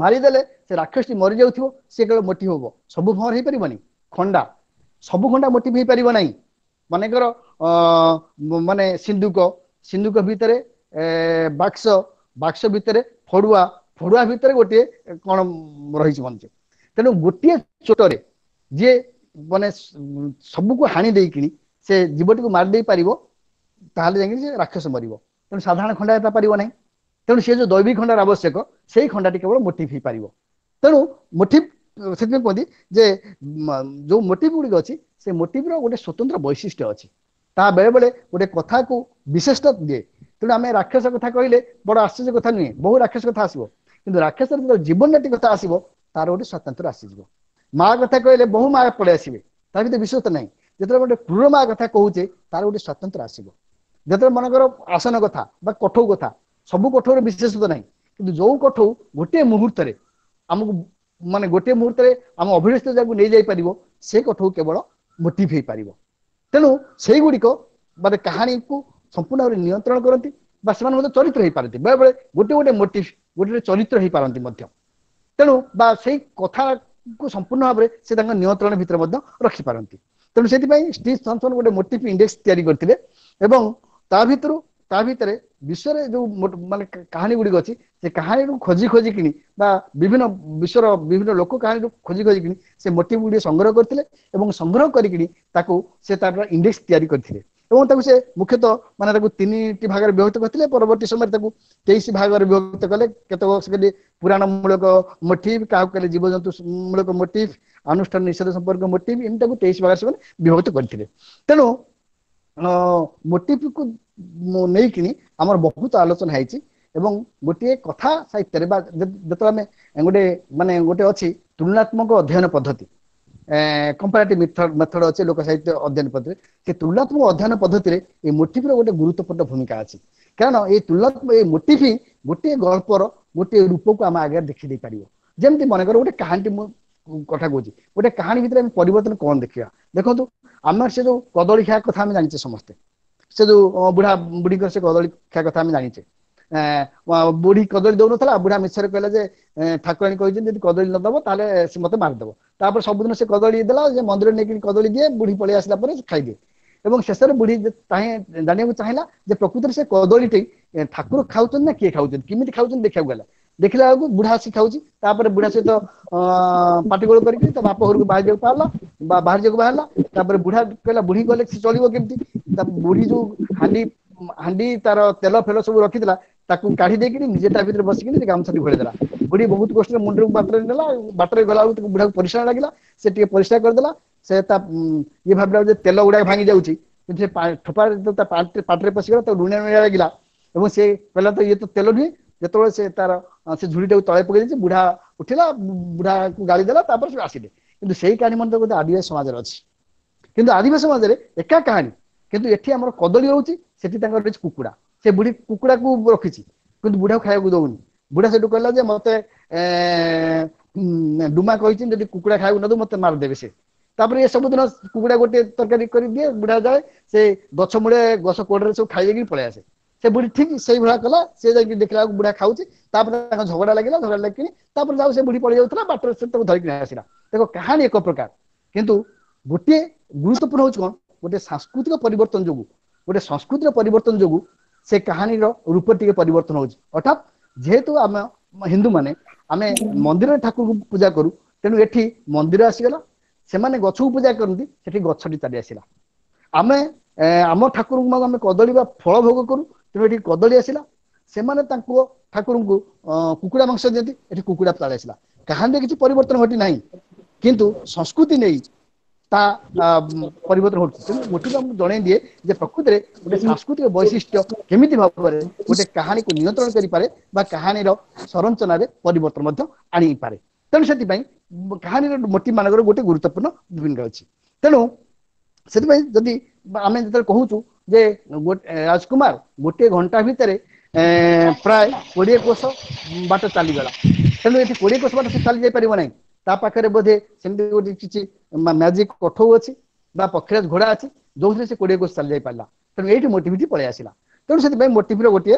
ମାରିଦେଲେ ସେ ରାକ୍ଷସଟି ମରିଯାଉଥିବ, ସେ କେବଳ ମୋଟିଭ ହବ, ସବୁ ଭଅଁର ହେଇପାରିବନି। ଖଣ୍ଡା, ସବୁ ଖଣ୍ଡା ମୋଟିଭ ହେଇପାରିବ ନାହିଁ। ମନେକର ଅ ମାନେ ସିନ୍ଧୁକ, ସିନ୍ଧୁକ ଭିତରେ ଏ ବାକ୍ସ, ବାକ୍ସ ଭିତରେ ଫଡୁଆ, ଫଡୁଆ ଭିତରେ ଗୋଟିଏ କଣ ରହିଛି ମଞ୍ଚ। ତେଣୁ ଗୋଟିଏ ଚୋଟରେ ଯିଏ ମାନେ ସବୁକୁ ହାଣି ଦେଇକିଣି ସେ ଜୀବଟିକୁ ମାରି ଦେଇ ପାରିବ, ତାହେଲେ ଯାଇକି ସେ ରାକ୍ଷସ ମରିବ। ତେଣୁ ସାଧାରଣ ଖଣ୍ଡା ତା ପାରିବ ନାହିଁ। ତେଣୁ ସେ ଯୋଉ ଦୈବିକ ଖଣ୍ଡାର ଆବଶ୍ୟକ, ସେଇ ଖଣ୍ଡାଟି କେବଳ ମୋଟିଭ ହେଇପାରିବ। ତେଣୁ ମୋଟିଭ ସେଥିପାଇଁ କୁହନ୍ତି ଯେ ଯୋଉ ମୋଟିଭ ଗୁଡିକ ଅଛି, ସେ ମୋଟିଭର ଗୋଟେ ସ୍ୱତନ୍ତ୍ର ବୈଶିଷ୍ଟ୍ୟ ଅଛି, ତା ବେଳେ ବେଳେ ଗୋଟେ କଥାକୁ ବିଶେଷତା ଦିଏ। ତେଣୁ ଆମେ ରାକ୍ଷସ କଥା କହିଲେ ବଡ ଆଶ୍ଚର୍ଯ୍ୟ କଥା ନୁହେଁ, ବହୁ ରାକ୍ଷସ କଥା ଆସିବ। କିନ୍ତୁ ରାକ୍ଷସର ଯେତେବେଳେ ଜୀବନଟି କଥା ଆସିବ, ତାର ଗୋଟେ ସ୍ୱତନ୍ତ୍ର ଆସିଯିବ। ମା କଥା କହିଲେ ବହୁ ମା ପଳେଇ ଆସିବେ, ତା ଭିତରେ ବିଶ୍ୱସ୍ତ ନାହିଁ। ଯେତେବେଳେ ଗୋଟେ କ୍ରୂର ମା କଥା କହୁଛେ, ତାର ଗୋଟେ ସ୍ୱତନ୍ତ୍ର ଆସିବ। ଯେତେବେଳେ ମନେକର ଆସନ କଥା ବା କଠଉ କଥା, ସବୁ କଠଉର ବିଶେଷତ୍ୱ ନାହିଁ। କିନ୍ତୁ ଯୋଉ କଠଉ ଗୋଟିଏ ମୁହୂର୍ତ୍ତରେ ଆମକୁ ମାନେ ଗୋଟିଏ ମୁହୂର୍ତ୍ତରେ ଆମ ଅଭିଳଷିତ ଜାଗାକୁ ନେଇଯାଇ ପାରିବ, ସେ କଠଉ କେବଳ ମୋଟିଭ ହେଇପାରିବ। ତେଣୁ ସେଇଗୁଡ଼ିକ ମାନେ କାହାଣୀକୁ ସମ୍ପୂର୍ଣ୍ଣ ଭାବରେ ନିୟନ୍ତ୍ରଣ କରନ୍ତି ବା ସେମାନେ ମଧ୍ୟ ଚରିତ୍ର ହେଇପାରନ୍ତି। ବେଳେବେଳେ ଗୋଟେ ଗୋଟେ ମୋଟିଭ ଗୋଟେ ଗୋଟେ ଚରିତ୍ର ହେଇପାରନ୍ତି ମଧ୍ୟ। ତେଣୁ ବା ସେଇ କଥାକୁ ସମ୍ପୂର୍ଣ୍ଣ ଭାବରେ ସେ ତାଙ୍କ ନିୟନ୍ତ୍ରଣ ଭିତରେ ମଧ୍ୟ ରଖିପାରନ୍ତି। ତେଣୁ ସେଥିପାଇଁ ଷ୍ଟିଭ୍ ଥମ୍ପସନ୍ ଗୋଟେ ମୋଟିଭ ଇଣ୍ଡେକ୍ସ ତିଆରି କରିଥିଲେ ଏବଂ ତା ଭିତରୁ ତା ଭିତରେ ବିଶ୍ୱରେ ଯୋଉ ମାନେ କାହାଣୀ ଗୁଡ଼ିକ ଅଛି, ସେ କାହାଣୀରୁ ଖୋଜି ଖୋଜିକିଣି ବା ବିଭିନ୍ନ ବିଶ୍ୱର ବିଭିନ୍ନ ଲୋକ କାହାଣୀରୁ ଖୋଜି ଖୋଜିକିଣି ସେ ମୋଟିଭ ଗୁଡ଼ିକ ସଂଗ୍ରହ କରିଥିଲେ ଏବଂ ସଂଗ୍ରହ କରିକିଣି ତାକୁ ସେ ତାର ଇଣ୍ଡେକ୍ସ ତିଆରି କରିଥିଲେ। ଏବଂ ତାକୁ ସେ ମୁଖ୍ୟତଃ ମାନେ ତାକୁ ତିନିଟି ଭାଗରେ ବିଭକ୍ତ କରିଥିଲେ। ପରବର୍ତ୍ତୀ ସମୟରେ ତାକୁ ତେଇଶ ଭାଗରେ ବିଭକ୍ତ କଲେ। କେତେକ କହିଲେ ପୁରାଣ ମୂଳକ ମୋଟିଭ, କାହାକୁ କହିଲେ ଜୀବଜନ୍ତୁ ମୂଳକ ମୋଟିଭ, ଅନୁଷ୍ଠାନ ନିଷେଧ ସମ୍ପର୍କ ମୋଟିଭ, ଏମିତି ତାକୁ ତେଇଶ ଭାଗରେ ସେମାନେ ବିଭକ୍ତ କରିଥିଲେ। ତେଣୁ ମୋଟିଭକୁ ନେଇକିନି ଆମର ବହୁତ ଆଲୋଚନା ହେଇଛି। ଏବଂ ଗୋଟିଏ କଥା ସାହିତ୍ୟରେ ବା ଯେତେବେଳେ ଆମେ ଗୋଟେ ମାନେ ଗୋଟେ ଅଛି ତୁଳନାତ୍ମକ ଅଧ୍ୟୟନ ପଦ୍ଧତି, କମ୍ପାରେଟିଭ ମେଥଡ ଅଛି ଲୋକ ସାହିତ୍ୟ ଅଧ୍ୟୟନ ପଦ୍ଧତିରେ, ସେ ତୁଳନାତ୍ମକ ଅଧ୍ୟୟନ ପଦ୍ଧତିରେ ଏଇ ମୋଟିଭର ଗୋଟେ ଗୁରୁତ୍ୱପୂର୍ଣ୍ଣ ଭୂମିକା ଅଛି। କାରଣ ଏଇ ତୁଳନାତ୍ମକ ଏଇ ମୋଟିଭ ହିଁ ଗୋଟିଏ ଗଳ୍ପର ଗୋଟିଏ ରୂପକୁ ଆମ ଆଗରେ ଦେଖି ଦେଇ ପାରିବ। ଯେମିତି ମନେକର ଗୋଟେ କାହାଣୀଟି ମୁଁ କଥା କହୁଛି, ଗୋଟେ କାହାଣୀ ଭିତରେ ଆମେ ପରିବର୍ତ୍ତନ କଣ ଦେଖିବା? ଦେଖନ୍ତୁ, ଆମର ସେ ଯୋଉ କଦଳୀ ଖିଆ କଥା ଆମେ ଜାଣିଛେ ସମସ୍ତେ, ସେ ଯୋଉ ବୁଢା ବୁଢୀଙ୍କର ସେ କଦଳୀ ଖିଆ କଥା ଆମେ ଜାଣିଛେ। ବୁଢୀ କଦଳୀ ଦଉନଥିଲା, ବୁଢା ମିଛରେ କହିଲା ଯେ ଠାକୁରାଣୀ କହିଛନ୍ତି ଯଦି କଦଳୀ ନ ଦବ ତାହେଲେ ସେ ମତେ ମାରିଦବ। ତାପରେ ସବୁଦିନ ସେ କଦଳୀ ଦେଲା, ସେ ମନ୍ଦିର ନେଇକି କଦଳୀ ଦିଏ, ବୁଢୀ ପଳେଇ ଆସିଲା ପରେ ଖାଇଦିଏ। ଏବଂ ଶେଷରେ ବୁଢୀ ଜାଣିବାକୁ ଚାହିଁଲା ଯେ ପ୍ରକୃତରେ ସେ କଦଳୀଟି ଠାକୁର ଖାଉଛନ୍ତି ନା କିଏ ଖାଉଛନ୍ତି, କେମିତି ଖାଉଛନ୍ତି ଦେଖିବାକୁ ଗଲା। ଦେଖିଲା ବେଳକୁ ବୁଢା ଆସି ଖାଉଛି। ତାପରେ ବୁଢା ସହିତ ଅ ପାଟିଗୋଳ କରିକି ତା ବାପ ଘରକୁ ବାହାରିବାକୁ ବାହାରିଲା ବା ବାହାରିବାକୁ ବାହାରିଲା। ତାପରେ ବୁଢା କହିଲା ବୁଢୀ ଗଲେ ସେ ଚଳିବ କେମିତି? ତା ବୁଢୀ ଯୋଉ ହାଣ୍ଡି ହାଣ୍ଡି ତାର ତେଲ ଫେଲ ସବୁ ରଖିଥିଲା, ତାକୁ କାଢି ଦେଇକିନି ନିଜେ ତା ଭିତରେ ବସିକିନି ଗାମୁଛାଟି ଘୋଡେଇ ଦେଲା। ବୁଢୀ ବହୁତ କଷ୍ଟରେ ମୁଣ୍ଡକୁ ବାଟରେ ନେଲା। ବାଟରେ ଗଲା ବେଳକୁ ବୁଢାକୁ ପରିଶ୍ରା ଲାଗିଲା, ସେ ଟିକେ ପରିସ୍ରା କରିଦେଲା। ସେ ତା ଇଏ ଭାବିଲା ଯେ ତେଲ ଗୁଡାକ ଭାଙ୍ଗି ଯାଉଛି, କିନ୍ତୁ ସେ ଠୋପା ତା ପାଟିରେ ପଶିଗଲା, ତାକୁ ଲୁଣିଆ ଲୁଣିଆ ଲାଗିଲା ଏବଂ ସେ କହିଲା ତ ଇଏ ତ ତେଲ ନୁହେଁ। ଯେତେବେଳେ ସେ ତାର ସେ ଝୁଡିଟାକୁ ତଳେ ପକେଇ ଦେଇଛି, ବୁଢା ଉଠିଲା, ବୁଢାକୁ ଗାଳି ଦେଲା, ତାପରେ ସେ ଆସିଲେ। କିନ୍ତୁ ସେଇ କାହାଣୀ ମଧ୍ୟ ଗୋଟେ ଆଦିବାସୀ ସମାଜରେ ଅଛି। କିନ୍ତୁ ଆଦିବାସୀ ସମାଜରେ ଏକା କାହାଣୀ, କିନ୍ତୁ ଏଠି ଆମର କଦଳୀ ରହୁଛି, ସେଠି ତାଙ୍କର ରହିଛି କୁକୁଡ଼ା। ସେ ବୁଢୀ କୁକୁଡ଼ାକୁ ରଖିଛି କିନ୍ତୁ ବୁଢାକୁ ଖାଇବାକୁ ଦଉନି। ବୁଢା ସେଠୁ କହିଲା ଯେ ମତେ ଡୁମା କହିଛି ଯଦି କୁକୁଡ଼ା ଖାଇବାକୁ ନ ଦବୁ ମତେ ମାରିଦେବେ ସେ। ତାପରେ ଏ ସବୁଦିନ କୁକୁଡ଼ା ଗୋଟେ ତରକାରୀ କରିଦିଏ, ବୁଢା ଯାଏ ସେ ଗଛ ମୂଳେ ଗଛ କୋଡରେ ସବୁ ଖାଇ ଦେଇକି ପଳେଇ ଆସେ। ସେ ବୁଢୀ ଠିକ ସେଇଭଳିଆ କଲା। ସେ ଯାଇକି ଦେଖିଲା ବେଳକୁ ବୁଢା ଖାଉଛି। ତାପରେ ତାଙ୍କ ଝଗଡା ଲାଗିଲା, ଝଗଡା ଲାଗିକି ତାପରେ ଯାଉ ସେ ବୁଢୀ ପଳେଇ ଯାଉଥିଲା ବାଟରେ, ସେ ତାକୁ ଧରିକି ଆସିଲା। ଦେଖ, କାହାଣୀ ଏକ ପ୍ରକାର, କିନ୍ତୁ ଗୋଟିଏ ଗୁରୁତ୍ୱପୂର୍ଣ୍ଣ ହଉଛି କଣ, ଗୋଟେ ସାଂସ୍କୃତିକ ପରିବର୍ତ୍ତନ ଯୋଗୁ, ଗୋଟେ ସଂସ୍କୃତିର ପରିବର୍ତ୍ତନ ଯୋଗୁ ସେ କାହାଣୀର ରୂପ ଟିକେ ପରିବର୍ତ୍ତନ ହଉଛି। ଅର୍ଥାତ୍ ଯେହେତୁ ଆମେ ହିନ୍ଦୁ ମାନେ ଆମେ ମନ୍ଦିରରେ ଠାକୁରଙ୍କୁ ପୂଜା କରୁ, ତେଣୁ ଏଠି ମନ୍ଦିର ଆସିଗଲା। ସେମାନେ ଗଛକୁ ପୂଜା କରନ୍ତି, ସେଠି ଗଛଟି ଚାଲି ଆସିଲା। ଆମେ ଆମ ଠାକୁରଙ୍କୁ ଆମେ କଦଳୀ ବା ଫଳ ଭୋଗ କରୁ, ତେଣୁ ଏଠି କଦଳୀ ଆସିଲା। ସେମାନେ ତାଙ୍କ ଠାକୁରଙ୍କୁ କୁକୁଡ଼ା ମାଂସ ଦିଅନ୍ତି, ଏଠି କୁକୁଡ଼ା ଚାଲି ଆସିଲା। କାହାଣୀରେ କିଛି ପରିବର୍ତ୍ତନ ଘଟି ନାହିଁ, କିନ୍ତୁ ସଂସ୍କୃତି ନେଇ ତା ପରିବର୍ତ୍ତନ ଘଟୁଛି। ତେଣୁ ମୋଟିଭ ଆମକୁ ଜଣେଇ ଦିଏ ଯେ ପ୍ରକୃତିରେ ଗୋଟେ ସାଂସ୍କୃତିକ ବୈଶିଷ୍ଟ୍ୟ କେମିତି ଭାବରେ ଗୋଟେ କାହାଣୀକୁ ନିୟନ୍ତ୍ରଣ କରିପାରେ ବା କାହାଣୀର ସଂରଚନାରେ ପରିବର୍ତ୍ତନ ମଧ୍ୟ ଆଣିପାରେ। ତେଣୁ ସେଥିପାଇଁ କାହାଣୀର ମୋଟିଭ ମାନଙ୍କର ଗୋଟେ ଗୁରୁତ୍ୱପୂର୍ଣ୍ଣ ଭୂମିକା ଅଛି। ତେଣୁ ସେଥିପାଇଁ ଯଦି ଆମେ ଯେତେବେଳେ କହୁଛୁ ଯେ ରାଜକୁମାର ଗୋଟିଏ ଘଣ୍ଟା ଭିତରେ ପ୍ରାୟ କୋଡିଏ କୋଷ ବାଟ ଚାଲିଗଲା, ତେଣୁ ଏଠି କୋଡିଏ କୋଷ ବାଟ ସେ ଚାଲି ଯାଇପାରିବ ନାହିଁ। ତା ପାଖରେ ବୋଧେ ସେମିତି ଗୋଟେ କିଛି ମ୍ୟାଜିକ କଠଉ ଅଛି ବା ପକ୍ଷୀରାଜ ଘୋଡା ଅଛି, ଯୋଉଥିରେ ସେ କୋଡିଏ କୋଷ ଚାଲି ଯାଇ ପାରିଲା। ତେଣୁ ଏଇଠି ମୋଟିଭିଟି ପଳେଇ ଆସିଲା। ତେଣୁ ସେଥିପାଇଁ ମୋଟିଭର ଗୋଟିଏ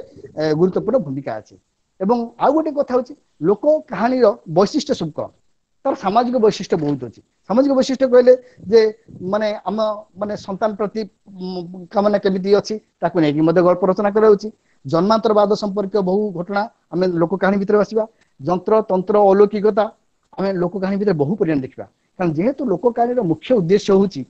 ଗୁରୁତ୍ୱପୂର୍ଣ୍ଣ ଭୂମିକା ଅଛି। ଏବଂ ଆଉ ଗୋଟେ କଥା ହଉଛି ଲୋକ କାହାଣୀର ବୈଶିଷ୍ଟ୍ୟ ସବୁ କଣ ତାର ସାମାଜିକ ବୈଶିଷ୍ଟ୍ୟ ବହୁତ ଅଛି ସାମାଜିକ ବୈଶିଷ୍ଟ୍ୟ କହିଲେ ଯେ ମାନେ ଆମ ମାନେ ସନ୍ତାନ ପ୍ରତି କାମନା କେମିତି ଅଛି ତାକୁ ନେଇକି ମଧ୍ୟ ଗଳ୍ପ ରଚନା କରାଯାଉଛି ଜନ୍ମାନ୍ତରବାଦ ସମ୍ପର୍କୀୟ ବହୁ ଘଟଣା ଆମେ ଲୋକ କାହାଣୀ ଭିତରେ ଆସିବା ଯନ୍ତ୍ର ତନ୍ତ୍ର ଅଲୌକିକତା ଆମେ ଲୋକ କାହାଣୀ ଭିତରେ ବହୁ ପରିମାଣ ଦେଖିବା କାରଣ ଯେହେତୁ ଲୋକ କାହାଣୀର ମୁଖ୍ୟ ଉଦ୍ଦେଶ୍ୟ ହଉଛି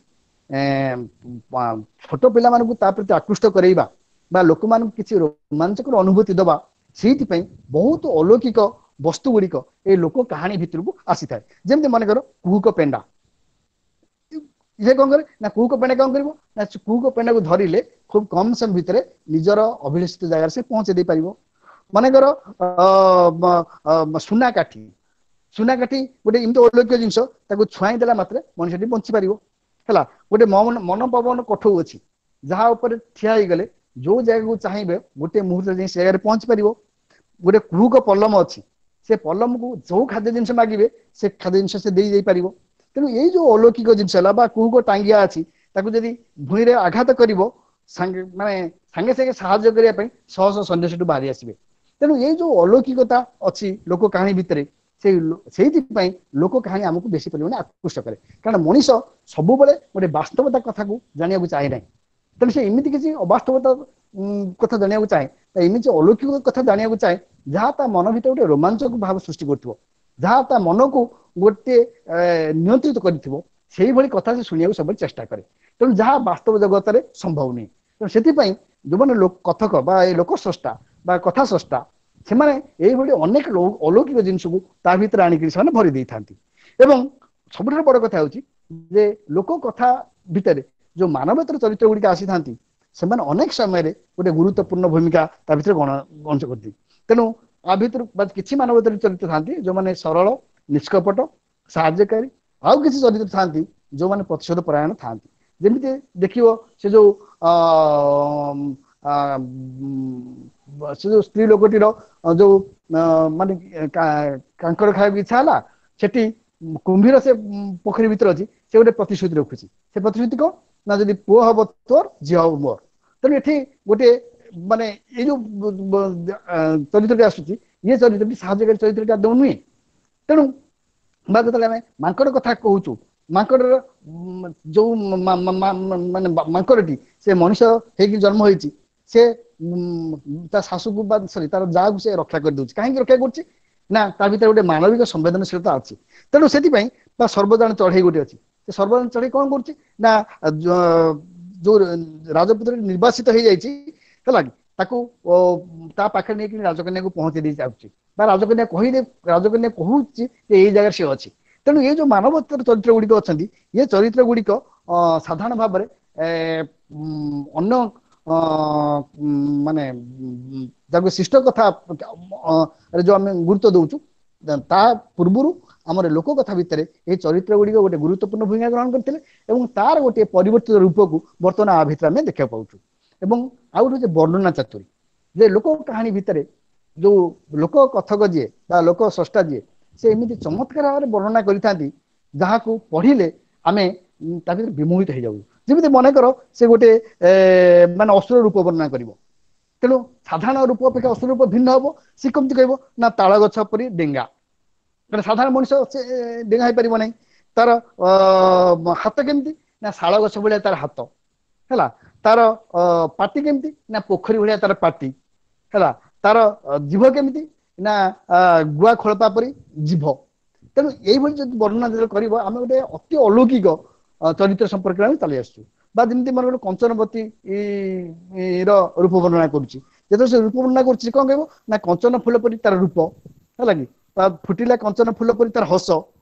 ଛୋଟ ପିଲାମାନଙ୍କୁ ତା ପ୍ରତି ଆକୃଷ୍ଟ କରେଇବା ବା ଲୋକମାନଙ୍କୁ କିଛି ରୋମାଞ୍ଚକର ଅନୁଭୂତି ଦବା ସେଇଥିପାଇଁ ବହୁତ ଅଲୌକିକ ବସ୍ତୁ ଗୁଡିକ ଏଇ ଲୋକ କାହାଣୀ ଭିତରକୁ ଆସିଥାଏ ଯେମିତି ମନେକର କୁହୁକ ପେଣ୍ଡା ଇଏ କଣ କରେ ନା କୁହୁକ ପେଣ୍ଡା କଣ କରିବ ନା କୁହୁକ ପେଣ୍ଡାକୁ ଧରିଲେ ଖୁବ କମ ସମୟ ଭିତରେ ନିଜର ଅଭିଳଷିତ ଜାଗାରେ ସେ ପହଞ୍ଚେଇ ଦେଇ ପାରିବ ମନେକର ଅ ସୁନା କାଠି ସୁନା କାଠି ଗୋଟେ ଏମିତି ଅଲୌକିକ ଜିନିଷ ତାକୁ ଛୁଆଇଁ ଦେଲା ମାତ୍ରେ ମଣିଷଟି ବଞ୍ଚି ପାରିବ ହେଲା ଗୋଟେ ମନ ପବନ କଠଉ ଅଛି ଯାହା ଉପରେ ଠିଆ ହେଇଗଲେ ଯୋଉ ଜାଗାକୁ ଚାହିଁବେ ଗୋଟେ ମୁହୂର୍ତ୍ତରେ ଯାଇ ସେ ଜାଗାରେ ପହଞ୍ଚି ପାରିବ ଗୋଟେ କୁହୁକ ପଲମ ଅଛି ସେ ପଲମକୁ ଯୋଉ ଖାଦ୍ୟ ଜିନିଷ ମାଗିବେ ସେ ଖାଦ୍ୟ ଜିନିଷ ସେ ଦେଇ ଯାଇପାରିବ ତେଣୁ ଏଇ ଯୋଉ ଅଲୌକିକ ଜିନିଷ ହେଲା ବା କୁହୁକ ଟାଙ୍ଗିଆ ଅଛି ତାକୁ ଯଦି ଭୂଇଁରେ ଆଘାତ କରିବ ସାଙ୍ଗେ ମାନେ ସାଙ୍ଗେ ସାଙ୍ଗେ ସାହାଯ୍ୟ କରିବା ପାଇଁ ଶହ ଶହ ସୈନ୍ୟ ସେଠୁ ବାହାରି ଆସିବେ ତେଣୁ ଏଇ ଯୋଉ ଅଲୌକିକତା ଅଛି ଲୋକ କାହାଣୀ ଭିତରେ ସେଇ ସେଇଥିପାଇଁ ଲୋକ କାହାଣୀ ଆମକୁ ବେଶୀ ପରିମାଣରେ ଆକୃଷ୍ଟ କରେ କାରଣ ମଣିଷ ସବୁବେଳେ ଗୋଟେ ବାସ୍ତବତା କଥାକୁ ଜାଣିବାକୁ ଚାହେଁ ନାହିଁ ତେଣୁ ସେ ଏମିତି କିଛି ଅବାସ୍ତବତା କଥା ଜାଣିବାକୁ ଚାହେଁ ଏମିତି ଅଲୌକିକ କଥା ଜାଣିବାକୁ ଚାହେଁ ଯାହା ତା ମନ ଭିତରେ ଗୋଟେ ରୋମାଞ୍ଚକ ଭାବ ସୃଷ୍ଟି କରୁଥିବ ଯାହା ତା ମନକୁ ଗୋଟିଏ ନିୟନ୍ତ୍ରିତ କରିଥିବ ସେଇଭଳି କଥା ସେ ଶୁଣିବାକୁ ସବୁବେଳେ ଚେଷ୍ଟା କରେ ତେଣୁ ଯାହା ବାସ୍ତବ ଜଗତରେ ସମ୍ଭବ ନୁହେଁ ତେଣୁ ସେଥିପାଇଁ ଯୋଉମାନେ କଥକ ବା ଏ ଲୋକ ସ୍ରଷ୍ଟା ବା କଥା ସ୍ରଷ୍ଟା ସେମାନେ ଏଇଭଳି ଅନେକ ଅଲୌକିକ ଜିନିଷକୁ ତା ଭିତରେ ଆଣିକରି ସେମାନେ ଭରି ଦେଇଥାନ୍ତି ଏବଂ ସବୁଠାରୁ ବଡ କଥା ହଉଛି ଯେ ଲୋକ କଥା ଭିତରେ ଯୋଉ ମାନବେତର ଚରିତ୍ର ଗୁଡିକ ଆସିଥାନ୍ତି ସେମାନେ ଅନେକ ସମୟରେ ଗୋଟେ ଗୁରୁତ୍ୱପୂର୍ଣ୍ଣ ଭୂମିକା ତା ଭିତରେ ଗଣ ଗଣସ କରିନ୍ତି ତେଣୁ ଆ ଭିତରୁ କିଛି ମାନବେତର ଚରିତ୍ର ଥାନ୍ତି ଯୋଉମାନେ ସରଳ ନିଷ୍କପଟ ସାହାଯ୍ୟକାରୀ ଆଉ କିଛି ଚରିତ୍ର ଥାନ୍ତି ଯୋଉମାନେ ପ୍ରତିଶୋଧ ପରାୟଣ ଥାନ୍ତି ଯେମିତି ଦେଖିବ ସେ ଯୋଉ ଅ ସେ ଯୋଉ ସ୍ତ୍ରୀ ଲୋକଟିର ଯୋଉ ମାନେ କାଙ୍କଡ ଖାଇବାକୁ ଇଚ୍ଛା ହେଲା ସେଠି କୁମ୍ଭୀର ସେ ପୋଖରୀ ଭିତରେ ଅଛି ସେ ଗୋଟେ ପ୍ରତିଶ୍ରୁତି ରଖୁଛି ସେ ପ୍ରତିଶ୍ରୁତି କଣ ନା ଯଦି ପୁଅ ହବ ତୋର ଝିଅ ହବ ମୋର ତେଣୁ ଏଠି ଗୋଟେ ମାନେ ଏଇ ଯୋଉ ଚରିତ୍ରଟି ଆସୁଛି ଇଏ ଚରିତ୍ରଟି ସାହାଯ୍ୟକାରୀ ଚରିତ୍ରଟି ଆଦୌ ନୁହେଁ ତେଣୁ ବା ଯେତେବେଳେ ଆମେ ମାଙ୍କଡ କଥା କହୁଛୁ ମାଙ୍କଡର ଯୋଉ ମାନେ ମାଙ୍କଡଟି ସେ ମଣିଷ ହେଇକି ଜନ୍ମ ହେଇଛି ସେ ତା ଶାଶୁକୁ ବା ସରି ତାର ଯାହାକୁ ସେ ରକ୍ଷା କରିଦଉଛି କାହିଁକି ରକ୍ଷା କରୁଛି ନା ତା ଭିତରେ ଗୋଟେ ମାନବିକ ସମ୍ବେଦନଶୀଳତା ଅଛି ତେଣୁ ସେଥିପାଇଁ ବା ସର୍ବଜାଣ ଚଢେଇ ଗୋଟେ ଅଛି ସେ ସର୍ବଜାଣ ଚଢେଇ କଣ କରୁଛି ନା ଯୋଉ ରାଜପୁତ୍ର ନିର୍ବାସିତ ହେଇଯାଇଛି ହେଲା କି ତାକୁ ତା ପାଖରେ ନେଇକି ରାଜକନ୍ୟାକୁ ପହଞ୍ଚେଇ ଦେଇ ଯାଉଛି ବା ରାଜକନ୍ୟା କହିଲେ ରାଜକନ୍ୟା କହୁଛି ଯେ ଏଇ ଜାଗାରେ ସେ ଅଛି ତେଣୁ ଏଇ ଯୋଉ ମାନବୋତ୍ତର ଚରିତ୍ର ଗୁଡିକ ଅଛନ୍ତି ଏ ଚରିତ୍ର ଗୁଡିକ ଅ ସାଧାରଣ ଭାବରେ ଏ ଅନ୍ୟ ମାନେ ଯାକୁ ଶିଷ୍ଟ କଥା ଯୋଉ ଆମେ ଗୁରୁତ୍ୱ ଦଉଛୁ ତା ପୂର୍ବରୁ ଆମର ଲୋକ କଥା ଭିତରେ ଏଇ ଚରିତ୍ର ଗୁଡିକ ଗୋଟେ ଗୁରୁତ୍ୱପୂର୍ଣ୍ଣ ଭୂମିକା ଗ୍ରହଣ କରିଥିଲେ ଏବଂ ତାର ଗୋଟିଏ ପରିବର୍ତ୍ତିତ ରୂପକୁ ବର୍ତ୍ତମାନ ଆ ଭିତରେ ଆମେ ଦେଖିବାକୁ ପାଉଛୁ ଏବଂ ଆଉ ଗୋଟେ ହଉଛି ବର୍ଣ୍ଣନା ଚାତୁରୀ ଯେ ଲୋକ କାହାଣୀ ଭିତରେ ଯୋଉ ଲୋକ କଥକ ଯିଏ ବା ଲୋକ ସ୍ରଷ୍ଟା ଯିଏ ସେ ଏମିତି ଚମତ୍କାର ଭାବରେ ବର୍ଣ୍ଣନା କରିଥାନ୍ତି ଯାହାକୁ ପଢିଲେ ଆମେ ତା ଭିତରେ ବିମୋହିତ ହେଇଯାଉ ଯେମିତି ମନେକର ସେ ଗୋଟେ ଏ ମାନେ ଅସୁର ରୂପ ବର୍ଣ୍ଣନା କରିବ ତେଣୁ ସାଧାରଣ ରୂପ ଅପେକ୍ଷା ଅସୁର ରୂପ ଭିନ୍ନ ହବ ସେ କେମିତି କହିବ ନା ତାଳ ଗଛ ପରି ଡେଙ୍ଗା କାରଣ ସାଧାରଣ ମଣିଷ ସେ ଡେଙ୍ଗା ହେଇପାରିବ ନାହିଁ ତାର ଅ ହାତ କେମିତି ନା ଶାଳ ଗଛ ଭଳିଆ ତାର ହାତ ହେଲା ତାର ଅ ପାଟି କେମିତି ନା ପୋଖରୀ ଭଳିଆ ତାର ପାଟି ହେଲା ତାର ଜିଭ କେମିତି ନା ଗୁଆ ଖୋଳପା ପରି ଜିଭ ତେଣୁ ଏଇଭଳି ଯଦି ବର୍ଣ୍ଣନା ଯେତେବେଳେ କରିବ ଆମେ ଗୋଟେ ଅତି ଅଲୌକିକ ଚରିତ୍ର ସମ୍ପର୍କରେ ଆମେ ଚାଲି ଆସୁଛୁ ବା ଯେମିତି ମନେ ଗୋଟେ କଞ୍ଚନବତୀ ର ରୂପ ବର୍ଣ୍ଣନା କରୁଛି ଯେତେବେଳେ ସେ ରୂପ ବର୍ଣ୍ଣନା କରୁଛି କଣ କହିବ ନା କଞ୍ଚନ ଫୁଲ ପରି ତାର ରୂପ ହେଲା କି ତା ଫୁଟିଲା କଞ୍ଚନ ଫୁଲ ପରି ତାର ହସ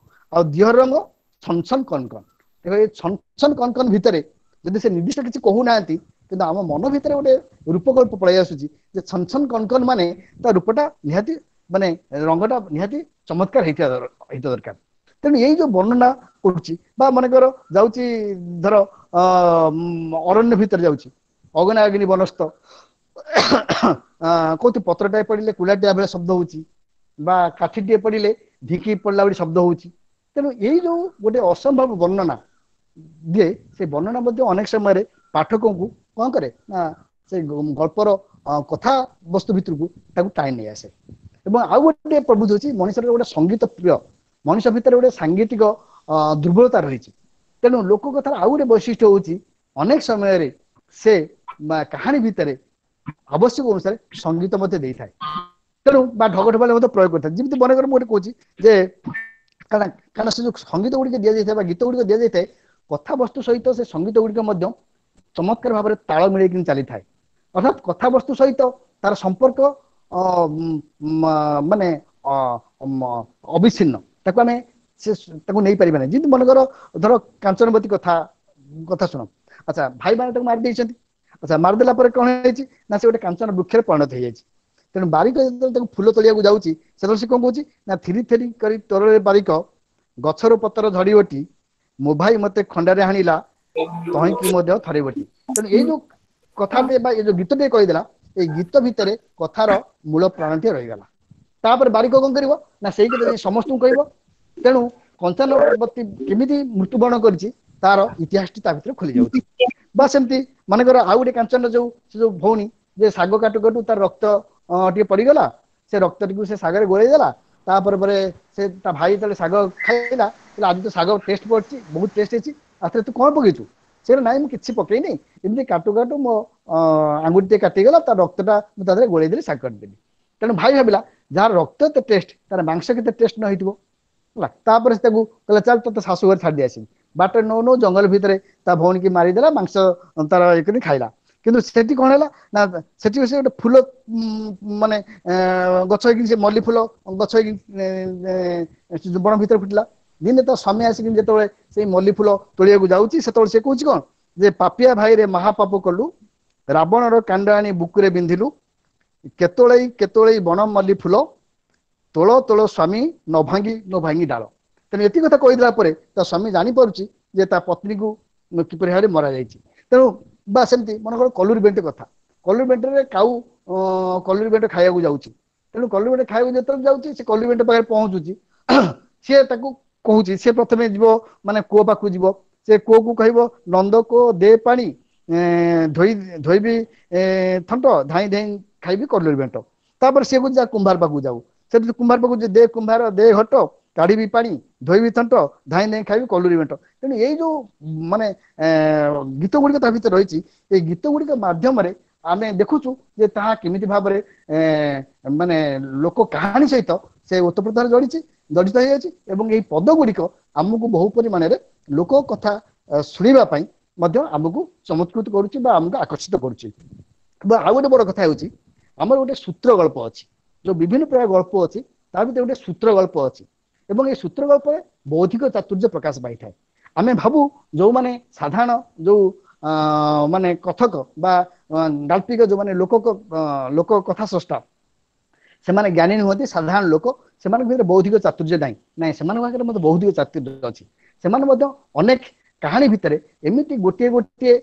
ଆଉ ଦିହର ରଙ୍ଗ ଛନଛନ କନକନ ଦେଖ ଏ ଛନଛନ କନକନ ଭିତରେ ଯଦି ସେ ନିର୍ଦ୍ଦିଷ୍ଟ କିଛି କହୁନାହାନ୍ତି କିନ୍ତୁ ଆମ ମନ ଭିତରେ ଗୋଟେ ରୂପକଳ୍ପ ପଳେଇ ଆସୁଛି ଯେ ଛନଛନ କନକନ ମାନେ ତା ରୂପଟା ନିହାତି ମାନେ ରଙ୍ଗଟା ନିହାତି ଚମତ୍କାର ହେଇଥିବା ହେଇଥିବା ଦରକାର ତେଣୁ ଏଇ ଯୋଉ ବର୍ଣ୍ଣନା କରୁଛି ବା ମନେକର ଯାଉଛି ଧର ଅ ଅରଣ୍ୟ ଭିତରେ ଯାଉଛି ଅଗନା ଅଗ୍ନି ବନସ୍ତ କୋଉଠି ପତ୍ରଟାଏ ପଡିଲେ କୁଳାଟିଆ ଭଳିଆ ଶବ୍ଦ ହଉଛି ବା କାଠିଟିଏ ପଡିଲେ ଢିଙ୍କି ପଡିଲା ଭଳି ଶବ୍ଦ ହଉଛି ତେଣୁ ଏଇ ଯୋଉ ଗୋଟେ ଅସମ୍ଭବ ବର୍ଣ୍ଣନା ଦିଏ ସେ ବର୍ଣ୍ଣନା ମଧ୍ୟ ଅନେକ ସମୟରେ ପାଠକଙ୍କୁ କଣ କରେ ନା ସେ ଗଳ୍ପର କଥା ବସ୍ତୁ ଭିତରକୁ ତାକୁ ଟାଣି ନେଇ ଆସେ ଏବଂ ଆଉ ଗୋଟେ ପ୍ରବୃତ୍ତି ହଉଛି ମଣିଷର ଗୋଟେ ସଙ୍ଗୀତ ପ୍ରିୟ, ମଣିଷ ଭିତରେ ଗୋଟେ ସାଙ୍ଗୀତିକ ଦୁର୍ବଳତା ରହିଛି। ତେଣୁ ଲୋକ କଥାର ଆଉ ଗୋଟେ ବୈଶିଷ୍ଟ୍ୟ ହଉଛି ଅନେକ ସମୟରେ ସେ କାହାଣୀ ଭିତରେ ଆବଶ୍ୟକ ଅନୁସାରେ ସଙ୍ଗୀତ ମଧ୍ୟ ଦେଇଥାଏ, ତେଣୁ ବା ଢଗ ଢପାଲି ମଧ୍ୟ ପ୍ରୟୋଗ କରିଥାଏ। ଯେମିତି ମନେକର ମୁଁ ଗୋଟେ କହୁଛି ଯେ କାରଣ କାରଣ ସେ ଯୋଉ ସଙ୍ଗୀତ ଗୁଡିକ ଦିଆଯାଇଥାଏ ବା ଗୀତ ଗୁଡିକ ଦିଆଯାଇଥାଏ, କଥାବସ୍ତୁ ସହିତ ସେ ସଙ୍ଗୀତ ଗୁଡିକ ମଧ୍ୟ ଚମତ୍କାର ଭାବରେ ତାଳ ମିଳେଇକି ଚାଲିଥାଏ। ଅର୍ଥାତ୍ କଥାବସ୍ତୁ ସହିତ ତାର ସମ୍ପର୍କ ମାନେ ଅବିଚ୍ଛିନ୍ନ, ତାକୁ ଆମେ ସେ ତାକୁ ନେଇପାରିବା ନାହିଁ। ଯେମିତି ମନେକର ଧର କାଞ୍ଚନବତୀ କଥା କଥା ଶୁଣ, ଆଚ୍ଛା ଭାଇ ମାନେ ତାକୁ ମାରି ଦେଇଛନ୍ତି। ଆଚ୍ଛା ମାରିଦେଲା ପରେ କଣ ହେଇଛି ନା ସେ ଗୋଟେ କାଞ୍ଚନ ବୃକ୍ଷରେ ପରିଣତ ହେଇଯାଇଛି। ତେଣୁ ବାରିକ ଯେତେବେଳେ ତାକୁ ଫୁଲ ତୋଳିବାକୁ ଯାଉଛି, ସେତେବେଳେ ସେ କଣ କହୁଛି ନା ଥିରି ଥିରି କରି ତୋରରେ ବାରିକ ଗଛର ପତ୍ର ଝଡିବଟି, ମୋ ଭାଇ ମତେ ଖଣ୍ଡାରେ ହାଣିଲା ତହିଁକି ମଧ୍ୟ ଥରେ ବଟି। ତେଣୁ ଏଇ ଯୋଉ କଥାଟେ ବା ଏଇ ଯୋଉ ଗୀତଟିଏ କହିଦେଲା, ଏଇ ଗୀତ ଭିତରେ କଥାର ମୂଳ ପ୍ରାଣଟିଏ ରହିଗଲା। ତାପରେ ବାରିକ କଣ କରିବ ନା ସେଇ କଥା ଯାଇ ସମସ୍ତଙ୍କୁ କହିବ। ତେଣୁ କଞ୍ଚାନବତୀ କେମିତି ମୃତ୍ୟୁବରଣ କରିଛି ତାର ଇତିହାସଟି ତା ଭିତରେ ଖୋଲି ଯାଉଛି। ବା ସେମିତି ମନେକର ଆଉ ଗୋଟେ କାଞ୍ଚନ ଯୋଉ ସେ ଯୋଉ ଭଉଣୀ ଯେ ଶାଗ କାଟୁ କାଟୁ ତାର ରକ୍ତ ଟିକେ ପଡିଗଲା, ସେ ରକ୍ତଟିକୁ ସେ ଶାଗରେ ଗୋଳେଇ ଦେଲା। ତାପରେ ପରେ ସେ ତା ଭାଇ ଯେତେବେଳେ ଶାଗ ଖାଇଲା, ଆଜି ତ ଶାଗ ଟେଷ୍ଟ ପଡିଛି, ବହୁତ ଟେଷ୍ଟ ହେଇଛି, ଆଥରେ ତୁ କଣ ପକେଇଛୁ? ସେ ନାଇଁ ମୁଁ କିଛି ପକେଇନି, ଏମିତି କାଟୁ କାଟୁ ମୋ ଆଙ୍ଗୁଠି ଟିକେ କାଟିଗଲା, ତା ରକ୍ତଟା ମୁଁ ତା ଦେହରେ ଗୋଳେଇ ଦେଲି, ଶାଗ କାଟିଦେଲି। ତେଣୁ ଭାଇ ଭାବିଲା ଯାହାର ରକ୍ତ ଏତେ ଟେଷ୍ଟ, ତାର ମାଂସ କେତେ ଟେଷ୍ଟ ନ ହେଇଥିବ ହେଲା। ତାପରେ ସେ ତାକୁ କହିଲା ଚାଲ ତୋତେ ଶାଶୁ ଘରେ ଛାଡି ଦେଇ ଆସିବି। ବାଟରେ ନଉ ନଉ ଜଙ୍ଗଲ ଭିତରେ ତା ଭଉଣୀକି ମାରିଦେଲା, ମାଂସ ତାର ଇଏ କରି ଖାଇଲା। କିନ୍ତୁ ସେଠି କଣ ହେଲା ନା ସେଠି ସେ ଗୋଟେ ଫୁଲ ମାନେ ଗଛ ହେଇକି, ସେ ମଲ୍ଲି ଫୁଲ ଗଛ ହେଇକି ବଣ ଭିତରେ ଫୁଟିଲା। ଦିନେ ତା ସ୍ୱାମୀ ଆସିକି ଯେତେବେଳେ ସେଇ ମଲ୍ଲି ଫୁଲ ତୋଳିବାକୁ ଯାଉଛି, ସେତେବେଳେ ସେ କହୁଛି କଣ ଯେ ପାପିଆ ଭାଇରେ ମହାପାପ କଲୁ, ରାବଣର କାଣ୍ଡ ଆଣି ବୁକୁରେ ବିନ୍ଧିଲୁ, କେତୋଳେଇ କେତୋଳେଇ ବଣ ମଲ୍ଲି ଫୁଲ, ତୋଳ ତୋଳ ସ୍ୱାମୀ ନ ଭାଙ୍ଗି ନ ଭାଙ୍ଗି ଡାଳ। ତେଣୁ ଏତିକି କଥା କହିଦେଲା ପରେ ତା ସ୍ୱାମୀ ଜାଣିପାରୁଛି ଯେ ତା ପତ୍ନୀକୁ କିପରି ଭାବରେ ମରାଯାଇଛି। ତେଣୁ ବା ସେମିତି ମନେକର କଲୁରୀ ବେଣ୍ଟ କଥା, କଲୁରୀ ବେଣ୍ଟରେ କାଉ କଲୁରୀ ବେଣ୍ଟ ଖାଇବାକୁ ଯାଉଛି। ତେଣୁ କଲୁରୀ ବେଣ୍ଟ ଖାଇବାକୁ ଯେତେବେଳେ ଯାଉଛି, ସେ କଲୁରୀ ବେଣ୍ଟ ପାଖରେ ପହଞ୍ଚୁଛି, ସିଏ ତାକୁ କହୁଛି, ସେ ପ୍ରଥମେ ଯିବ ମାନେ କୂଅ ପାଖକୁ ଯିବ, ସେ କୂଅକୁ କହିବ ନନ୍ଦ କୂଅ ଦେ ପାଣି, ଧୋଇ ଧୋଇବି ଥଣ୍ଟ, ଧାଇଁ ଧାଇଁ ଖାଇବି କଲୁରୀ ବେଣ୍ଟ। ତାପରେ ସିଏ କହୁଛି ଯା କୁମ୍ଭାର ପାଖକୁ ଯାଉ, ସେଠି କୁମ୍ଭାର ପାଖକୁ ଦେ କୁମ୍ଭାର ଦେ ଘଟ, କାଢିବି ପାଣି, ଧୋଇବି ଥଣ୍ଟ, ଧାଇଁ ଧାଇଁ ଖାଇବି କଲୁରୀ ବେଣ୍ଟ। ତେଣୁ ଏଇ ଯୋଉ ମାନେ ଗୀତ ଗୁଡିକ ତା ଭିତରେ ରହିଛି, ଏଇ ଗୀତ ଗୁଡିକ ମାଧ୍ୟମରେ ଆମେ ଦେଖୁଛୁ ଯେ ତାହା କେମିତି ଭାବରେ ମାନେ ଲୋକ କାହାଣୀ ସହିତ ସେ ଓତପ୍ରୋତ ଜଡ଼ିଛି ଜଡ଼ିତ ହେଇଯାଇଛି। ଏବଂ ଏଇ ପଦ ଗୁଡ଼ିକ ଆମକୁ ବହୁ ପରିମାଣରେ ଲୋକ କଥା ଶୁଣିବା ପାଇଁ ମଧ୍ୟ ଆମକୁ ଚମତ୍କୃତ କରୁଛି ବା ଆମକୁ ଆକର୍ଷିତ କରୁଛି। ବା ଆଉ ଗୋଟେ ବଡ କଥା ହେଉଛି ଆମର ଗୋଟେ ସୂତ୍ର ଗଳ୍ପ ଅଛି, ଯୋଉ ବିଭିନ୍ନ ପ୍ରକାର ଗଳ୍ପ ଅଛି ତା ଭିତରେ ଗୋଟେ ସୂତ୍ର ଗଳ୍ପ ଅଛି, ଏବଂ ଏଇ ସୂତ୍ର ଗଳ୍ପରେ ବୌଦ୍ଧିକ ଚାତୁର୍ଯ୍ୟ ପ୍ରକାଶ ପାଇଥାଏ। ଆମେ ଭାବୁ ଯୋଉମାନେ ସାଧାରଣ ଯୋଉ ମାନେ କଥକ ବା ଗାଳ୍ପିକ, ଯୋଉମାନେ ଲୋକ ଲୋକ କଥା ସ୍ରଷ୍ଟା, ସେମାନେ ଜ୍ଞାନୀ ନୁହନ୍ତି, ସାଧାରଣ ଲୋକ, ସେମାନଙ୍କ ଭିତରେ ବୌଦ୍ଧିକ ଚାତୁର୍ଯ୍ୟ ନାହିଁ। ନାଇଁ, ସେମାନଙ୍କ ପାଖରେ ମଧ୍ୟ ବୌଦ୍ଧିକ ଚାତୁର୍ଯ୍ୟ ଅଛି। ସେମାନେ ମଧ୍ୟ ଅନେକ କାହାଣୀ ଭିତରେ ଏମିତି ଗୋଟିଏ ଗୋଟିଏ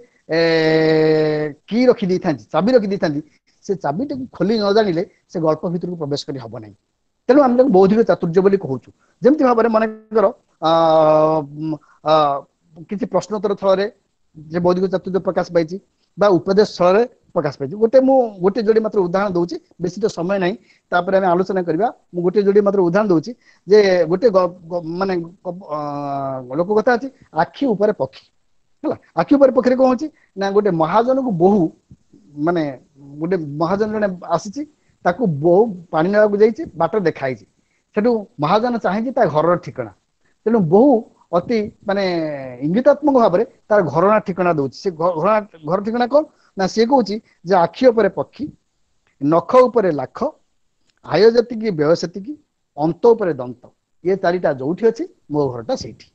କି ରଖି ଦେଇଥାନ୍ତି, ଚାବି ରଖି ଦେଇଥାନ୍ତି, ସେ ଚାବିଟିକୁ ଖୋଲି ନ ଜାଣିଲେ ସେ ଗଳ୍ପ ଭିତରକୁ ପ୍ରବେଶ କରି ହବ ନାହିଁ। ତେଣୁ ଆମେ ତାକୁ ବୌଦ୍ଧିକ ଚାତୁର୍ଯ୍ୟ ବୋଲି କହୁଛୁ। ଯେମିତି ଭାବରେ ମନେକର କିଛି ପ୍ରଶ୍ନୋତ୍ତର ଥଳରେ ଯେ ବୌଦ୍ଧିକ ଚାତୁର୍ଯ୍ୟ ପ୍ରକାଶ ପାଇଛି ବା ଉପଦେଶ ସ୍ଥଳରେ ପ୍ରକାଶ ପାଇଛି। ଗୋଟେ ମୁଁ ଗୋଟେ ଯୋଡ଼ି ମାତ୍ର ଉଦାହରଣ ଦଉଛି, ବେଶୀ ତ ସମୟ ନାହିଁ, ତାପରେ ଆମେ ଆଲୋଚନା କରିବା। ମୁଁ ଗୋଟେ ଯୋଡ଼ି ମାତ୍ର ଉଦାହରଣ ଦଉଛି ଯେ ଗୋଟେ ମାନେ ଲୋକ କଥା ଅଛି ଆଖି ଉପରେ ପକ୍ଷୀ। ହେଲା, ଆଖି ଉପରେ ପକ୍ଷୀରେ କଣ ହଉଛି ନା ଗୋଟେ ମହାଜନକୁ ବୋହୁ ମାନେ ଗୋଟେ ମହାଜନ ଜଣେ ଆସିଛି, ତାକୁ ବୋହୁ ପାଣି ନେବାକୁ ଯାଇଛି, ବାଟରେ ଦେଖା ହେଇଛି। ସେଠୁ ମହାଜନ ଚାହିଁଛି ତା ଘରର ଠିକଣା। ତେଣୁ ବୋହୁ ଅତି ମାନେ ଇଙ୍ଗିତାତ୍ମକ ଭାବରେ ତାର ଘରଣା ଠିକଣା ଦଉଛି। ସେ ଘରଣା ଘର ଠିକଣା କଣ ନା ସିଏ କହୁଛି ଯେ ଆଖି ଉପରେ ପକ୍ଷୀ, ନଖ ଉପରେ ଲାଖ, ଆୟ ଯେତିକି ବ୍ୟୟ ସେତିକି, ଅନ୍ତ ଉପରେ ଦନ୍ତ, ଇଏ ଚାରିଟା ଯୋଉଠି ଅଛି ମୋ ଘରଟା ସେଇଠି।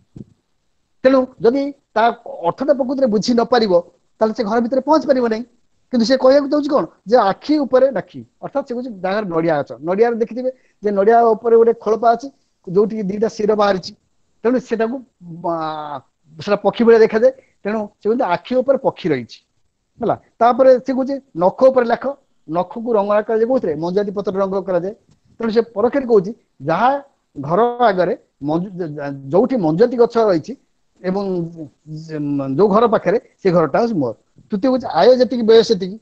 ତେଣୁ ଯଦି ତା ଅର୍ଥଟା ପ୍ରକୃତରେ ବୁଝି ନ ପାରିବ ତାହେଲେ ସେ ଘର ଭିତରେ ପହଞ୍ଚି ପାରିବ ନାହିଁ। କିନ୍ତୁ ସେ କହିବାକୁ ଚାହୁଁଛି କଣ ଯେ ଆଖି ଉପରେ ନାଖି, ଅର୍ଥାତ୍ ସେ କହୁଛି ଯାହାର ନଡିଆ ଗଛ, ନଡିଆରେ ଦେଖିଥିବେ ଯେ ନଡିଆ ଉପରେ ଗୋଟେ ଖୋଳପା ଅଛି ଯୋଉଠିକି ଦିଟା ଶିର ବାହାରିଛି, ତେଣୁ ସେଟାକୁ ସେଟା ପକ୍ଷୀ ଭଳିଆ ଦେଖାଯାଏ। ତେଣୁ ସେ କହୁଛି ଆଖି ଉପରେ ପକ୍ଷୀ ରହିଛି ହେଲା। ତାପରେ ସେ କହୁଛି ନଖ ଉପରେ ଲାଖ, ନଖକୁ ରଙ୍ଗ କରାଯାଏ କୋଉଥିରେ, ମଞ୍ଜୁଆତି ପତ୍ର ରଙ୍ଗ କରାଯାଏ। ତେଣୁ ସେ ପରୋକ୍ଷରେ କହୁଛି ଯାହା ଘର ଆଗରେ ଯୋଉଠି ମଞ୍ଜୁଆତି ଗଛ ରହିଛି ଏବଂ ଯୋଉ ଘର ପାଖରେ ସେ ଘରଟା ହଉଛି ମୋର। ତୃତୀୟ କହୁଛି ଆୟ ଯେତିକି ବ୍ୟୟ ସେତିକି,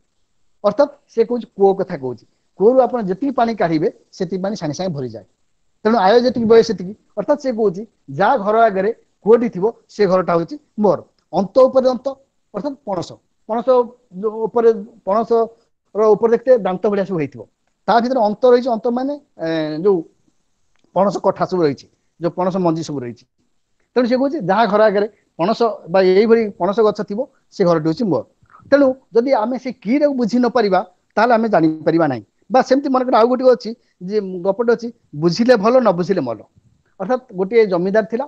ଅର୍ଥାତ୍ ସେ କହୁଛି କୂଅ କଥା କହୁଛି। କୂଅରୁ ଆପଣ ଯେତିକି ପାଣି କାଢିବେ ସେତିକି ପାଣି ସାଙ୍ଗେ ସାଙ୍ଗେ ଭରିଯାଏ। ତେଣୁ ଆୟ ଯେତିକି ବ୍ୟୟ ସେତିକି। ଅର୍ଥାତ୍ ସେ କହୁଛି ଯାହା ଘର ଆଗରେ କୂଅଟି ଥିବ ସେ ଘରଟା ହଉଛି ମୋର। ଅନ୍ତ ଉପରେ ଅନ୍ତ, ଅର୍ଥାତ୍ ପଣସ, ପଣସ ଉପରେ ପଣସ ର ଉପରେ ଦେଖିତେ ଦାନ୍ତ ଭଳିଆ ସବୁ ହେଇଥିବ, ତା ଭିତରେ ଅନ୍ତ ରହିଛି। ଅନ୍ତ ମାନେ ଯୋଉ ପଣସ କଠା ସବୁ ରହିଛି, ଯୋଉ ପଣସ ମଞ୍ଜି ସବୁ ରହିଛି। ତେଣୁ ସେ କହୁଛି ଯାହା ଘର ଆଗରେ ପଣସ ବା ଏଇଭଳି ପଣସ ଗଛ ଥିବ ସେ ଘରଟି ହଉଛି ମୋର। ତେଣୁ ଯଦି ଆମେ ସେ କିଟାକୁ ବୁଝି ନ ପାରିବା ତାହେଲେ ଆମେ ଜାଣିପାରିବା ନାହିଁ। ବା ସେମିତି ମନେକର ଆଉ ଗୋଟେ ଅଛି ଯେ ଗପଟେ ଅଛି, ବୁଝିଲେ ଭଲ ନ ବୁଝିଲେ ମଲ। ଅର୍ଥାତ୍ ଗୋଟିଏ ଜମିଦାର ଥିଲା,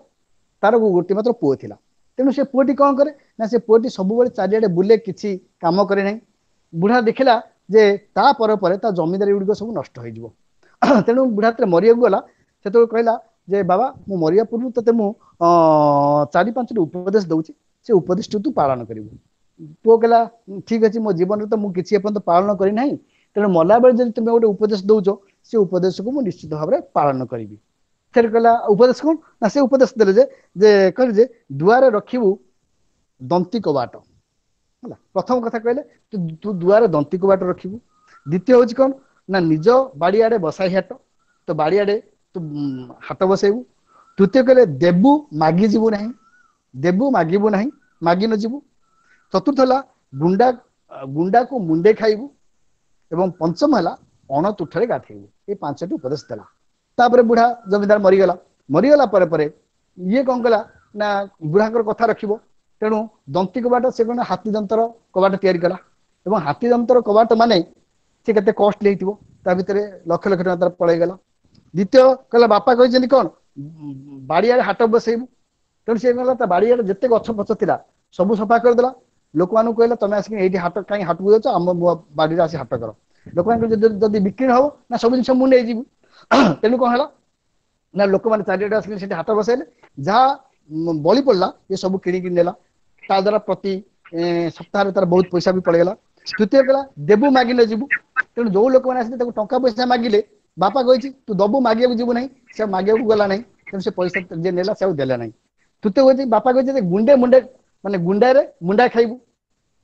ତାର ଗୋଟିଏ ମାତ୍ର ପୁଅ ଥିଲା। ତେଣୁ ସେ ପୁଅଟି କଣ କରେ ନା ସେ ପୁଅଟି ସବୁବେଳେ ଚାରିଆଡେ ବୁଲେ, କିଛି କାମ କରେ ନାହିଁ। ବୁଢା ଦେଖିଲା ଯେ ତା ପରେ ପରେ ତା ଜମିଦାରୀ ଗୁଡ଼ିକ ସବୁ ନଷ୍ଟ ହେଇଯିବ। ତେଣୁ ବୁଢା ଯେତେବେଳେ ମରିବାକୁ ଗଲା ସେତେବେଳେ କହିଲା ଯେ ବାବା, ମୁଁ ମରିବା ପୂର୍ବରୁ ତତେ ମୁଁ ଚାରି ପାଞ୍ଚଟି ଉପଦେଶ ଦଉଛି, ସେ ଉପଦେଶଟି ତୁ ପାଳନ କରିବୁ। ପୁଅ କହିଲା ଠିକ ଅଛି, ମୋ ଜୀବନରେ ତ ମୁଁ କିଛି ଏପର୍ଯ୍ୟନ୍ତ ପାଳନ କରିନାହିଁ, ତେଣୁ ମଲାବେଳେ ଯଦି ତୁମେ ଗୋଟେ ଉପଦେଶ ଦଉଛ ସେ ଉପଦେଶକୁ ମୁଁ ନିଶ୍ଚିତ ଭାବରେ ପାଳନ କରିବି। ଫେର କହିଲା ଉପଦେଶ କଣ? ନା ସେ ଉପଦେଶ ଦେଲେ ଯେ ଯେ କହିଲେ ଯେ ଦୁଆରେ ରଖିବୁ ଦନ୍ତି କବାଟ। ହେଲା, ପ୍ରଥମ କଥା କହିଲେ ତୁ ଦୁଆରେ ଦନ୍ତି କବାଟ ରଖିବୁ। ଦ୍ୱିତୀୟ ହଉଛି କଣ ନା ନିଜ ବାଡିଆଡେ ବସାଇ ହାଟ, ତ ବାଡିଆଡେ ତୁ ହାଟ ବସେଇବୁ। ତୃତୀୟ କହିଲେ ଦେବୁ ମାଗି ଯିବୁ ନାହିଁ, ଦେବୁ ମାଗିବୁ ନାହିଁ, ମାଗି ନ ଯିବୁ। ଚତୁର୍ଥ ହେଲା ଗୁଣ୍ଡା ଗୁଣ୍ଡାକୁ ମୁଣ୍ଡେ ଖାଇବୁ, ଏବଂ ପଞ୍ଚମ ହେଲା ଅଣତୁଠରେ ଗାଧେଇବୁ। ଏଇ ପାଞ୍ଚଟି ଉପଦେଶ ଦେଲା। ତାପରେ ବୁଢା ଜମିଦାର ମରିଗଲା। ମରିଗଲା ପରେ ପରେ ଇଏ କଣ କଲା ନା ବୁଢାଙ୍କର କଥା ରଖିବ, ତେଣୁ ଦନ୍ତି କବାଟ ସେ କଣ ହାତୀ ଦନ୍ତର କବାଟ ତିଆରି କଲା। ଏବଂ ହାତୀ ଦନ୍ତର କବାଟ ମାନେ ସେ କେତେ କଷ୍ଟଲି ହେଇଥିବ, ତା ଭିତରେ ଲକ୍ଷ ଲକ୍ଷ ଟଙ୍କା ତାର ପଳେଇଗଲା। ଦ୍ୱିତୀୟ କହିଲା ବାପା କହିଛନ୍ତି କଣ ବାଡିଆଡେ ହାଟ ବସେଇବୁ। ତେଣୁ ସେ କଣ କଲା ତା ବାଡିଆଡେ ଯେତେ ଗଛ ଫଛ ଥିଲା ସବୁ ସଫା କରିଦେଲା। ଲୋକମାନଙ୍କୁ କହିଲା ତମେ ଆସିକି ଏଇଠି ହାଟ କାହିଁ ହାଟକୁ ଯାଉଛ, ଆମ ବାଡିରେ ଆସି ହାଟ କର। ଲୋକମାନଙ୍କୁ ଯଦି ଯଦି ବିକ୍ରି ହବ ନା ସବୁ ଜିନିଷ ମୁଁ ନେଇଯିବି। ତେଣୁ କଣ ହେଲା ନା ଲୋକମାନେ ଚାରିଆଡେ ଆସିକି ସେଠି ହାଟ ବସେଇଲେ, ଯାହା ବଳି ପଡିଲା ଏ ସବୁ କିଣିକି ନେଲା। ତା ଦ୍ଵାରା ପ୍ରତି ସପ୍ତାହରେ ତାର ବହୁତ ପଇସା ବି ପଳେଇଗଲା। ତୃତୀୟ କହିଲା ଦେବୁ ମାଗିଲେ ଯିବୁ। ତେଣୁ ଯୋଉ ଲୋକମାନେ ଆସିଲେ ତାକୁ ଟଙ୍କା ପଇସା ମାଗିଲେ, ବାପା କହିଛି ତୁ ଦବୁ ମାଗିବାକୁ ଯିବୁ ନାହିଁ, ସେ ମାଗିବାକୁ ଗଲା ନାହିଁ, ତେଣୁ ସେ ପଇସା ଯିଏ ନେଲା ସେ ଆଉ ଦେଲା ନାହିଁ। ତୃତୀୟ କହିଛି ବାପା କହିଛି ଯେ ଗୁଣ୍ଡେ ମୁଣ୍ଡେ ମାନେ ଗୁଣ୍ଡାରେ ମୁଣ୍ଡା ଖାଇବୁ।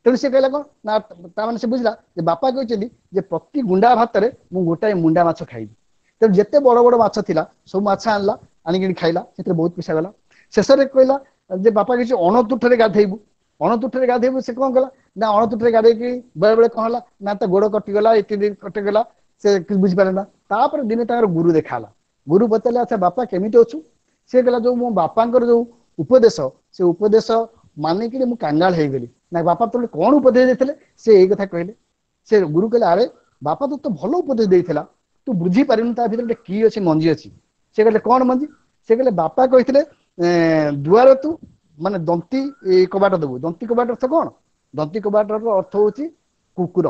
ତେଣୁ ସେ କହିଲା କଣ ନା ତା ମାନେ ସେ ବୁଝିଲା ଯେ ବାପା କହିଛନ୍ତି ଯେ ପ୍ରତି ଗୁଣ୍ଡା ଭାତରେ ମୁଁ ଗୋଟାଏ ମୁଣ୍ଡା ମାଛ ଖାଇବି। ତେଣୁ ଯେତେ ବଡ ବଡ ମାଛ ଥିଲା ସବୁ ମାଛ ଆଣିଲା, ଆଣିକିଣି ଖାଇଲା, ସେଥିରେ ବହୁତ ପଇସା ଗଲା। ଶେଷରେ କହିଲା ଯେ ବାପା କିଛି ଅଣତୁଠରେ ଗାଧେଇବୁ, ଅଣତୁଠରେ ଗାଧେଇବୁ। ସେ କଣ କଲା ନା ଅଣତୁଠରେ ଗାଧେଇକି ବେଳେ ବେଳେ କଣ ହେଲା ନା ତା ଗୋଡ କଟିଗଲା, ଇତ୍ୟାଦି କଟିଗଲା, ସେ କିଛି ବୁଝିପାରିଲା ନା। ତାପରେ ଦିନେ ତାଙ୍କର ଗୁରୁ ଦେଖା ହେଲା। ଗୁରୁ ପଚାରିଲେ ଆଚ୍ଛା ବାପା କେମିତି ଅଛୁ? ସେ କହିଲା ଯୋଉ ମୋ ବାପାଙ୍କର ଯୋଉ ଉପଦେଶ, ସେ ଉପଦେଶ ମାନିକିରି ମୁଁ କାଙ୍ଗାଳ ହେଇଗଲି। ନା ବାପା ତୋତେ କଣ ଉପଦେଶ ଦେଇଥିଲେ? ସେ ଏଇ କଥା କହିଲେ। ସେ ଗୁରୁ କହିଲେ ଆରେ ବାପା ତ ତ ଭଲ ଉପଦେଶ ଦେଇଥିଲା, ତୁ ବୁଝିପାରିନୁ ତା ଭିତରେ ଗୋଟେ କି ଅଛି, ମଞ୍ଜି ଅଛି। ସେ କହିଲେ କଣ ମଞ୍ଜି? ସେ କହିଲେ ବାପା କହିଥିଲେ ଦୁଆର ତୁ ମାନେ ଦନ୍ତି କବାଟ ଦବୁ। ଦନ୍ତି କବାଟ ଅର୍ଥ କଣ? ଦନ୍ତି କବାଟର ଅର୍ଥ ହଉଛି କୁକୁର,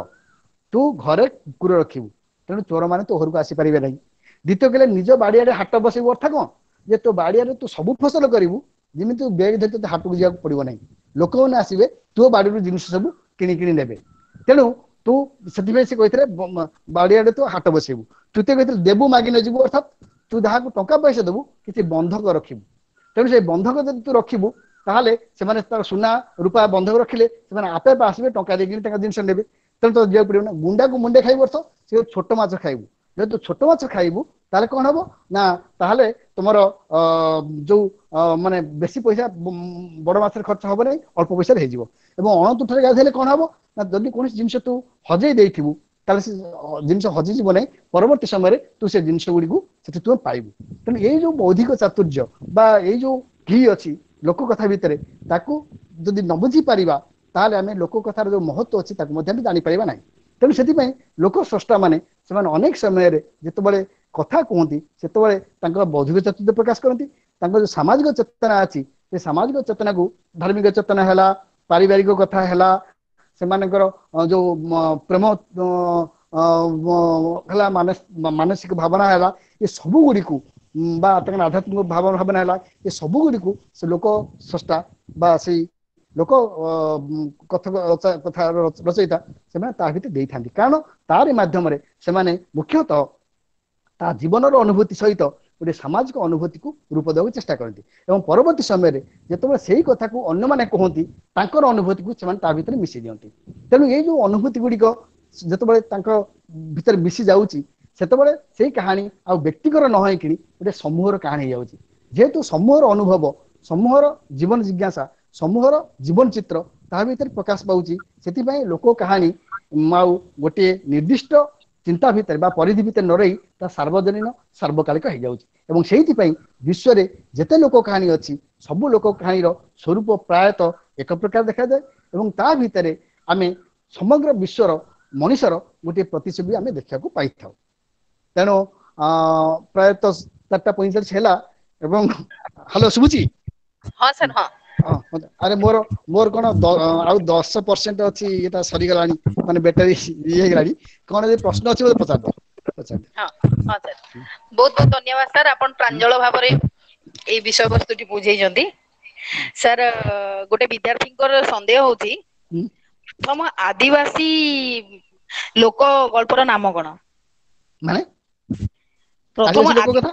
ତୁ ଘରେ କୁକୁର ରଖିବୁ, ତେଣୁ ଚୋର ମାନେ ତୋ ଘରକୁ ଆସିପାରିବେ ନାହିଁ। ଦ୍ୱିତୀୟ କହିଲେ ନିଜ ବାଡିଆଡେ ହାଟ ବସେଇବୁ, ଅର୍ଥ କଣ? ଯେ ତୋ ବାଡିଆରେ ତୁ ସବୁ ଫସଲ କରିବୁ, ଯେମିତି ତୁ ବେଗ ଧରି ତୋତେ ହାଟକୁ ଯିବାକୁ ପଡିବ ନାହିଁ, ଲୋକମାନେ ଆସିବେ ତୋ ବାଡିରୁ ଜିନିଷ ସବୁ କିଣି କିଣି ନେବେ। ତେଣୁ ତୁ ସେଥିପାଇଁ ସେ କହିଥିଲେ ବାଡିଆଡେ ତୁ ହାଟ ବସେଇବୁ। ତୃତୀୟ କହିଥିଲେ ଦେବୁ ମାଗି ନ ଯିବୁ, ଅର୍ଥାତ୍ ତୁ ଯାହାକୁ ଟଙ୍କା ପଇସା ଦେବୁ କିଛି ବନ୍ଧକ ରଖିବୁ। ତେଣୁ ସେ ବନ୍ଧକ ଯଦି ତୁ ରଖିବୁ ତାହେଲେ ସେମାନେ ତାର ସୁନା ରୂପା ବନ୍ଧକ ରଖିଲେ ସେମାନେ ଆପେ ଆପେ ଆସିବେ, ଟଙ୍କା ଦେଇକି ତାଙ୍କ ଜିନିଷ ନେବେ, ତେଣୁ ତ ଯିବାକୁ ପଡିବ ନା। ଗୁଣ୍ଡାକୁ ମୁଣ୍ଡେ ଖାଇବୁ ଅର୍ଥ ସେ ଛୋଟ ମାଛ ଖାଇବୁ। ଯଦି ତୁ ଛୋଟ ମାଛ ଖାଇବୁ ତାହେଲେ କଣ ହବ ନା ତାହେଲେ ତୁମର ଅ ଯୋଉ ମାନେ ବେଶୀ ପଇସା ବଡ ମାଛରେ ଖର୍ଚ୍ଚ ହବ ନାହିଁ, ଅଳ୍ପ ପଇସାରେ ହେଇଯିବ। ଏବଂ ଅଣତୁଠରେ ଗାଧେଇଲେ କଣ ହବ ନା ଯଦି କୌଣସି ଜିନିଷ ତୁ ହଜେଇ ଦେଇଥିବୁ ତାହେଲେ ସେ ଜିନିଷ ହଜିଯିବ ନାହିଁ, ପରବର୍ତ୍ତୀ ସମୟରେ ତୁ ସେ ଜିନିଷ ଗୁଡିକୁ ସେଠି ତୁ ପାଇବୁ। ତେଣୁ ଏଇ ଯୋଉ ବୌଦ୍ଧିକ ଚାତୁର୍ଯ୍ୟ ବା ଏଇ ଯୋଉ ଘି ଅଛି ଲୋକ କଥା ଭିତରେ, ତାକୁ ଯଦି ନ ବୁଝି ପାରିବା ତାହେଲେ ଆମେ ଲୋକ କଥାର ଯୋଉ ମହତ୍ଵ ଅଛି ତାକୁ ମଧ୍ୟ ଆମେ ଜାଣିପାରିବା ନାହିଁ। ତେଣୁ ସେଥିପାଇଁ ଲୋକ ସ୍ରଷ୍ଟା ମାନେ ସେମାନେ ଅନେକ ସମୟରେ ଯେତେବେଳେ କଥା କୁହନ୍ତି ସେତେବେଳେ ତାଙ୍କର ବୌଦ୍ଧିକ ଚାତୁର୍ଯ୍ୟ ପ୍ରକାଶ କରନ୍ତି। ତାଙ୍କର ଯୋଉ ସାମାଜିକ ଚେତନା ଅଛି ସେ ସାମାଜିକ ଚେତନାକୁ ଧାର୍ମିକ ଚେତନା ହେଲା, ପାରିବାରିକ କଥା ହେଲା, ସେମାନଙ୍କର ଯୋଉ ପ୍ରେମ ହେଲା, ମାନସିକ ଭାବନା ହେଲା, ଏ ସବୁ ଗୁଡିକୁ ବା ତାଙ୍କର ଆଧ୍ୟାତ୍ମିକ ଭାବନା ଭାବନା ହେଲା, ଏ ସବୁ ଗୁଡିକୁ ସେ ଲୋକ ସ୍ରଷ୍ଟା ବା ସେଇ ଲୋକ କଥକ କଥା ରଚୟିତା ସେମାନେ ତା ଭିତରେ ଦେଇଥାନ୍ତି। କାରଣ ତାରି ମାଧ୍ୟମରେ ସେମାନେ ମୁଖ୍ୟତଃ ତା ଜୀବନର ଅନୁଭୂତି ସହିତ ଗୋଟେ ସାମାଜିକ ଅନୁଭୂତିକୁ ରୂପ ଦେବାକୁ ଚେଷ୍ଟା କରନ୍ତି। ଏବଂ ପରବର୍ତ୍ତୀ ସମୟରେ ଯେତେବେଳେ ସେଇ କଥାକୁ ଅନ୍ୟମାନେ କୁହନ୍ତି ତାଙ୍କର ଅନୁଭୂତିକୁ ସେମାନେ ତା ଭିତରେ ମିଶେଇ ଦିଅନ୍ତି। ତେଣୁ ଏଇ ଯୋଉ ଅନୁଭୂତି ଗୁଡିକ ଯେତେବେଳେ ତାଙ୍କ ଭିତରେ ମିଶି ଯାଉଛି, ସେତେବେଳେ ସେଇ କାହାଣୀ ଆଉ ବ୍ୟକ୍ତିଗର ନ ହେଇକିଣି ଗୋଟେ ସମୂହର କାହାଣୀ ହେଇଯାଉଛି। ଯେହେତୁ ସମୂହର ଅନୁଭବ, ସମୂହର ଜୀବନ ଜିଜ୍ଞାସା, ସମୂହର ଜୀବନ ଚିତ୍ର ତାହା ଭିତରେ ପ୍ରକାଶ ପାଉଛି, ସେଥିପାଇଁ ଲୋକ କାହାଣୀ ଆଉ ଗୋଟିଏ ନିର୍ଦ୍ଦିଷ୍ଟ ଚିନ୍ତା ଭିତରେ ବା ପରିଧି ଭିତରେ ନ ରହି ତା ସାର୍ବଜନୀନ, ସାର୍ବକାଳିକ ହେଇଯାଉଛି। ଏବଂ ସେଇଥିପାଇଁ ବିଶ୍ୱରେ ଯେତେ ଲୋକ କାହାଣୀ ଅଛି, ସବୁ ଲୋକ କାହାଣୀର ସ୍ୱରୂପ ପ୍ରାୟତଃ ଏକ ପ୍ରକାର ଦେଖାଯାଏ ଏବଂ ତା ଭିତରେ ଆମେ ସମଗ୍ର ବିଶ୍ୱର ମଣିଷର ଗୋଟିଏ ପ୍ରତିଛବି ଆମେ ଦେଖିବାକୁ ପାଇଥାଉ। ତେଣୁ ପ୍ରାୟତଃ ଚାରିଟା ପଇଁଚାଳିଶ ହେଲା ଏବଂ ହ୍ୟାଲୋ, ଶୁଭୁଛି? ହଁ ସାର୍, ହଁ। ଆରେ ମୋର ମୋର କଣ ଆଉ ଦଶ ପରସେଣ୍ଟ ଅଛି, ଏଇଟା ସରିଗଲାଣି, ମାନେ ବ୍ୟାଟେରୀ ଇଏ ହେଇଗଲାଣି। କଣ ଯଦି ପ୍ରଶ୍ନ ଅଛି ବୋଧେ ପଚାରିଦବ, ପଚାରିଦିଅ। ହଁ ହଁ ସାର୍, ବହୁତ ବହୁତ ଧନ୍ୟବାଦ ସାର୍, ଆପଣ ପ୍ରାଞ୍ଜଳ ଭାବରେ ଏଇ ବିଷୟବସ୍ତୁଟି ବୁଝେଇଛନ୍ତି। ସାର୍, ଗୋଟେ ବିଦ୍ୟାର୍ଥୀଙ୍କର ସନ୍ଦେହ ହଉଛି, ପ୍ରଥମ ଆଦିବାସୀ ଲୋକ ଗଳ୍ପର ନାମ କଣ? ମାନେ ପ୍ରଥମ ଲୋକ କଥା,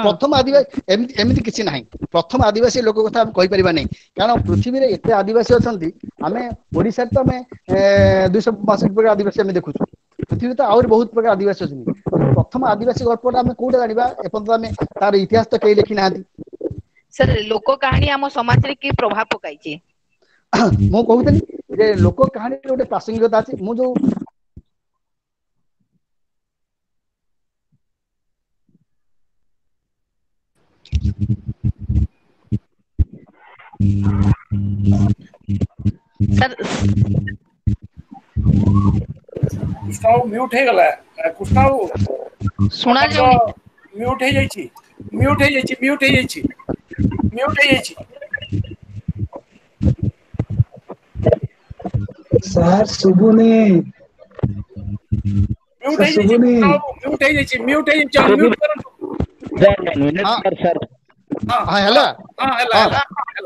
ପ୍ରଥମ ଆଦିବାସୀ ଏମିତି ଏମିତି କିଛି ନାହିଁ। ପ୍ରଥମ ଆଦିବାସୀ ଲୋକ କଥା ଆମେ କହିପାରିବା ନାହିଁ, କାରଣ ପୃଥିବୀରେ ଏତେ ଆଦିବାସୀ ଅଛନ୍ତି। ଆମେ ଓଡିଶାରେ ତ ଆମେ ଦୁଇଶହ ବାଷଠି ପ୍ରକାର ଆଦିବାସୀ ଆମେ ଦେଖୁଛୁ, ପୃଥିବୀରେ ତ ଆହୁରି ବହୁତ ପ୍ରକାର ଆଦିବାସୀ ଅଛନ୍ତି। ପ୍ରଥମ ଆଦିବାସୀ ଗଳ୍ପଟା ଆମେ କୋଉଟା ଜାଣିବା? ଏପର୍ଯ୍ୟନ୍ତ ଆମେ ତାର ଇତିହାସ ତ କେହି ଲେଖି ନାହାନ୍ତି। ସାର୍, ଲୋକ କାହାଣୀ ଆମ ସମାଜରେ କି ପ୍ରଭାବ ପକାଇଛି? ମୁଁ କହୁଥିଲି ଯେ ଲୋକ କାହାଣୀର ଗୋଟେ ପ୍ରାସଙ୍ଗିକତା ଅଛି। ମୁଁ ଯୋଉ ସାର୍, କୃଷ୍ଣ ବାବୁ ମ୍ୟୁଟ ହେଇଗଲା। କୃଷ୍ଣ ବାବୁ, ଶୁଣା ଯାଉନି। ମ୍ୟୁଟ ହେଇଯାଇଛି, ମ୍ୟୁଟ ହେଇଯାଇଛି, ମ୍ୟୁଟ ହେଇଯାଇଛି, ମ୍ୟୁଟ ହେଇଯାଇଛି। ସାର୍, ଶୁଭୁନି। ମ୍ୟୁଟ ହେଇଯାଇଛି, ମ୍ୟୁଟ ହେଇଯାଇଛି, ମ୍ୟୁଟ ହେଇଯାଇଛି, ଅନମ୍ୟୁଟ କରନ୍ତୁ। ହଁ, ହେଲା? ହଁ।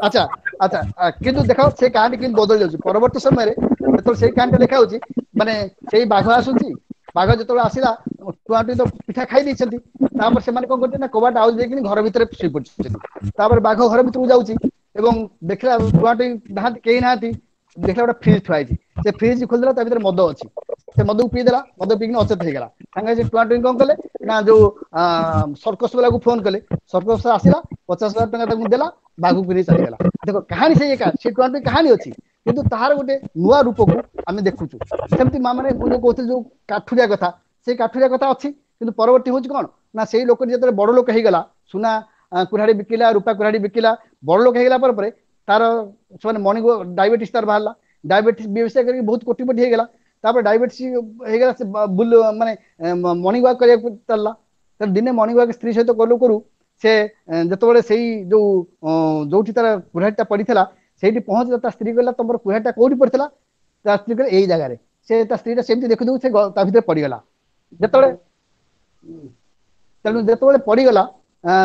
ଆଚ୍ଛା ଆଚ୍ଛା। କିନ୍ତୁ ଦେଖ, ସେ କାହାଣୀ କିନ୍ତୁ ବଦଳି ଯାଉଛି ପରବର୍ତ୍ତୀ ସମୟରେ। ଯେତେବେଳେ ସେଇ କାହାଣୀଟା ଲେଖା ହଉଛି, ମାନେ ସେଇ ବାଘ ଆସୁଛି, ବାଘ ଯେତେବେଳେ ଆସିଲା, ଟୁଆଁ ଟୁଇଁ ତ ପିଠା ଖାଇ ଦେଇଛନ୍ତି। ତାପରେ ସେମାନେ କଣ କରୁଛନ୍ତି ନା କବାଟ ଆଉଜି ଦେଇକିନି ଘର ଭିତରେ ଶୋଇ ପଡିଛନ୍ତି। ତାପରେ ବାଘ ଘର ଭିତରକୁ ଯାଉଛି ଏବଂ ଦେଖିଲା ଟୁଆଁ ଟୁଇଁ ନାହାନ୍ତି, କେହି ନାହାନ୍ତି। ଦେଖିଲା ଗୋଟେ ଫ୍ରିଜ ଥୁଆ ହେଇଛି, ସେ ଫ୍ରିଜ ଖୋଲିଦେଲା, ତା ଭିତରେ ମଦ ଅଛି। ସେ ମଦକୁ ପିଇଦେଲା, ମଦ ପିଇକିନି ଅଚେତ ହେଇଗଲା। ସାଙ୍ଗେ ସେ ଟୁଆଁ ଟୁଇଁ କଣ କଲେ ନା ଯୋଉ ସର୍କସ ବାଲାକୁ ଫୋନ କଲେ। ସର୍କସ ଆସିଲା, ପଚାଶ ହଜାର ଟଙ୍କା ତାକୁ ଦେଲା, ବାଘକୁ ନେଇ ଚାଲିଗଲା। ଦେଖ, କାହାଣୀ ସେଇ ଏକା, ସେ ଟୁଆଁ ଟୁଇଁ କାହାଣୀ ଅଛି, କିନ୍ତୁ ତାହାର ଗୋଟେ ନୂଆ ରୂପକୁ ଆମେ ଦେଖୁଛୁ। ସେମିତି ମା ମାନେ ମୁଁ ଯୋଉ କହୁଥିଲି ଯୋଉ କାଠୁରିଆ କଥା, ସେଇ କାଠୁରିଆ କଥା ଅଛି, କିନ୍ତୁ ପରବର୍ତ୍ତୀ ହଉଛି କଣ ନା ସେଇ ଲୋକଟି ଯେତେବେଳେ ବଡ ଲୋକ ହେଇଗଲା, ସୁନା କୁରାଢି ବିକିଲା, ରୂପା କୁରାଢି ବିକିଲା, ବଡ ଲୋକ ହେଇଗଲା ପରେ ପରେ ତାର ସେମାନେ ମର୍ଣ୍ଣିଂ ଡାଇବେଟିସ୍ ତାର ବାହାରିଲା। ଡାଇବେଟିସ୍ ବ୍ୟବସାୟ କରିକି ବହୁତ କୋଟିପତି ହେଇଗଲା। ତାପରେ ଡାଇବେଟିସ୍ ହେଇଗଲା, ସେ ବୁଲ ମାନେ ମର୍ଣ୍ଣିଂ ୱାକ୍ କରିବାକୁ ଚାଲିଲା। ଦିନେ ମର୍ଣ୍ଣିଂ ୱାକ୍ ସ୍ତ୍ରୀ ସହିତ କରୁ କରୁ ସେ ଯେତେବେଳେ ସେଇ ଯୋଉ ଯୋଉଠି ତାର କୁରାଢିଟା ପଡିଥିଲା ସେଇଠି ପହଞ୍ଚିଲା, ତା ସ୍ତ୍ରୀ କହିଲା, ତମର କୁରାଢିଟା କୋଉଠି ପଡିଥିଲା? ତା ସ୍ତ୍ରୀ କହିଲେ, ଏଇ ଜାଗାରେ। ସେ ତା ସ୍ତ୍ରୀଟା ସେମିତି ଦେଖୁ ଦେଖୁ ସେ ତା ଭିତରେ ପଡିଗଲା। ଯେତେବେଳେ ତେଣୁ ଯେତେବେଳେ ପଡିଗଲା,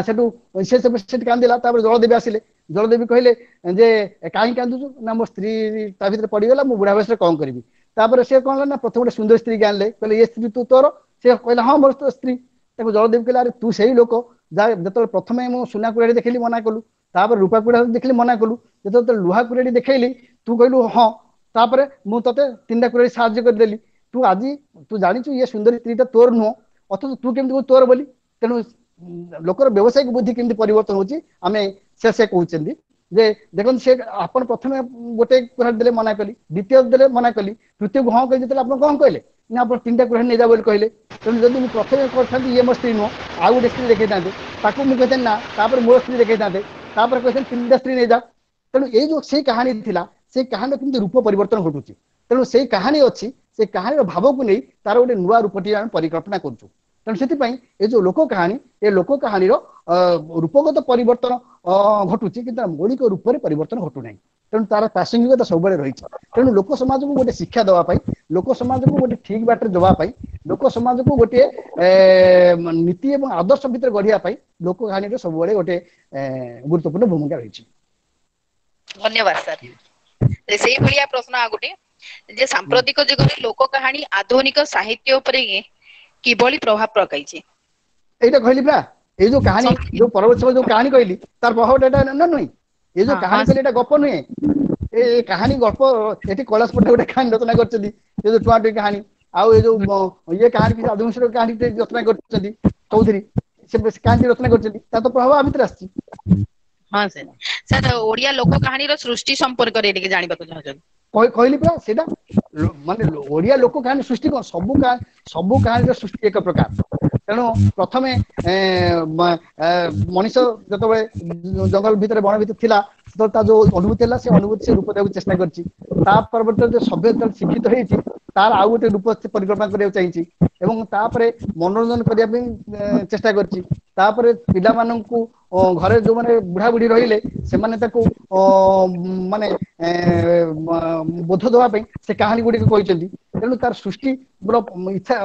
ସେଠୁ ସେ ସେଠି କାନ୍ଦିଲା। ତାପରେ ଜଳଦେବୀ ଆସିଲେ। ଜଳଦେବୀ କହିଲେ ଯେ କାହିଁକି କାନ୍ଦୁଛୁ? ନା, ମୋ ସ୍ତ୍ରୀ ତା ଭିତରେ ପଡିଗଲା, ମୁଁ ବୁଢା ବୟସରେ କଣ କରିବି? ତାପରେ ସେ କଣ ହେଲା ନା ପ୍ରଥମେ ଗୋଟେ ସୁନ୍ଦର ସ୍ତ୍ରୀ ଆଣିଲେ। କହିଲେ, ଏ ସ୍ତ୍ରୀ ତୁ ତୋର? ସେ କହିଲା, ହଁ, ମୋର ସ୍ତ୍ରୀ। ତାକୁ ଜଳଦେବୀ କହିଲେ, ଆରେ ତୁ ସେଇ ଲୋକ ଯାହା ଯେତେବେଳେ ପ୍ରଥମେ ମୁଁ ସୁନା କୁରାଢି ଦେଖିଲି ମନା କଲୁ, ତାପରେ ରୂପା କୁରାଢି ଦେଖିଲି ମନା କଲୁ, ଯେତେବେଳେ ଲୁହା କୁରାଢି ଦେଖେଇଲି ତୁ କହିଲୁ ହଁ, ତାପରେ ମୁଁ ତତେ ତିନିଟା କୁରାଢି ସାହାଯ୍ୟ କରିଦେଲି, ତୁ ଆଜି ତୁ ଜାଣିଛୁ ଇଏ ସୁନ୍ଦରୀ ସ୍ତ୍ରୀଟା ତୋର ନୁହଁ, ଅଥଚ ତୁ କେମିତି କହୁ ତୋର ବୋଲି? ତେଣୁ ଲୋକର ବ୍ୟବସାୟିକ ବୁଦ୍ଧି କେମିତି ପରିବର୍ତ୍ତନ ହଉଛି, ଆମେ ସେ ସେ କହୁଛନ୍ତି ଯେ ଦେଖନ୍ତୁ, ସେ ଆପଣ ପ୍ରଥମେ ଗୋଟେ କୁରାଢି ଦେଲେ ମନା କଲି, ଦ୍ୱିତୀୟ ଦେଲେ ମନା କଲି, ତୃତୀୟକୁ ହଁ କହିଲି, ଯେତେବେଳେ ଆପଣ କଣ କହିଲେ ନା ଆପଣ ତିନିଟା କୁରାଢି ନେଇଯା ବୋଲି କହିଲେ। ତେଣୁ ଯଦି ମୁଁ ପ୍ରଥମେ କରିଥାନ୍ତି ଇଏ ମୋ ସ୍ତ୍ରୀ ନୁହଁ, ଆଉ ଗୋଟେ ସ୍ତ୍ରୀ ଦେଖେଇଥାନ୍ତେ, ତାକୁ ମୁଁ କହିଥାନ୍ତି ନା, ତାପରେ ମୋ ସ୍ତ୍ରୀ ଦେଖେଇଥାନ୍ତେ, ତାପରେ କହିଥାନ୍ତି ତିନିଟା ସ୍ତ୍ରୀ ନେଇଯା। ତେଣୁ ଏଇ ଯୋଉ ସେଇ କାହାଣୀ ଥିଲା, ସେଇ କାହାଣୀର କେମିତି ରୂପ ପରିବର୍ତ୍ତନ ଘଟୁଛି। ତେଣୁ ସେଇ କାହାଣୀ ଅଛି, ସେ କାହାଣୀର ଭାବକୁ ନେଇ ତାର ଗୋଟେ ନୂଆ ରୂପଟି ଆମେ ପରିକଳ୍ପନା କରୁଛୁ। ତେଣୁ ସେଥିପାଇଁ ଏ ଯୋଉ ଲୋକ କାହାଣୀ, ଏ ଲୋକ କାହାଣୀର ରୂପଗତ ପରିବର୍ତ୍ତନ ଘଟୁଛି, କିନ୍ତୁ ତାର ମୌଳିକ ରୂପରେ ପରିବର୍ତ୍ତନ ଘଟୁନାହିଁ। ତେଣୁ ତାର ପ୍ରାସଙ୍ଗିକତା ସବୁବେଳେ ରହିଛି। ତେଣୁ ଲୋକ ସମାଜକୁ ଗୋଟେ ଶିକ୍ଷା ଦେବା ପାଇଁ, ଲୋକ ସମାଜକୁ ଗୋଟେ ଠିକ ବାଟରେ ଦେବା ପାଇଁ, ଲୋକ ସମାଜକୁ ଗୋଟିଏ ନୀତି ଏବଂ ଆଦର୍ଶ ଭିତରେ ଗଢିବା ପାଇଁ ଲୋକ କାହାଣୀର ସବୁବେଳେ ଗୋଟେ ଗୁରୁତ୍ୱପୂର୍ଣ୍ଣ ଭୂମିକା ରହିଛି। ଧନ୍ୟବାଦ ସାର୍। ସେଇଭଳିଆ ପ୍ରଶ୍ନ ଆଉ ଗୋଟେ ଯେ ସାମ୍ପ୍ରତିକ ଯୁଗରେ ଲୋକ କାହାଣୀ ଆଧୁନିକ ସାହିତ୍ୟ ଉପରେ କିଭଳି ପ୍ରଭାବ ପକାଇଛି? ଏଇଟା କହିଲି ପୁରା, ଏଇ ଯୋଉ କାହାଣୀ, ଯୋଉ ପରବର୍ତ୍ତୀ ଯୋଉ କାହାଣୀ କହିଲି, ତାର ପ୍ରଭାବଟା ଏଇଟା ନା ନୁହେଁ? ଏଇ ଯୋଉ କାହାଣୀ କହିଲି, ଏଇଟା ଗପ ନୁହେଁ। ଏ କାହାଣୀ ଗଳ୍ପ ଏଠି କୈଳାସ ପଟ୍ଟନାୟକ ଗୋଟେ କାହାଣୀ ରଚନା କରିଛନ୍ତି, ଏ ଯୋଉ ଟୁଆଁ ଟୁଇଁ କାହାଣୀ, ଆଉ ଏ ଯୋଉ ଇଏ କାହାଣୀ ଆଦିବଂଶର କାହାଣୀ ରଚନା କରିଛନ୍ତି ଚୌଧୁରୀ, ସେ କାହାଣୀ ରଚନା କରିଛନ୍ତି, ତାର ତ ପ୍ରଭାବ ଆ ଭିତରେ ଆସିଛି। ହଁ ସାର୍। ସାର୍ ଓଡିଆ ଲୋକ କାହାଣୀର ସୃଷ୍ଟି ସମ୍ପର୍କରେ ଟିକେ ଜାଣିବାକୁ ଚାହୁଁଛନ୍ତି। କହିଲି ପୁରା ସେଇଟା ମାନେ ଓଡିଆ ଲୋକ କାହାଣୀ ସୃଷ୍ଟି କଣ, ସବୁ ସବୁ କାହାଣୀର ସୃଷ୍ଟି ଏକ ପ୍ରକାର। ତେଣୁ ପ୍ରଥମେ ମଣିଷ ଯେତେବେଳେ ଜଙ୍ଗଲ ଭିତରେ ବଣ ଭିତରେ ଥିଲା, ସେତେବେଳେ ତା ଯୋଉ ଅନୁଭୂତି ହେଲା ସେ ଅନୁଭୂତି ସେ ରୂପ ଦେବାକୁ ଚେଷ୍ଟା କରିଛି। ତା ପରବର୍ତ୍ତୀ ସଭ୍ୟ ଶିକ୍ଷିତ ହେଇଛି, ତାର ଆଉ ଗୋଟେ ରୂପ ସେ ପରିକଳ୍ପନା କରିବାକୁ ଚାହିଁଛି ଏବଂ ତାପରେ ମନୋରଞ୍ଜନ କରିବା ପାଇଁ ଚେଷ୍ଟା କରିଛି। ତାପରେ ପିଲାମାନଙ୍କୁ ଘରେ ଯୋଉମାନେ ବୁଢା ବୁଢୀ ରହିଲେ ସେମାନେ ତାକୁ ମାନେ ବୋଧ ଦେବା ପାଇଁ ସେ କାହାଣୀ ଗୁଡିକ କହିଛନ୍ତି। ତେଣୁ ତାର ସୃଷ୍ଟି ଇଚ୍ଛା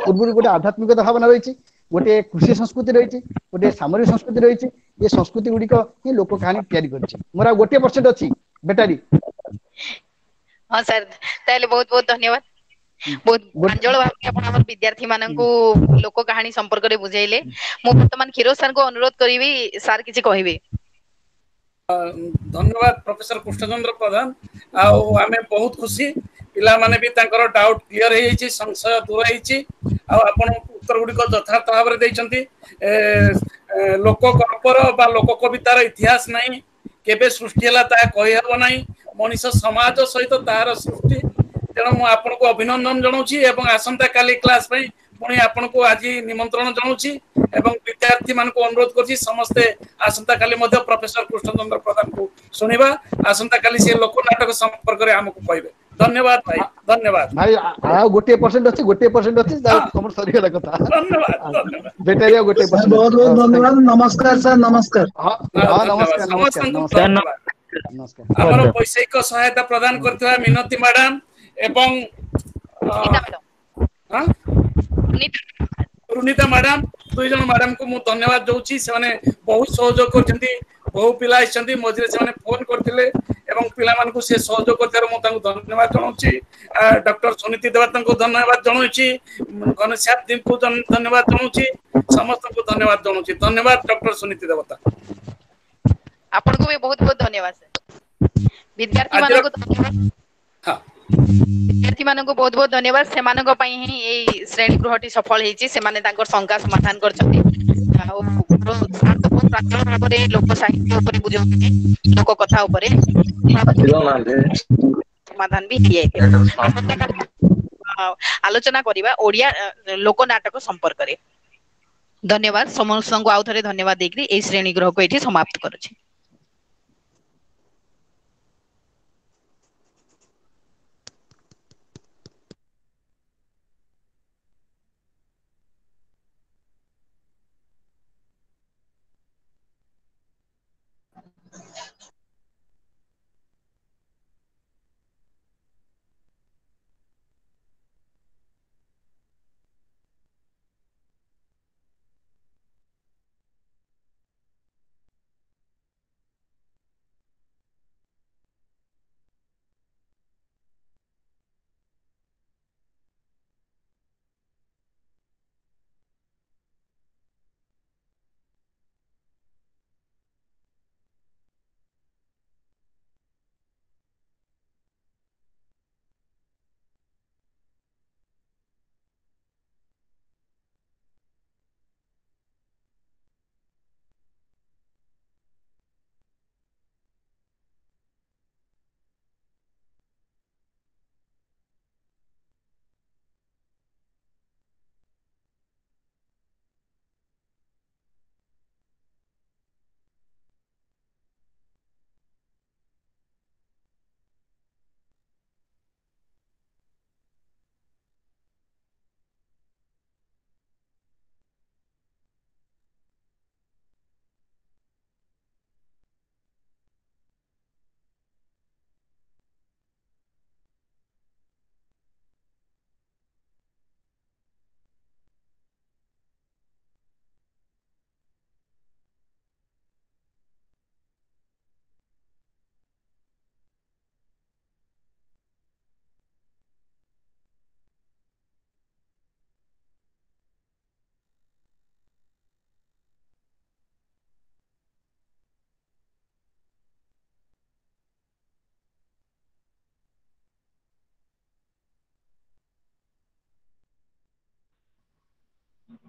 ପୂର୍ବରୁ ଗୋଟେ ଆଧ୍ୟାତ୍ମିକତା ଭାବନା ରହିଛି, ଗୋଟେ କୃଷି ସଂସ୍କୃତି ରହିଛି, ଗୋଟେ ସାମରିକ ସଂସ୍କୃତି ରହିଛି। ଏ ସଂସ୍କୃତି ଗୁଡିକ ହିଁ ଲୋକ କାହାଣୀ ତିଆରି କରିଛି। ମୋର ଆଉ ଗୋଟିଏ ପରସେଣ୍ଟ ଅଛି ବ୍ୟାଟେରୀ। ହଁ ସାର୍, ତାହେଲେ ବହୁତ ବହୁତ ଧନ୍ୟବାଦ। ବହୁତ ପ୍ରାଞ୍ଜଳ ଭାବରେ ଆପଣ ଆମର ବିଦ୍ୟାର୍ଥୀ ମାନଙ୍କୁ ଲୋକ କାହାଣୀ ସମ୍ପର୍କରେ ବୁଝେଇଲେ। ମୁଁ ବର୍ତ୍ତମାନ କ୍ଷୀରୋଦ ସାର୍ଙ୍କୁ ଅନୁରୋଧ କରିବି ସାର୍ କିଛି କହିବେ। ଧନ୍ୟବାଦ ପ୍ରଫେସର କୃଷ୍ଣଚନ୍ଦ୍ର ପ୍ରଧାନ। ଆଉ ଆମେ ବହୁତ ଖୁସି, ପିଲାମାନେ ବି ତାଙ୍କର ଡାଉଟ କ୍ଲିୟର ହେଇଯାଇଛି, ସଂଶୟ ଦୂର ହେଇଛି, ଆଉ ଆପଣ ଉତ୍ତର ଗୁଡ଼ିକ ଯଥାର୍ଥ ଭାବରେ ଦେଇଛନ୍ତି। ଲୋକ ଗଳ୍ପର ବା ଲୋକ କବିତାର ଇତିହାସ ନାହିଁ, କେବେ ସୃଷ୍ଟି ହେଲା ତାହା କହିହେବ ନାହିଁ। ମଣିଷ ସମାଜ ସହିତ ତାହାର ସୃଷ୍ଟି। ତେଣୁ ମୁଁ ଆପଣଙ୍କୁ ଅଭିନନ୍ଦନ ଜଣାଉଛି ଏବଂ ଆସନ୍ତାକାଲି କ୍ଲାସ ପାଇଁ ପୁଣି ଆପଣଙ୍କୁ ଆଜି ନିମନ୍ତ୍ରଣ ଜଣାଉଛି ଏବଂ ବିଦ୍ୟାର୍ଥୀ ମାନଙ୍କୁ ଅନୁରୋଧ କରୁଛି ସମସ୍ତେ ଆସନ୍ତାକାଲି ମଧ୍ୟ ପ୍ରଫେସର କୃଷ୍ଣଚନ୍ଦ୍ର ପ୍ରଧାନଙ୍କୁ ଶୁଣିବା। ଆସନ୍ତାକାଲି ସେ ଲୋକ ନାଟକ ସମ୍ପର୍କରେ ଆମକୁ କହିବେ। ଧନ୍ୟବାଦ ଭାଇ, ଧନ୍ୟବାଦ ଭାଇ। ଆଉ ଗୋଟିଏ ପରସେଣ୍ଟ ଅଛି, ଗୋଟିଏ ପରସେଣ୍ଟ ଅଛି, ତମର ସରିଗଲା କଥା। ଧନ୍ୟବାଦ, ଧନ୍ୟବାଦ। ବ୍ୟାଟେରୀ ଆଉ ଗୋଟିଏ ପରସେଣ୍ଟ। ବହୁତ ବହୁତ ଧନ୍ୟବାଦ। ନମସ୍କାର ସାର୍, ନମସ୍କାର। ହଁ, ନମସ୍କାର, ନମସ୍କାର, ନମସ୍କାର। ଆମର ବୈଷୟିକ ସହାୟତା ପ୍ରଦାନ କରିଥିବା ମିନତୀ ମ୍ୟାଡାମ ଏବଂ ରୁନିତା ମ୍ୟାଡାମ, ଦୁଇ ଜଣ ମ୍ୟାଡାମକୁ ମୁଁ ଧନ୍ୟବାଦ ଦଉଛି। ସେମାନେ ବହୁତ ସହଯୋଗ କରିଛନ୍ତି, ବହୁ ପିଲା ଆସିଛନ୍ତି, ମଝିରେ ସେମାନେ ଫୋନ କରିଥିଲେ ଏବଂ ପିଲାମାନଙ୍କୁ ସେ ସହଯୋଗ କରିଥିବାରୁ ମୁଁ ତାଙ୍କୁ ଧନ୍ୟବାଦ ଜଣାଉଛି। ଡକ୍ଟର ସୁନୀତି ଦେବତାଙ୍କୁ ଧନ୍ୟବାଦ ଜଣାଉଛି, ଘନଶ୍ୟାମ ଦିଙ୍କୁ ଧନ୍ୟବାଦ ଜଣାଉଛି, ସମସ୍ତଙ୍କୁ ଧନ୍ୟବାଦ ଜଣାଉଛି। ଧନ୍ୟବାଦ ଡକ୍ଟର ସୁନୀତି ଦେବତା, ଆପଣଙ୍କୁ ବି ବହୁତ ବହୁତ ଧନ୍ୟବାଦ ସାର୍। ବିଦ୍ୟାର୍ଥୀ ମାନଙ୍କୁ ଧନ୍ୟବାଦ, ବିଦ୍ୟାର୍ଥୀ ମାନଙ୍କୁ ବହୁତ ବହୁତ ଧନ୍ୟବାଦ। ସେମାନଙ୍କ ପାଇଁ ହିଁ ଏଇ ଶ୍ରେଣୀ ଗୃହଟି ସଫଳ ହେଇଛି। ସେମାନେ ତାଙ୍କର ଶଙ୍କା ସମାଧାନ କରିଛନ୍ତି। ଆଉ ବହୁତ ପ୍ରାଞ୍ଜଳ ଭାବରେ ଲୋକ ସାହିତ୍ୟ ଉପରେ ବୁଝାଉଛନ୍ତି, ଲୋକ କଥା ଉପରେ ସମାଧାନ ବି ହେଇଯାଇଥିଲା। ଆସନ୍ତାକାଲି ଆଲୋଚନା କରିବା ଓଡିଆ ଲୋକ ନାଟକ ସମ୍ପର୍କରେ। ଧନ୍ୟବାଦ ସମସ୍ତଙ୍କୁ, ଆଉ ଥରେ ଧନ୍ୟବାଦ ଦେଇକରି ଏଇ ଶ୍ରେଣୀ ଗୃହକୁ ଏଇଠି ସମାପ୍ତ କରୁଛି।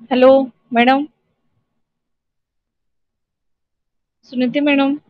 Hello madam, Suniti madam.